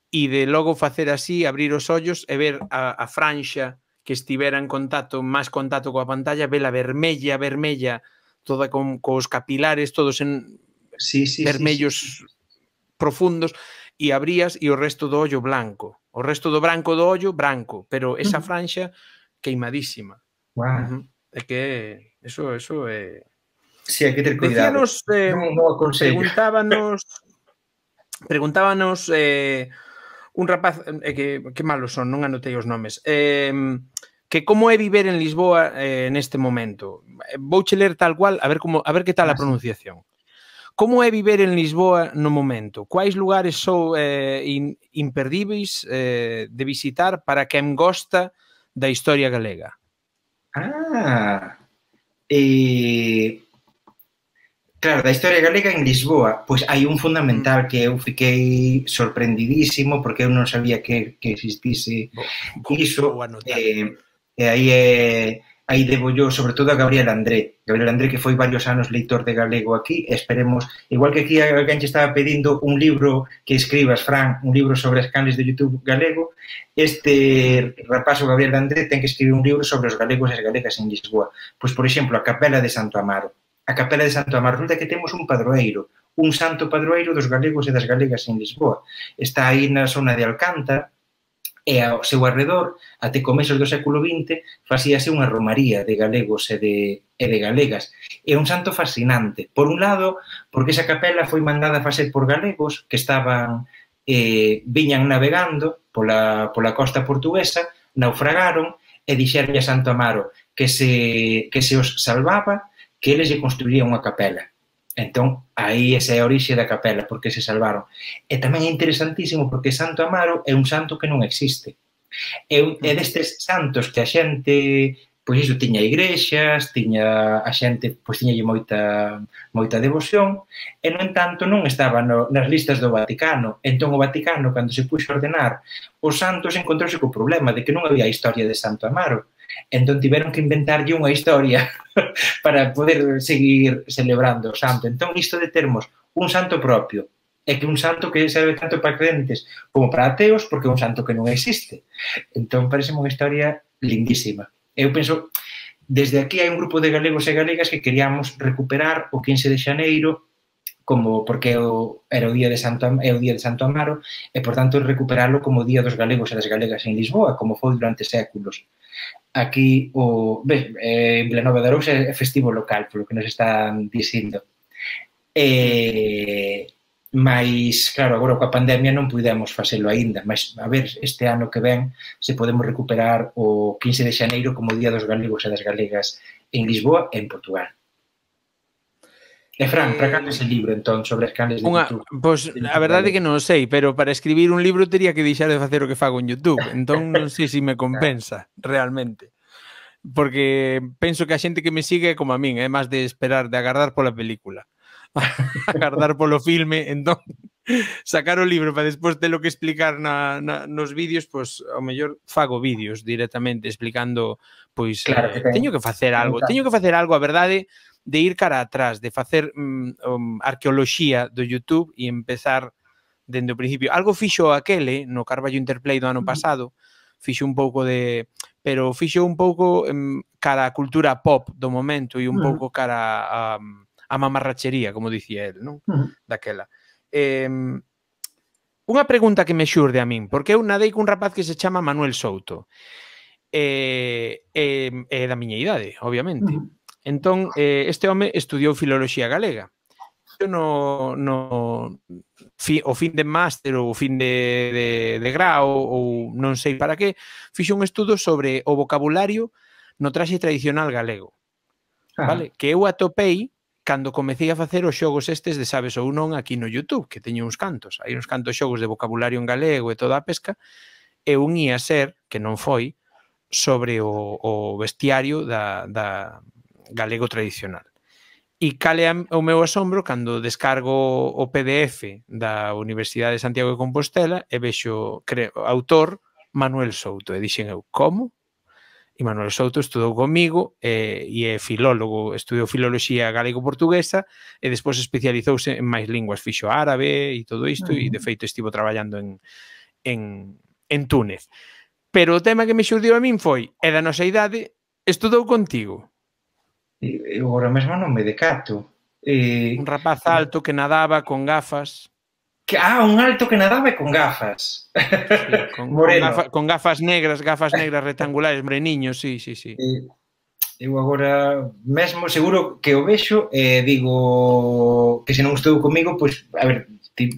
e de logo facer así, abrir os ollos e ver a, a franxa que estivera en contacto, máis contacto coa pantalla, vela vermella, vermella, toda con cos capilares, todos en sí, sí, vermellos sí, sí. profundos, e abrías e o resto do ollo blanco. O resto do branco do ollo, branco, pero esa franxa queimadísima. Wow. Uh-huh. É que eso, eso é... Sí, hai que ter cuidado. Decíanos, eh, non, non preguntábanos, preguntábanos eh, un rapaz, eh, que, que malos son, non anotei os nomes, eh, que como é viver en Lisboa eh, neste momento. Vouche ler tal cual, a ver como a ver que tal a pronunciación. Como é viver en Lisboa no momento? Quais lugares son eh, in, imperdíveis eh, de visitar para quen gosta da historia galega? Ah, eh, claro, da historia galega en Lisboa, pois hai un fundamental que eu fiquei sorprendidísimo porque eu non sabía que, que existise iso, eh, e aí é... aí debo yo, sobre todo, a Gabriel André. Gabriel André, que foi varios anos leitor de galego aquí, esperemos, igual que aquí alguén che estaba pedindo un libro que escribas, Fran, un libro sobre as canles de YouTube galego, este rapazo Gabriel André ten que escribir un libro sobre os galegos e as galegas en Lisboa. Pois, por exemplo, a Capela de Santo Amaro. A Capela de Santo Amaro, resulta que temos un padroeiro, un santo padroeiro dos galegos e das galegas en Lisboa. Está aí na zona de Alcántara, e ao seu arredor, até comezos do século vinte, facíase unha romaría de galegos e de, e de galegas. É un santo fascinante. Por un lado, porque esa capela foi mandada a facer por galegos que estaban, eh, viñan navegando pola, pola costa portuguesa, naufragaron e dixeron a Santo Amaro que se, que se os salvaba, que eles lle construían unha capela. Entón, aí esa é a orixe da capela, porque se salvaron. E tamén é interesantísimo porque Santo Amaro é un santo que non existe. É, é destes santos que a xente, pois iso, tiña igrexas, tiña a xente, pois tiñalle moita, moita devoción, e, no entanto, non estaba no, nas listas do Vaticano. Entón, o Vaticano, cando se puxo a ordenar os santos, encontrouse co problema de que non había historia de Santo Amaro. Entón, tiveron que inventarlle unha historia para poder seguir celebrando o santo. Entón, isto de termos un santo propio, é que un santo que serve tanto para crentes como para ateos, porque é un santo que non existe. Entón, parece unha historia lindísima. Eu penso, desde aquí hai un grupo de galegos e galegas que queríamos recuperar o quince de xaneiro, como porque o, era o día de Santo, é o día de Santo Amaro, e, por tanto, recuperarlo como o día dos galegos e das galegas en Lisboa, como foi durante séculos. Aquí, o, ben, eh, en Vilanova de Arousa é festivo local, polo que nos están dicindo. Eh, mas, claro, agora coa pandemia non pudemos facelo aínda, mas a ver este ano que ven se podemos recuperar o quince de xaneiro como o Día dos Galegos e das Galegas en Lisboa e en Portugal. E Fran, para cando ese libro, entón, sobre as canles de Unha, YouTube? Pois, a verdade é que non sei, pero para escribir un libro teria que deixar de facer o que fago en YouTube, entón non sei se me compensa, realmente. Porque penso que a xente que me sigue é como a min, é máis de esperar, de agardar pola película. Agardar polo filme, entón, sacar o libro para despois telo que explicar na, na, nos vídeos, pois, ao mellor fago vídeos directamente explicando, pois, claro eh, teño que facer algo, teño que facer algo, a verdade, de ir cara atrás, de facer um, um, arqueoloxía do YouTube e empezar dende o principio. Algo fixo aquele no Carballo Interplay do ano pasado, fixo un pouco de... pero fixo un pouco um, cara a cultura pop do momento e un pouco cara a, a mamarrachería, como dicía el, non? Daquela. Eh, unha pregunta que me xurde a min, porque eu nadei cun rapaz que se chama Manuel Souto, e eh, eh, eh, da miña idade, obviamente. Entón, eh, este home estudiou filoloxía galega. Eu no, no fi, o fin de máster ou o fin de, de, de grau ou non sei para que, fixo un estudo sobre o vocabulario no traxe tradicional galego. Ah. Vale? Que eu atopei cando comecei a facer os xogos estes de sabes ou non aquí no YouTube, que teño uns cantos, hai uns cantos xogos de vocabulario en galego e toda a pesca, e un ia ser, que non foi, sobre o, o bestiario da, da galego tradicional. E cale o meu asombro cando descargo o P D F da Universidade de Santiago de Compostela e vexo creo, autor Manuel Souto. E dixen eu, como? E Manuel Souto estudou comigo e, e é filólogo, estudou filoloxía galego-portuguesa e despois especializouse en máis linguas, fixo árabe e todo isto, uh -huh. E de feito estivo traballando en, en, en Túnez. Pero o tema que me xurdiu a min foi, e da nosa idade, estudou contigo. Eu agora mesmo non me decato. Eh, un rapaz alto que nadaba con gafas. Que, ah, un alto que nadaba e con gafas. Sí, con, con, gafa, con gafas negras, gafas negras rectangulares, moreniños, sí, sí, sí. Eh, eu agora mesmo seguro que o vexo e eh, digo que se non estou comigo, pois, a ver,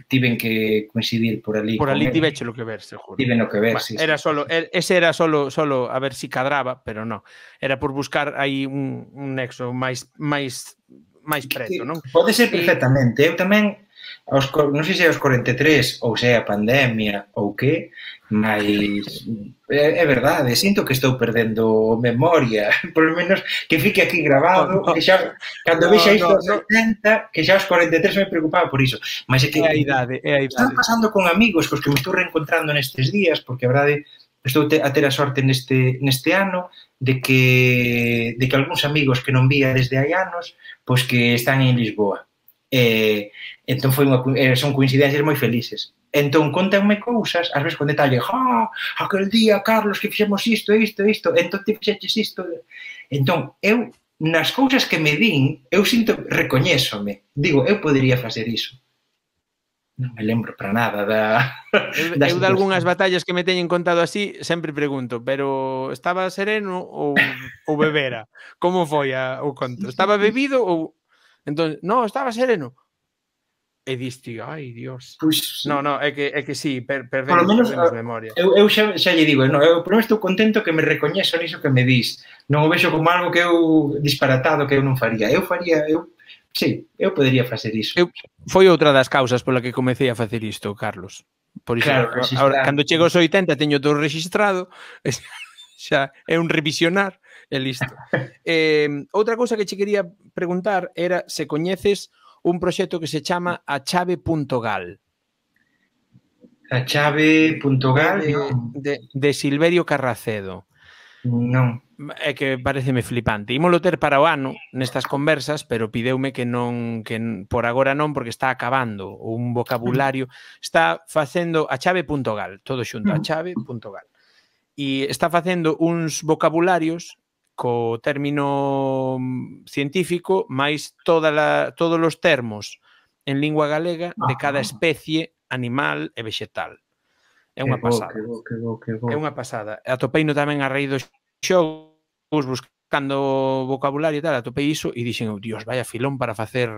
tiven que coincidir por ali. Por ali tiveche lo que ver, seguro. Tiven o que ver, bueno, sí. Era sí. solo, ese era solo, solo a ver si cadraba, pero non. Era por buscar aí un, un nexo máis máis máis preto, non? Pode ser perfectamente. Eu tamén aos, non sei se aos corenta e tres ou se a pandemia ou que, mas é, é verdade, sinto que estou perdendo memoria, por lo menos que fique aquí grabado, no, no, que xa cando no, vexa isto aos no, oitenta, que xa aos corenta e tres me preocupaba por iso, mas é que é a idade, é a idade. Están pasando con amigos cos que me estou reencontrando nestes días, porque a verdade estou a ter a sorte neste, neste ano de que, de que algúns amigos que non vía desde hai anos, pois que están en Lisboa. Eh, entón foi unha, son coincidencias moi felices. Entón contanme cousas, ás veces con detalle, ah, aquel día, Carlos, que fixemos isto, isto, isto, entón te fixeches isto. Entón, eu, nas cousas que me din, eu sinto, recoñésome, digo, eu podería facer iso. Non me lembro para nada da... Eu, eu de algunhas batallas que me teñen contado así, sempre pregunto, pero estaba sereno ou, ou bebera? Como foi a, o conto? Estaba bebido ou... Entón, no, estaba sereno. E diste, ai, Dios. Pues, no, no, é que, é que sí, per, perdemos, menos, perdemos memoria. Eu, eu xa, xa lle digo, no, eu por menos estou contento que me recoñezo niso que me dis. Non o vexo como algo que eu disparatado que eu non faría. Eu faría, eu, sí, eu podería facer iso. Eu, foi outra das causas pola que comecei a facer isto, Carlos. Por iso, claro, ahora, cando chego aos oitenta teño todo registrado, xa é un revisionar e listo. eh, outra cousa que che quería preguntar era se coñeces un proxecto que se chama a chave punto gal. A chave punto gal? De, de, de Silverio Carracedo. Non. É que pareceme flipante. Ímolo ter para o ano nestas conversas, pero pideume que non, que por agora non, porque está acabando un vocabulario. Está facendo a chave punto gal, todo xunto, a chave punto gal. E está facendo uns vocabularios co término científico máis toda la, todos os termos en lingua galega de cada especie animal e vegetal. É unha pasada. Que bo, que bo, que bo. É unha pasada. Atopeino tamén a raíz dos xogos buscando vocabulario e tal, atopei iso e dixen, oh, Dios, vaya filón para facer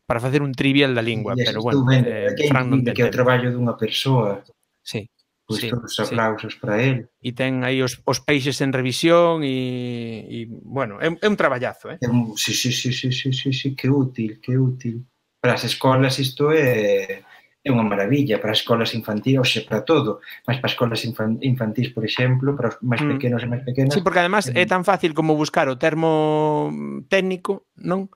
para facer un trivial da lingua, sí, pero bueno, eh, que Fran non ten que é o traballo dunha persoa. Sí. Pois sí, todos os aplausos sí. para él. E ten aí os, os peixes en revisión e, e bueno, é, é un traballazo, eh? É un, sí, sí, sí, sí, sí, sí, sí, que útil, que útil. Para as escolas isto é, é unha maravilla, para as escolas infantis, oxe, para todo, mas para as escolas infantis, por exemplo, para os máis pequenos mm. e máis pequenas. Sí, porque además é, é tan fácil como buscar o termo técnico, non?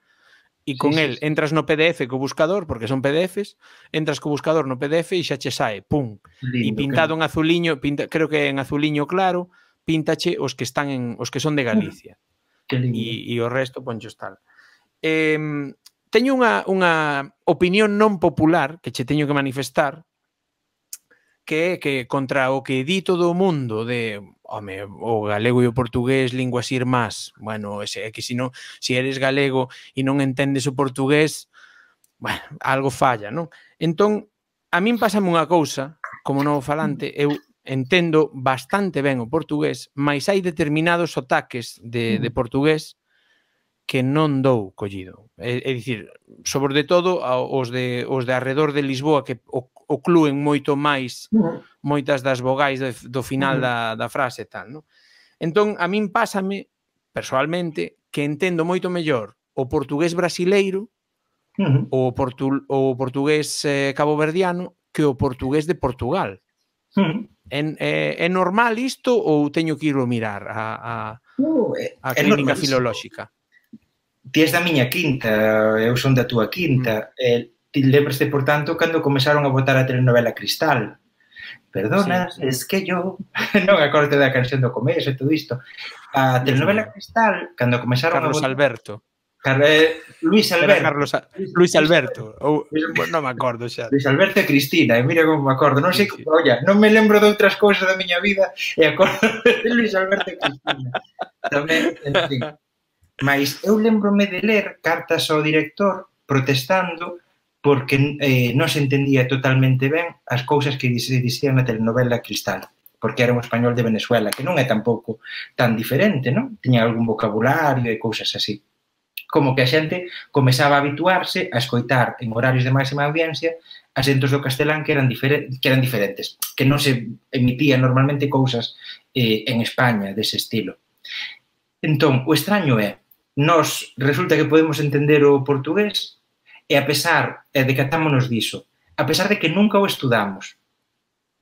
E con sí, el sí, sí. entras no P D F co buscador, porque son P D Fs, entras co buscador no P D F e xa che sae, pum. E pintado claro. en azuliño, pinta, creo que en azuliño claro, píntache os que están en os que son de Galicia. Que lindo. E, e o resto ponchos tal. Eh, teño unha, unha opinión non popular que che teño que manifestar, que é que contra o que di todo o mundo de, home, o galego e o portugués, linguas irmás, bueno, é que se non, se eres galego e non entendes o portugués, bueno, algo falla, non? Entón, a min pásame unha cousa, como novo falante, eu entendo bastante ben o portugués, mas hai determinados sotaques de, de portugués que non dou collido. É, é dicir, sobre todo os de, os de arredor de Lisboa que o, oclúen moito máis moitas das vogais do, do final da, da frase e tal, non? Entón, a min pásame, personalmente, que entendo moito mellor o portugués brasileiro, Uh-huh. o, portu, o portugués eh, caboverdiano que o portugués de Portugal. Uh-huh. É, é, é normal isto ou teño que ir a mirar a, a, Uh, é, a é clínica normalísimo. filolóxica? Ti és da miña quinta, eu son da túa quinta. Mm. Eh, ti lembraste, por tanto, cando começaron a botar a telenovela Cristal. Perdona, sí, sí. Es que yo... non acordo da canción do começo e todo isto. A telenovela Cristal, cando começaron Carlos a botar... Alberto. Car... Eh, Luis Alberto. Era Carlos a... Luis Alberto. Ou... non me acordo xa. Luis Alberto e Cristina, e mira como me acordo. Non sei, sí, sí. Olla, non me lembro de outras cousas da miña vida e acordo de Luis Alberto e Cristina. Tamén, en fin. Mas eu lembrome de ler cartas ao director protestando porque eh, non se entendía totalmente ben as cousas que se dicían na telenovela Cristal, porque era un español de Venezuela, que non é tampouco tan diferente, non? Tiña algún vocabulario e cousas así. Como que a xente comezaba a habituarse a escoitar en horarios de máxima audiencia acentos do castelán que eran, diferentes, que eran diferentes, que non se emitían normalmente cousas eh, en España dese estilo. Entón, o extraño é nos resulta que podemos entender o portugués e a pesar de que atámonos diso, a pesar de que nunca o estudamos.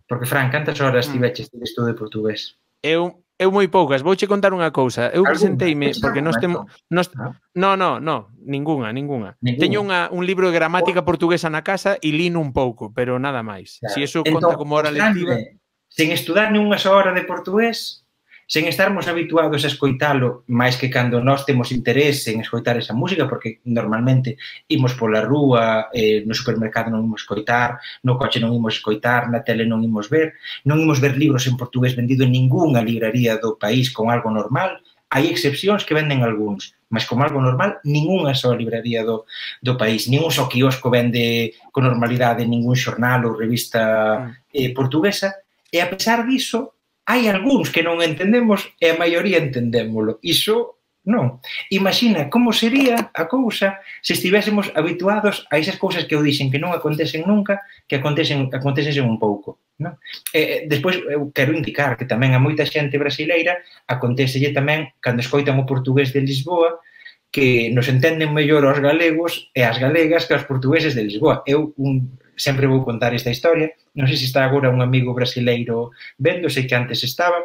Porque, Fran, cantas horas tiveches de estudo de portugués? Eu, eu moi poucas. Vouche contar unha cousa. Eu presenteime, porque nós temos... Nos, no, no, no, ninguna, ninguna. ninguna. Teño unha, un libro de gramática portuguesa na casa e lino un pouco, pero nada máis. Claro. Si eso entón, conta como hora lectiva... Sen estudar nunha soa hora de portugués... sen estarmos habituados a escoitalo máis que cando nós temos interese en escoitar esa música, porque normalmente imos pola rúa, eh, no supermercado non imos escoitar, no coche non imos escoitar, na tele non imos ver, non imos ver libros en portugués vendido en ningunha libraría do país con algo normal. Hai excepcións que venden algúns, mas como algo normal, ningunha soa libraría do, do país, ningún só quiosco vende con normalidade ningún xornal ou revista eh, portuguesa, e a pesar diso, hai algúns que non entendemos e a maioría entendémolo. Iso non. Imagina como sería a cousa se estivésemos habituados a esas cousas que eu dixen que non acontecen nunca, que acontecen, acontecen un pouco. Non? E, despois, eu quero indicar que tamén a moita xente brasileira acontecelle tamén cando escoitan o portugués de Lisboa que nos entenden mellor aos galegos e as galegas que aos portugueses de Lisboa. Eu un, sempre vou contar esta historia. Non sei se está agora un amigo brasileiro vendo, sei que antes estaba,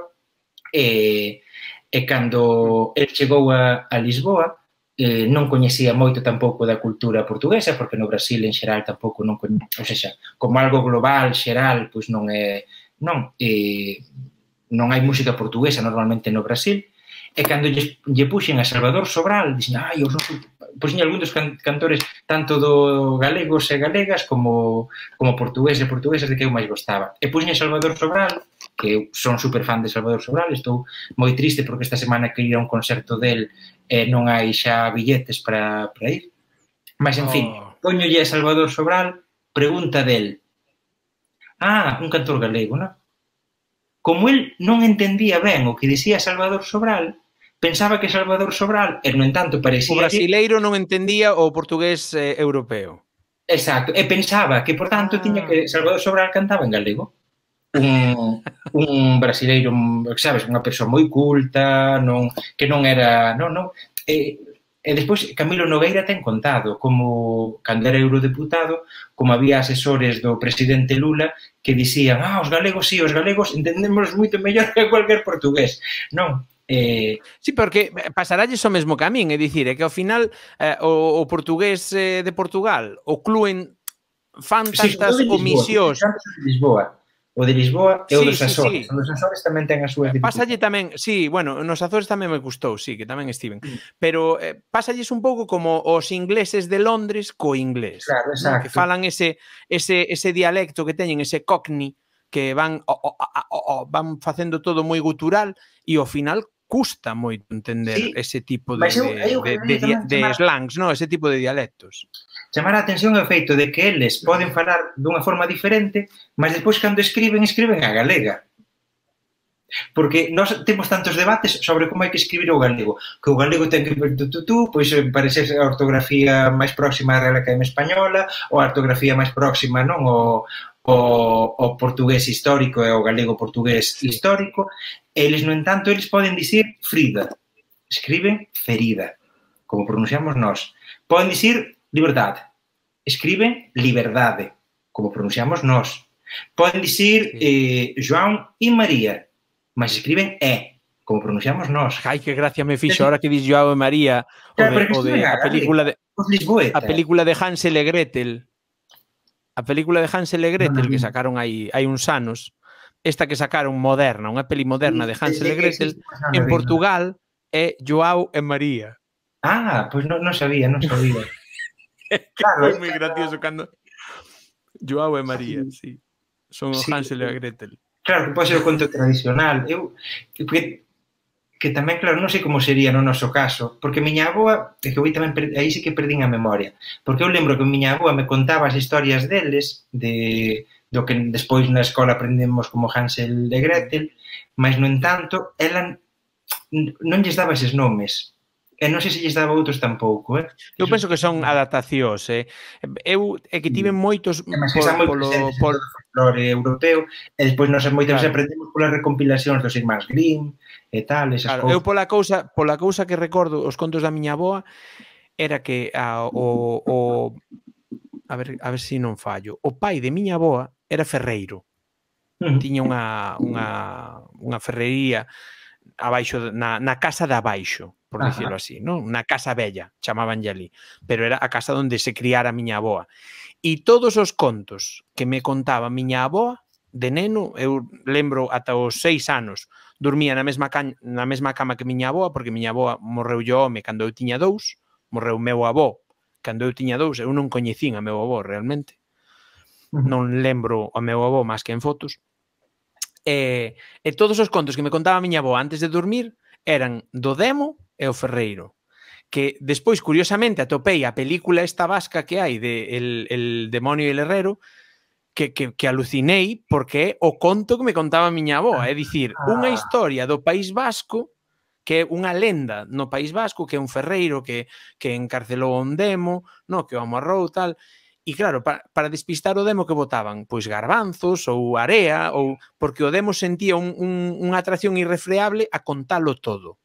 e, e cando el chegou a, a Lisboa, eh, non coñecía moito tampouco da cultura portuguesa, porque no Brasil en xeral tampouco non coñecía, ou seja, como algo global, xeral, pois non é, non, eh, non hai música portuguesa normalmente no Brasil, e cando lle, lle puxen a Salvador Sobral, dixen, ai, os nosos, pois nin algún dos cantores tanto do galegos e galegas como, como portugués e portuguesas de que eu máis gostaba. E puxen a Salvador Sobral, que eu son super fan de Salvador Sobral, estou moi triste porque esta semana que ir a un concerto del e non hai xa billetes para, para ir. Mas, en fin, oh. Poñolle a Salvador Sobral, pregunta del, ah, un cantor galego, non? Como el non entendía ben o que dicía Salvador Sobral, pensaba que Salvador Sobral, e no entanto parecía... O brasileiro non entendía o portugués eh, europeo. Exacto, e pensaba que, por tanto, ah. tiña que Salvador Sobral cantaba en galego. Un, un brasileiro, sabes, unha persoa moi culta, non, que non era... Non, non. E, e despois Camilo Nogueira ten contado como, cando era eurodeputado, como había asesores do presidente Lula que dicían, ah, os galegos, sí, os galegos entendemos moito mellor que cualquier portugués. Non, Eh... Sí, porque pasaralles o mesmo que a min, é dicir, é que ao final eh, o, o portugués eh, de Portugal, o cluen fan tantas sí, omisións. De Lisboa. O de Lisboa e o dos Açores. Sí, sí. Os Açores tamén ten as súas dificultades. Pásalle tamén, sí, bueno, nos Açores tamén me gustou, sí, que tamén estiven. Mm. Pero eh, pásalles un pouco como os ingleses de Londres co inglés. Claro, exacto. ¿no? Que falan ese, ese, ese dialecto que teñen, ese cockney, que van, oh, oh, oh, oh, van facendo todo moi gutural e ao final custa moito entender sí, ese tipo de, eu, eu de, de, de, de slangs, no? Ese tipo de dialectos. Chamar a atención é o feito de que eles poden falar dunha forma diferente, mas despois cando escriben, escriben a galega. Porque nós temos tantos debates sobre como hai que escribir o galego. Que o galego ten que ver tu, tu, tu, pois parece a ortografía máis próxima á Real Academia Española ou a ortografía máis próxima, non? O, o, o portugués histórico e o galego portugués histórico. Eles, no entanto, eles poden dicir Frida. Escriben ferida. como pronunciamos nós. Poden dicir liberdade. Escriben liberdade, como pronunciamos nós. Poden dicir eh, João e María, mas escriben E, como pronunciamos nós. Ai, que gracia me fixo ahora que dis João e María, o de, o de a película de a película de Hansel e Gretel. A película de Hansel e Gretel que sacaron aí hai uns anos. Esta que sacaron moderna, unha peli moderna de Hansel e Gretel, en Portugal é João e María. Ah, pois non sabía, non sabía. Foi moi gracioso cando João e María, sí. Son o Hansel e a Gretel. Claro, que pode ser o conto tradicional. Eu, que, que tamén, claro, non sei como sería no noso caso, porque miña avoa, que eu tamén, aí sí que perdín a memoria, porque eu lembro que miña avoa me contaba as historias deles, de, do que despois na escola aprendemos como Hansel e Gretel, mas, no entanto, ela non lles daba eses nomes. E non sei se lles daba outros tampouco, eh? Eu penso que son adaptacións, eh? Eu é que tive moitos polo folclore europeo, e despois nós moitas veces aprendemos polas recompilacións dos irmáns Grimm e tal, esas cousas. Eu pola cousa, pola cousa que recordo os contos da miña avoa era que o o a ver, a ver se non fallo, o pai de miña avoa era ferreiro. Tiña unha unha unha ferrería abaixo na na casa de abaixo, por dicirlo así, non? Na casa bella, chamabanlle ali, pero era a casa onde se criara a miña avoa. E todos os contos que me contaba a miña avoa de neno, eu lembro ata os seis anos, dormía na mesma na mesma cama que miña avoa, porque miña avoa morreu yo home cando eu tiña dous, morreu meu avó cando eu tiña dous, eu non coñecín a meu avó realmente. Non lembro a meu avó máis que en fotos. E, e todos os contos que me contaba a miña avó antes de dormir eran do Demo e o Ferreiro, que despois, curiosamente, atopei a película esta vasca que hai de El, el demonio e el herrero, que, que, que alucinei porque é o conto que me contaba a miña avó, é dicir, unha historia do País Vasco, que é unha lenda no País Vasco, que é un ferreiro que, que encarcelou un Demo, no, que o amarrou tal. E claro, para, para despistar o Demo que botaban? Pois garbanzos ou area, ou porque o Demo sentía un, un, unha atracción irrefreable a contalo todo.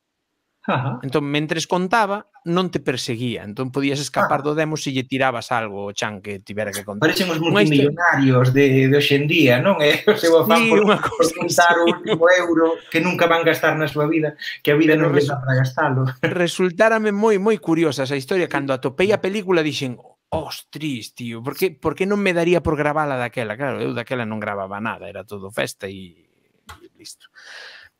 Ajá. Entón, mentres contaba, non te perseguía. Entón, podías escapar do Demo se lle tirabas algo o chan que tivera que contar. Parecen os multimillonarios de, de hoxendía, non? É o seu afán sí, por, por contar o último euro que nunca van gastar na súa vida, que a vida non lles dá para gastalo. Resultárame moi, moi curiosa esa historia. Cando atopei a película, dixen, ostris, tío, por que, por que non me daría por gravala daquela? Claro, eu daquela non gravaba nada, era todo festa e listo.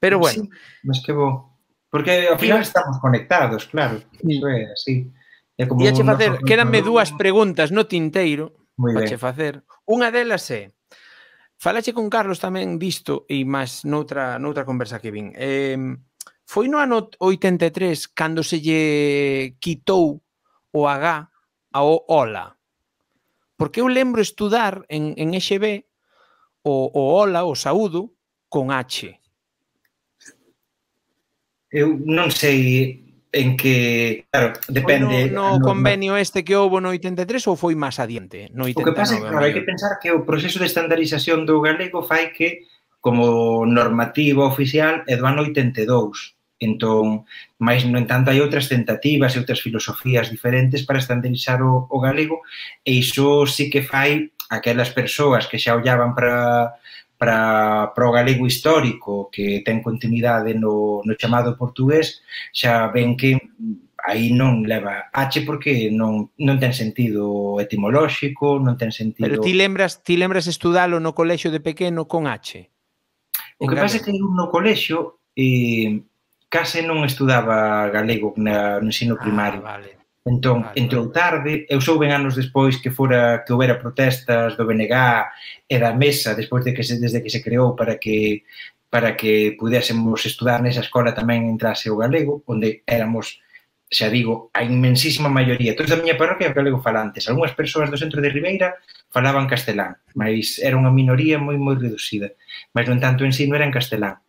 Pero bueno. Sí, mas que bo. Porque ao final estamos conectados, claro. Iso é así. E a che facer, quédanme dúas preguntas no tinteiro a che facer. Unha delas é, falache con Carlos tamén disto e máis noutra, noutra conversa que vin. Eh, foi no ano oitenta e tres cando se lle quitou o H ao hola. Porque eu lembro estudar en, en E X B o, o hola, o saúdo, con H. Eu non sei en que, claro, depende. Foi no, no convenio este que houbo no oitenta e tres ou foi máis adiante? No oitenta e nove, o que pasa é que, claro, hai que pensar que o proceso de estandarización do galego fai que, como normativa oficial, é do ano oitenta e dous. Entón, máis, no entanto, hai outras tentativas e outras filosofías diferentes para estandarizar o, o galego, e iso sí que fai aquelas persoas que xa ollaban para... para, para o galego histórico que ten continuidade no, no chamado portugués, xa ven que aí non leva H porque non, non ten sentido etimolóxico, non ten sentido... Pero ti lembras, ti lembras estudalo no colexio de pequeno con H? O que pasa é que no colexio eh, case non estudaba galego na, no ensino primario. Ah, vale. Entón, vale, entrou tarde, eu souben anos despois que fora que houbera protestas do B N G e da Mesa despois de que se, desde que se creou para que para que pudésemos estudar nesa escola tamén entrase o galego, onde éramos, xa digo, a inmensísima maioría, todos da miña parroquia galego falantes, algunhas persoas do centro de Ribeira falaban castelán, mas era unha minoría moi moi reducida, mas no entanto o ensino era en castelán.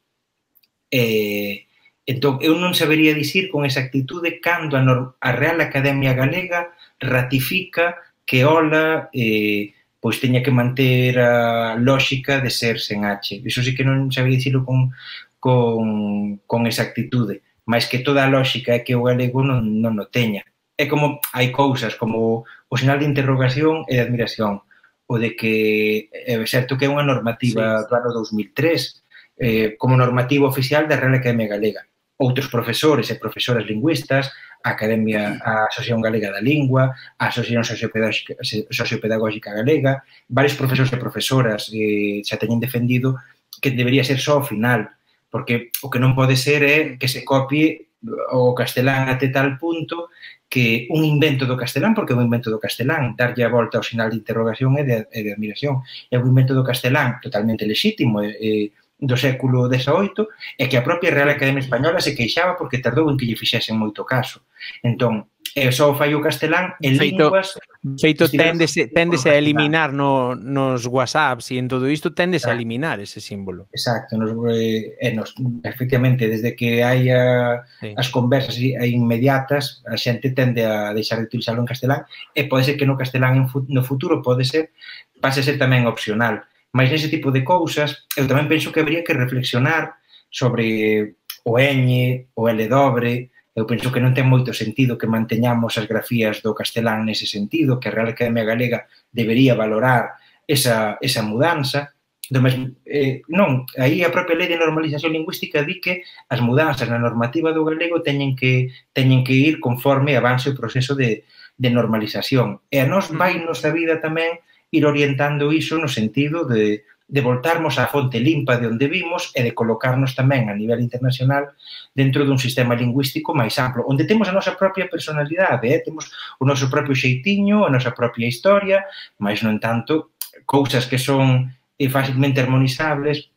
E entón, eu non sabería dicir con exactitude cando a, a Real Academia Galega ratifica que hola eh, pois teña que manter a lógica de ser sen H. Iso sí que non sabería dicirlo con, con, con exactitude. máis que toda a lógica é que o galego non, non o teña. É como, hai cousas como o sinal de interrogación e de admiración, o de que é certo que é unha normativa sí, do ano dous mil tres, eh, como normativa oficial da Real Academia Galega. Outros profesores e profesoras lingüistas, a Academia, a Asociación Galega da Lingua, a Asociación Sociopedagógica, Sociopedagógica Galega, varios profesores e profesoras eh, xa teñen defendido que debería ser só ao final, porque o que non pode ser é que se copie o castelán até tal punto que un invento do castelán, porque é un invento do castelán, darlle a volta ao sinal de interrogación e de, e de admiración, é un invento do castelán totalmente lexítimo e, e do século dezaoito, e que a propia Real Academia Española se queixaba porque tardou en que lle fixesen moito caso. Entón, é só fai o castelán en feito, linguas... Feito téndese, téndese a eliminar no, nos WhatsApps e en todo isto téndese a eliminar ese símbolo. Exacto, nos, eh, nos, efectivamente, desde que hai a, sí. as conversas inmediatas, a xente tende a deixar de utilizarlo en castelán, e pode ser que no castelán en, no futuro pode ser, pase a ser tamén opcional. Mas nese tipo de cousas, eu tamén penso que habría que reflexionar sobre o ñ, o L dobre. Eu penso que non ten moito sentido que manteñamos as grafías do castelán nese sentido, que a Real Academia Galega debería valorar esa, esa mudanza. Do mesmo, eh, non, aí a propia lei de normalización lingüística di que as mudanzas na normativa do galego teñen que, teñen que ir conforme avance o proceso de, de normalización. E a nós vai nosa vida tamén ir orientando iso no sentido de de voltarmos á fonte limpa de onde vimos e de colocarnos tamén a nivel internacional dentro dun sistema lingüístico máis amplo, onde temos a nosa propia personalidade, eh? Temos o noso propio xeitinho, a nosa propia historia, mas non tanto cousas que son eh, facilmente armonizables,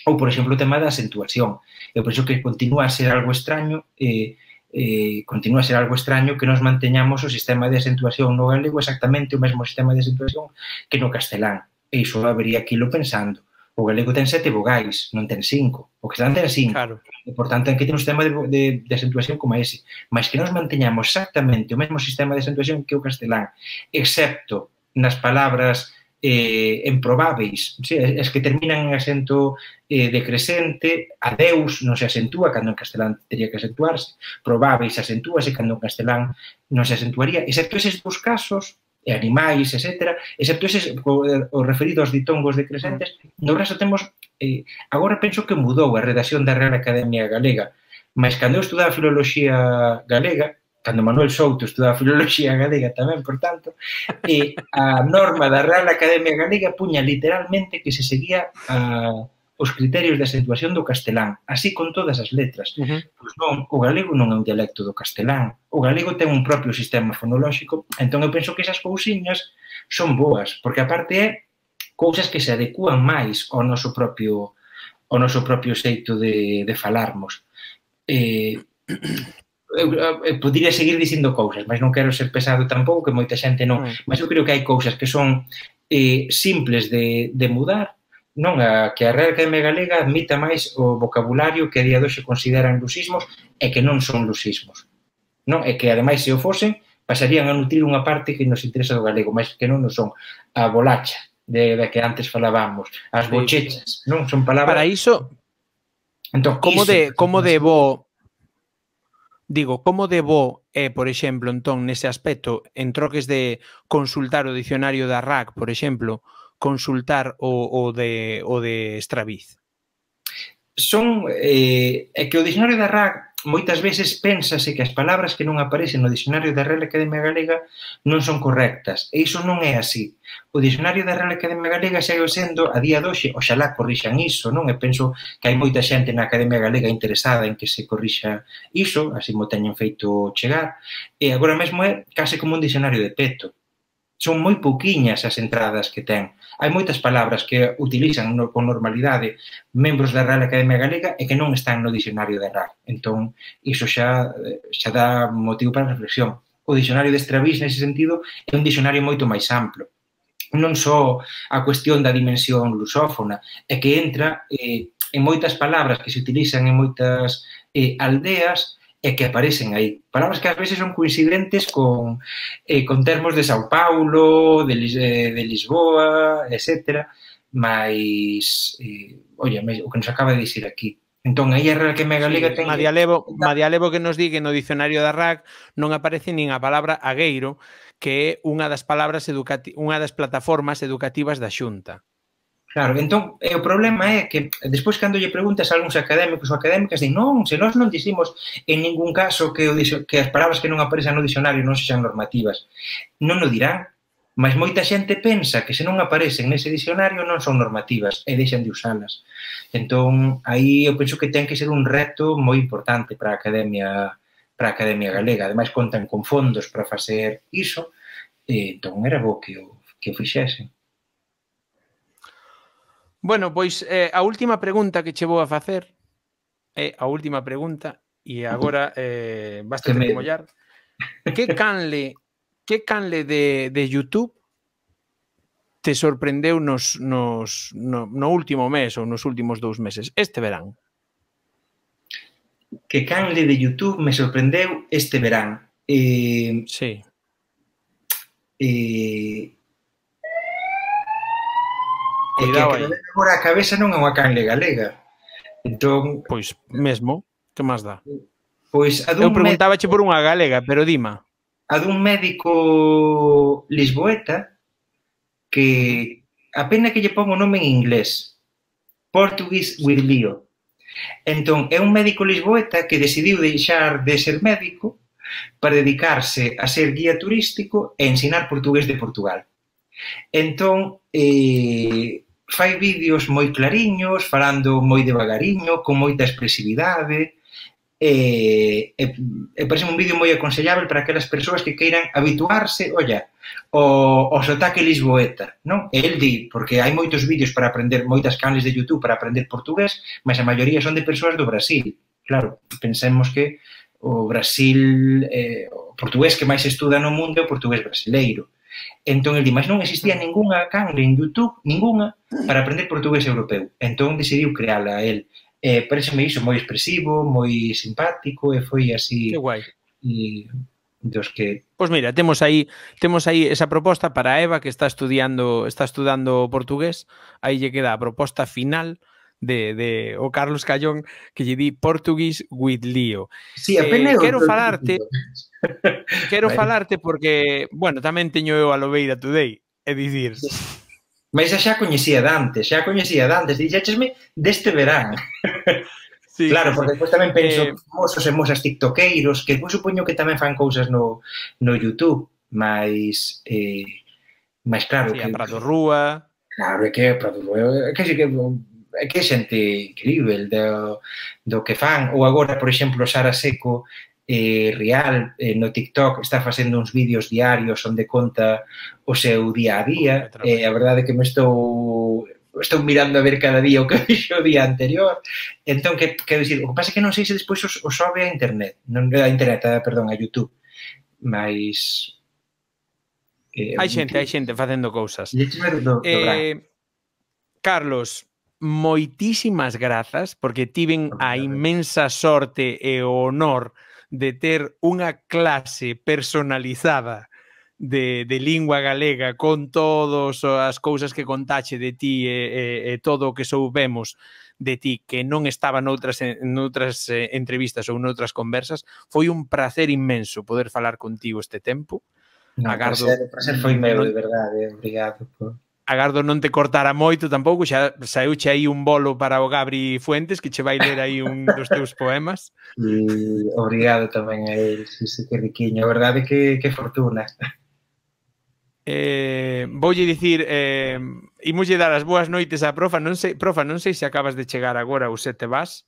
ou, por exemplo, o tema da acentuación. Eu penso que continúa a ser algo extraño, eh, eh, continúa a ser algo extraño que nos manteñamos o sistema de acentuación no galego exactamente o mesmo sistema de acentuación que no castelán. E iso habería que irlo pensando. O galego ten sete vogais, non ten cinco. O castelán ten cinco. Claro. E, por tanto, ten que ter un sistema de, de, de acentuación como ese. Mas que nos manteñamos exactamente o mesmo sistema de acentuación que o castelán, excepto nas palabras eh, improbáveis, sí, es que terminan en acento eh, decrescente, adeus non se acentúa, cando en castelán teria que acentuarse, probáveis acentúase, cando en castelán non se acentuaría, excepto eses dous casos, e animais, etcétera, excepto eses, o, o referido aos ditongos decrescentes, no resto temos, eh, agora penso que mudou a redacción da Real Academia Galega, mas cando eu estudaba filoloxía galega, cando Manuel Souto estudaba filoloxía galega tamén, por tanto, eh, a norma da Real Academia Galega puña literalmente que se seguía a... os criterios de acentuación do castelán, así con todas as letras. Uh-huh. Pois non, o galego non é un dialecto do castelán. O galego ten un propio sistema fonolóxico, entón eu penso que esas cousiñas son boas, porque aparte é cousas que se adecúan máis ao noso propio ao noso propio xeito de, de falarmos. Eh, eu, eu podría seguir dicindo cousas, mas non quero ser pesado tampouco, que moita xente non. Uh-huh. Mas eu creo que hai cousas que son eh, simples de, de mudar, non a que a Real Academia Galega admita máis o vocabulario que a día de hoxe consideran lusismos e que non son lusismos. Non? E que, ademais, se o fosen, pasarían a nutrir unha parte que nos interesa do galego, mas que non nos son a bolacha, de, de que antes falábamos, as bochechas, non? Son palabras... Para iso, entón, como iso, de, como de bo... Digo, como de bo é, por exemplo, entón, nese aspecto, en troques de consultar o dicionario da R A C, por exemplo, consultar o, o, de, o de Estraviz? Son, eh, é que o dicionario da R A C moitas veces pénsase que as palabras que non aparecen no dicionario da Real Academia Galega non son correctas, e iso non é así. O dicionario da Real Academia Galega segue sendo, a día de hoxe, oxalá corrixan iso, non? E penso que hai moita xente na Academia Galega interesada en que se corrixa iso, así mo teñen feito chegar, e agora mesmo é case como un dicionario de peto. Son moi pouquiñas as entradas que ten. Hai moitas palabras que utilizan no, con normalidade membros da Real Academia Galega e que non están no dicionario da R A C. Entón, iso xa, xa dá motivo para reflexión. O dicionario de Estraviz, nese sentido, é un dicionario moito máis amplo. Non só a cuestión da dimensión lusófona, é que entra eh, en moitas palabras que se utilizan en moitas eh, aldeas e que aparecen aí. Palabras que ás veces son coincidentes con, eh, con termos de Sao Paulo, de, eh, de Lisboa, etcétera. Mas, eh, oye, o que nos acaba de dicir aquí. Entón, aí a Real Academia Galega sí, ten... Madialevo, Madialevo que nos di que no dicionario da R A C non aparece nin a palabra agueiro, que é unha das palabras educati unha das plataformas educativas da Xunta. Claro, entón, o problema é que despois cando lle preguntas a algúns académicos ou académicas din, non, se nós non dicimos en ningún caso que, o, que as palabras que non aparecen no dicionario non sexan normativas. Non o dirán, mas moita xente pensa que se non aparecen nese dicionario non son normativas e deixan de usalas. Entón, aí eu penso que ten que ser un reto moi importante para a Academia para a Academia Galega. Ademais, contan con fondos para facer iso, e entón era bo que o, que o fixesen. Bueno, pois eh, a última pregunta que che vou a facer é a última pregunta e agora eh, basta te mollar. Que canle que canle de, de YouTube te sorprendeu nos, nos, no, no último mes ou nos últimos dous meses, este verán? Que canle de YouTube me sorprendeu este verán? Eh, sí. Eh, Cuidado é que aí. Agora a cabeza non é unha canle galega. Entón, pois mesmo, que máis dá? Pois a Eu dun preguntábache por unha galega, pero dima. A dun médico lisboeta que a pena que lle pon o nome en inglés, Portuguese with Leo. Entón, é un médico lisboeta que decidiu deixar de ser médico para dedicarse a ser guía turístico e ensinar portugués de Portugal. Entón, eh, fai vídeos moi clariños, falando moi devagariño, con moita expresividade, e, e, e parece un vídeo moi aconsellable para aquelas persoas que queiran habituarse, olla, o, o sotaque lisboeta, non? E el di, porque hai moitos vídeos para aprender, moitas canles de YouTube para aprender portugués, mas a maioría son de persoas do Brasil. Claro, pensemos que o Brasil, eh, o portugués que máis se estuda no mundo é o portugués brasileiro. Entón, el di, mas non existía ningunha canle en YouTube, ningunha, para aprender portugués europeu. Entón, decidiu creala el. Eh, pareceme iso moi expresivo, moi simpático, e foi así... Que guai. E dos que... Pois mira, temos aí temos aí esa proposta para Eva, que está estudiando está estudando portugués. Aí lle queda a proposta final de, de o Carlos Callón, que lle di Portuguese with Leo. Sí, a pena eh, quero falarte... Quero vale. falarte porque, bueno, tamén teño eu a Lobeira Today, é dicir... Mas xa coñecía dantes, xa coñecía dantes, dixéchesme deste verán. Sí, claro, sí, porque sí. depois tamén penso eh... famosos e mosas tiktoqueiros, que depois supoño que tamén fan cousas no, no YouTube, mas, eh, mas claro... Sí, que, a Prado Rúa... Claro, é que é Prado Rúa, é que, que, é que é xente incrível do, do que fan, ou agora, por exemplo, Sara Seco, eh, Real, eh, no TikTok, está facendo uns vídeos diarios onde conta o seu día a día, e eh, a verdade é que me estou estou mirando a ver cada día o que fixo o día anterior. Entón, que, quero dicir, o que pasa é que non sei se despois o, o sobe a internet, non a internet, a, perdón, a YouTube, mas... Eh, hai xente, hai xente facendo cousas. Do, do eh, Carlos, moitísimas grazas, porque tiven a inmensa sorte e o honor de ter unha clase personalizada de, de lingua galega con todas as cousas que contache de ti e, e, e todo o que soubemos de ti que non estaba noutras, noutras eh, entrevistas ou noutras conversas. Foi un placer inmenso poder falar contigo este tempo. No, agardo, prazer, prazer foi meu, non, de verdade, obrigado por... Agardo non te cortara moito tampouco, xa saíuche aí un bolo para o Gabri Fuentes, que che vai ler aí un dos teus poemas. E obrigado tamén a él, sí, sí, que riquiño, a verdade que, que fortuna. Eh, voulle dicir, eh, imoslle dar as boas noites á profa, non sei, profa, non sei se acabas de chegar agora ou se te vas.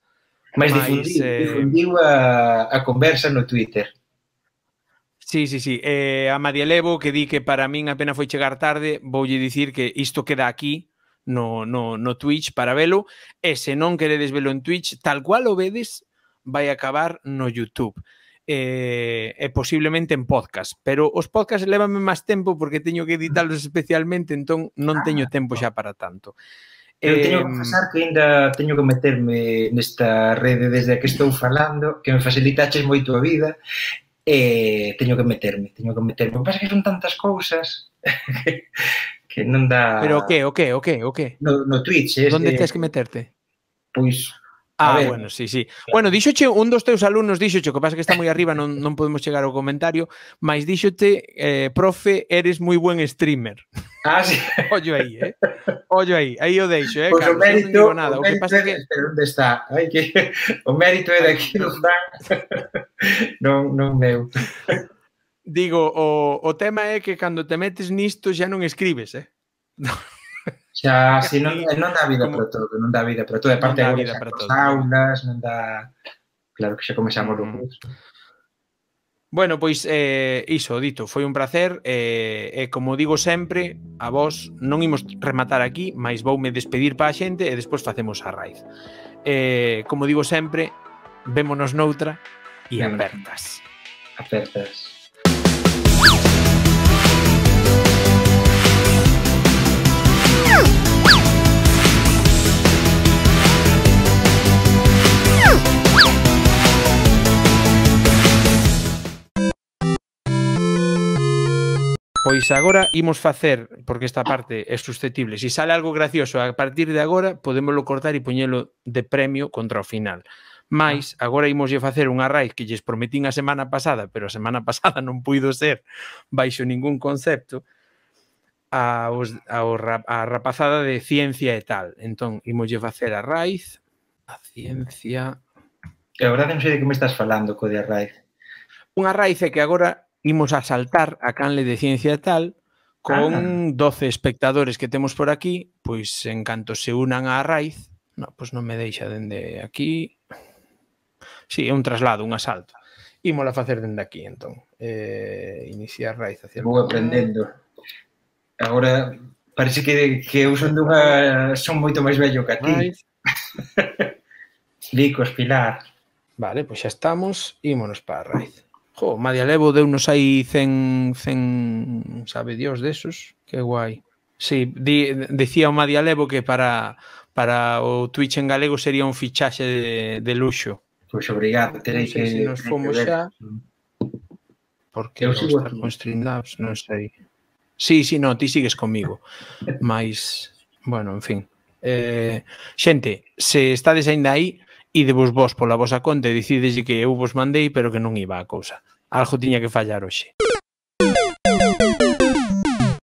Mas difundiu, eh... difundiu a, a conversa no Twitter. Sí, sí, sí. Eh, a Madialevo, que di que para min apenas foi chegar tarde, voulle dicir que isto queda aquí no, no, no Twitch para velo, e se non queredes velo en Twitch, tal cual o vedes, vai acabar no YouTube. Eh, e posiblemente en podcast, pero os podcasts lévame máis tempo porque teño que editalos especialmente, entón non teño tempo xa para tanto. Eu teño que confesar que ainda teño que meterme nesta rede desde que estou falando, que me facilitaches moito a vida, e teño que meterme, teño que meterme. O que pasa é que son tantas cousas que, que non dá... Pero o que, o que, o que, o que? No, no Twitch. Donde tens que meterte? Pois, Ah, bueno, sí, sí. Bueno, díxoche un dos teus alumnos, díxoche, que pasa que está moi arriba, non, non podemos chegar ao comentario, mas díxote, eh, profe, eres moi buen streamer. Ah, sí. Ollo aí, eh? Ollo aí, aí o deixo, eh, Pois Carlos, o mérito, eu non digo nada. o O que mérito pasa é, que... espera, onde está? Ai, que... O mérito é daqui do Fran, non, non meu. Digo, o, o tema é que cando te metes nisto xa non escribes, eh? Xa, si non, non dá vida como... para todo, non dá vida para todo. E parte agora xa cos aulas, non dá... Claro que xa comezamos mm. o curso. Bueno, pois eh, iso, dito, foi un placer e eh, eh, como digo sempre, a vos non imos rematar aquí, mas voume despedir para a xente e despois facemos a raíz. Eh, como digo sempre, vémonos noutra e apertas. Apertas. Pois agora imos facer, porque esta parte é susceptible, se si sale algo gracioso a partir de agora, podémoslo cortar e poñelo de premio contra o final. Mais, agora imoslle facer unha raíz que lles prometín a semana pasada, pero a semana pasada non puido ser baixo ningún concepto, a, os, a, a rapazada de ciencia e tal. Entón, imoslle facer a raíz, a ciencia... E a verdade non sei de que me estás falando, co de a raíz. Unha raíz é que agora imos a saltar a canle de ciencia e tal con ah. doce espectadores que temos por aquí, pois en canto se unan á raíz, no, pois non me deixa dende aquí. Sí, é un traslado, un asalto. Ímola facer dende aquí, entón. Eh, iniciar raíz hacia... Vou aprendendo. Agora parece que, que eu son dunha... son moito máis vello que a ti. Licos, Pilar. Vale, pois xa estamos. Ímonos para a raíz. Jo, Madialevo deunos aí cen, cen, sabe Dios desos, que guai. Sí, di, decía o Madialevo que para, para o Twitch en galego sería un fichaxe de, de luxo. Pois obrigado, terei que... Se nos fomos xa... Porque eu sigo estar con Streamlabs, non sei. Sí, sí, no, ti sigues comigo. Mais, bueno, en fin. Eh, xente, se estades ainda aí, idevos vos pola vosa conta e decides que eu vos mandei, pero que non iba a cousa. Algo tiña que fallar hoxe.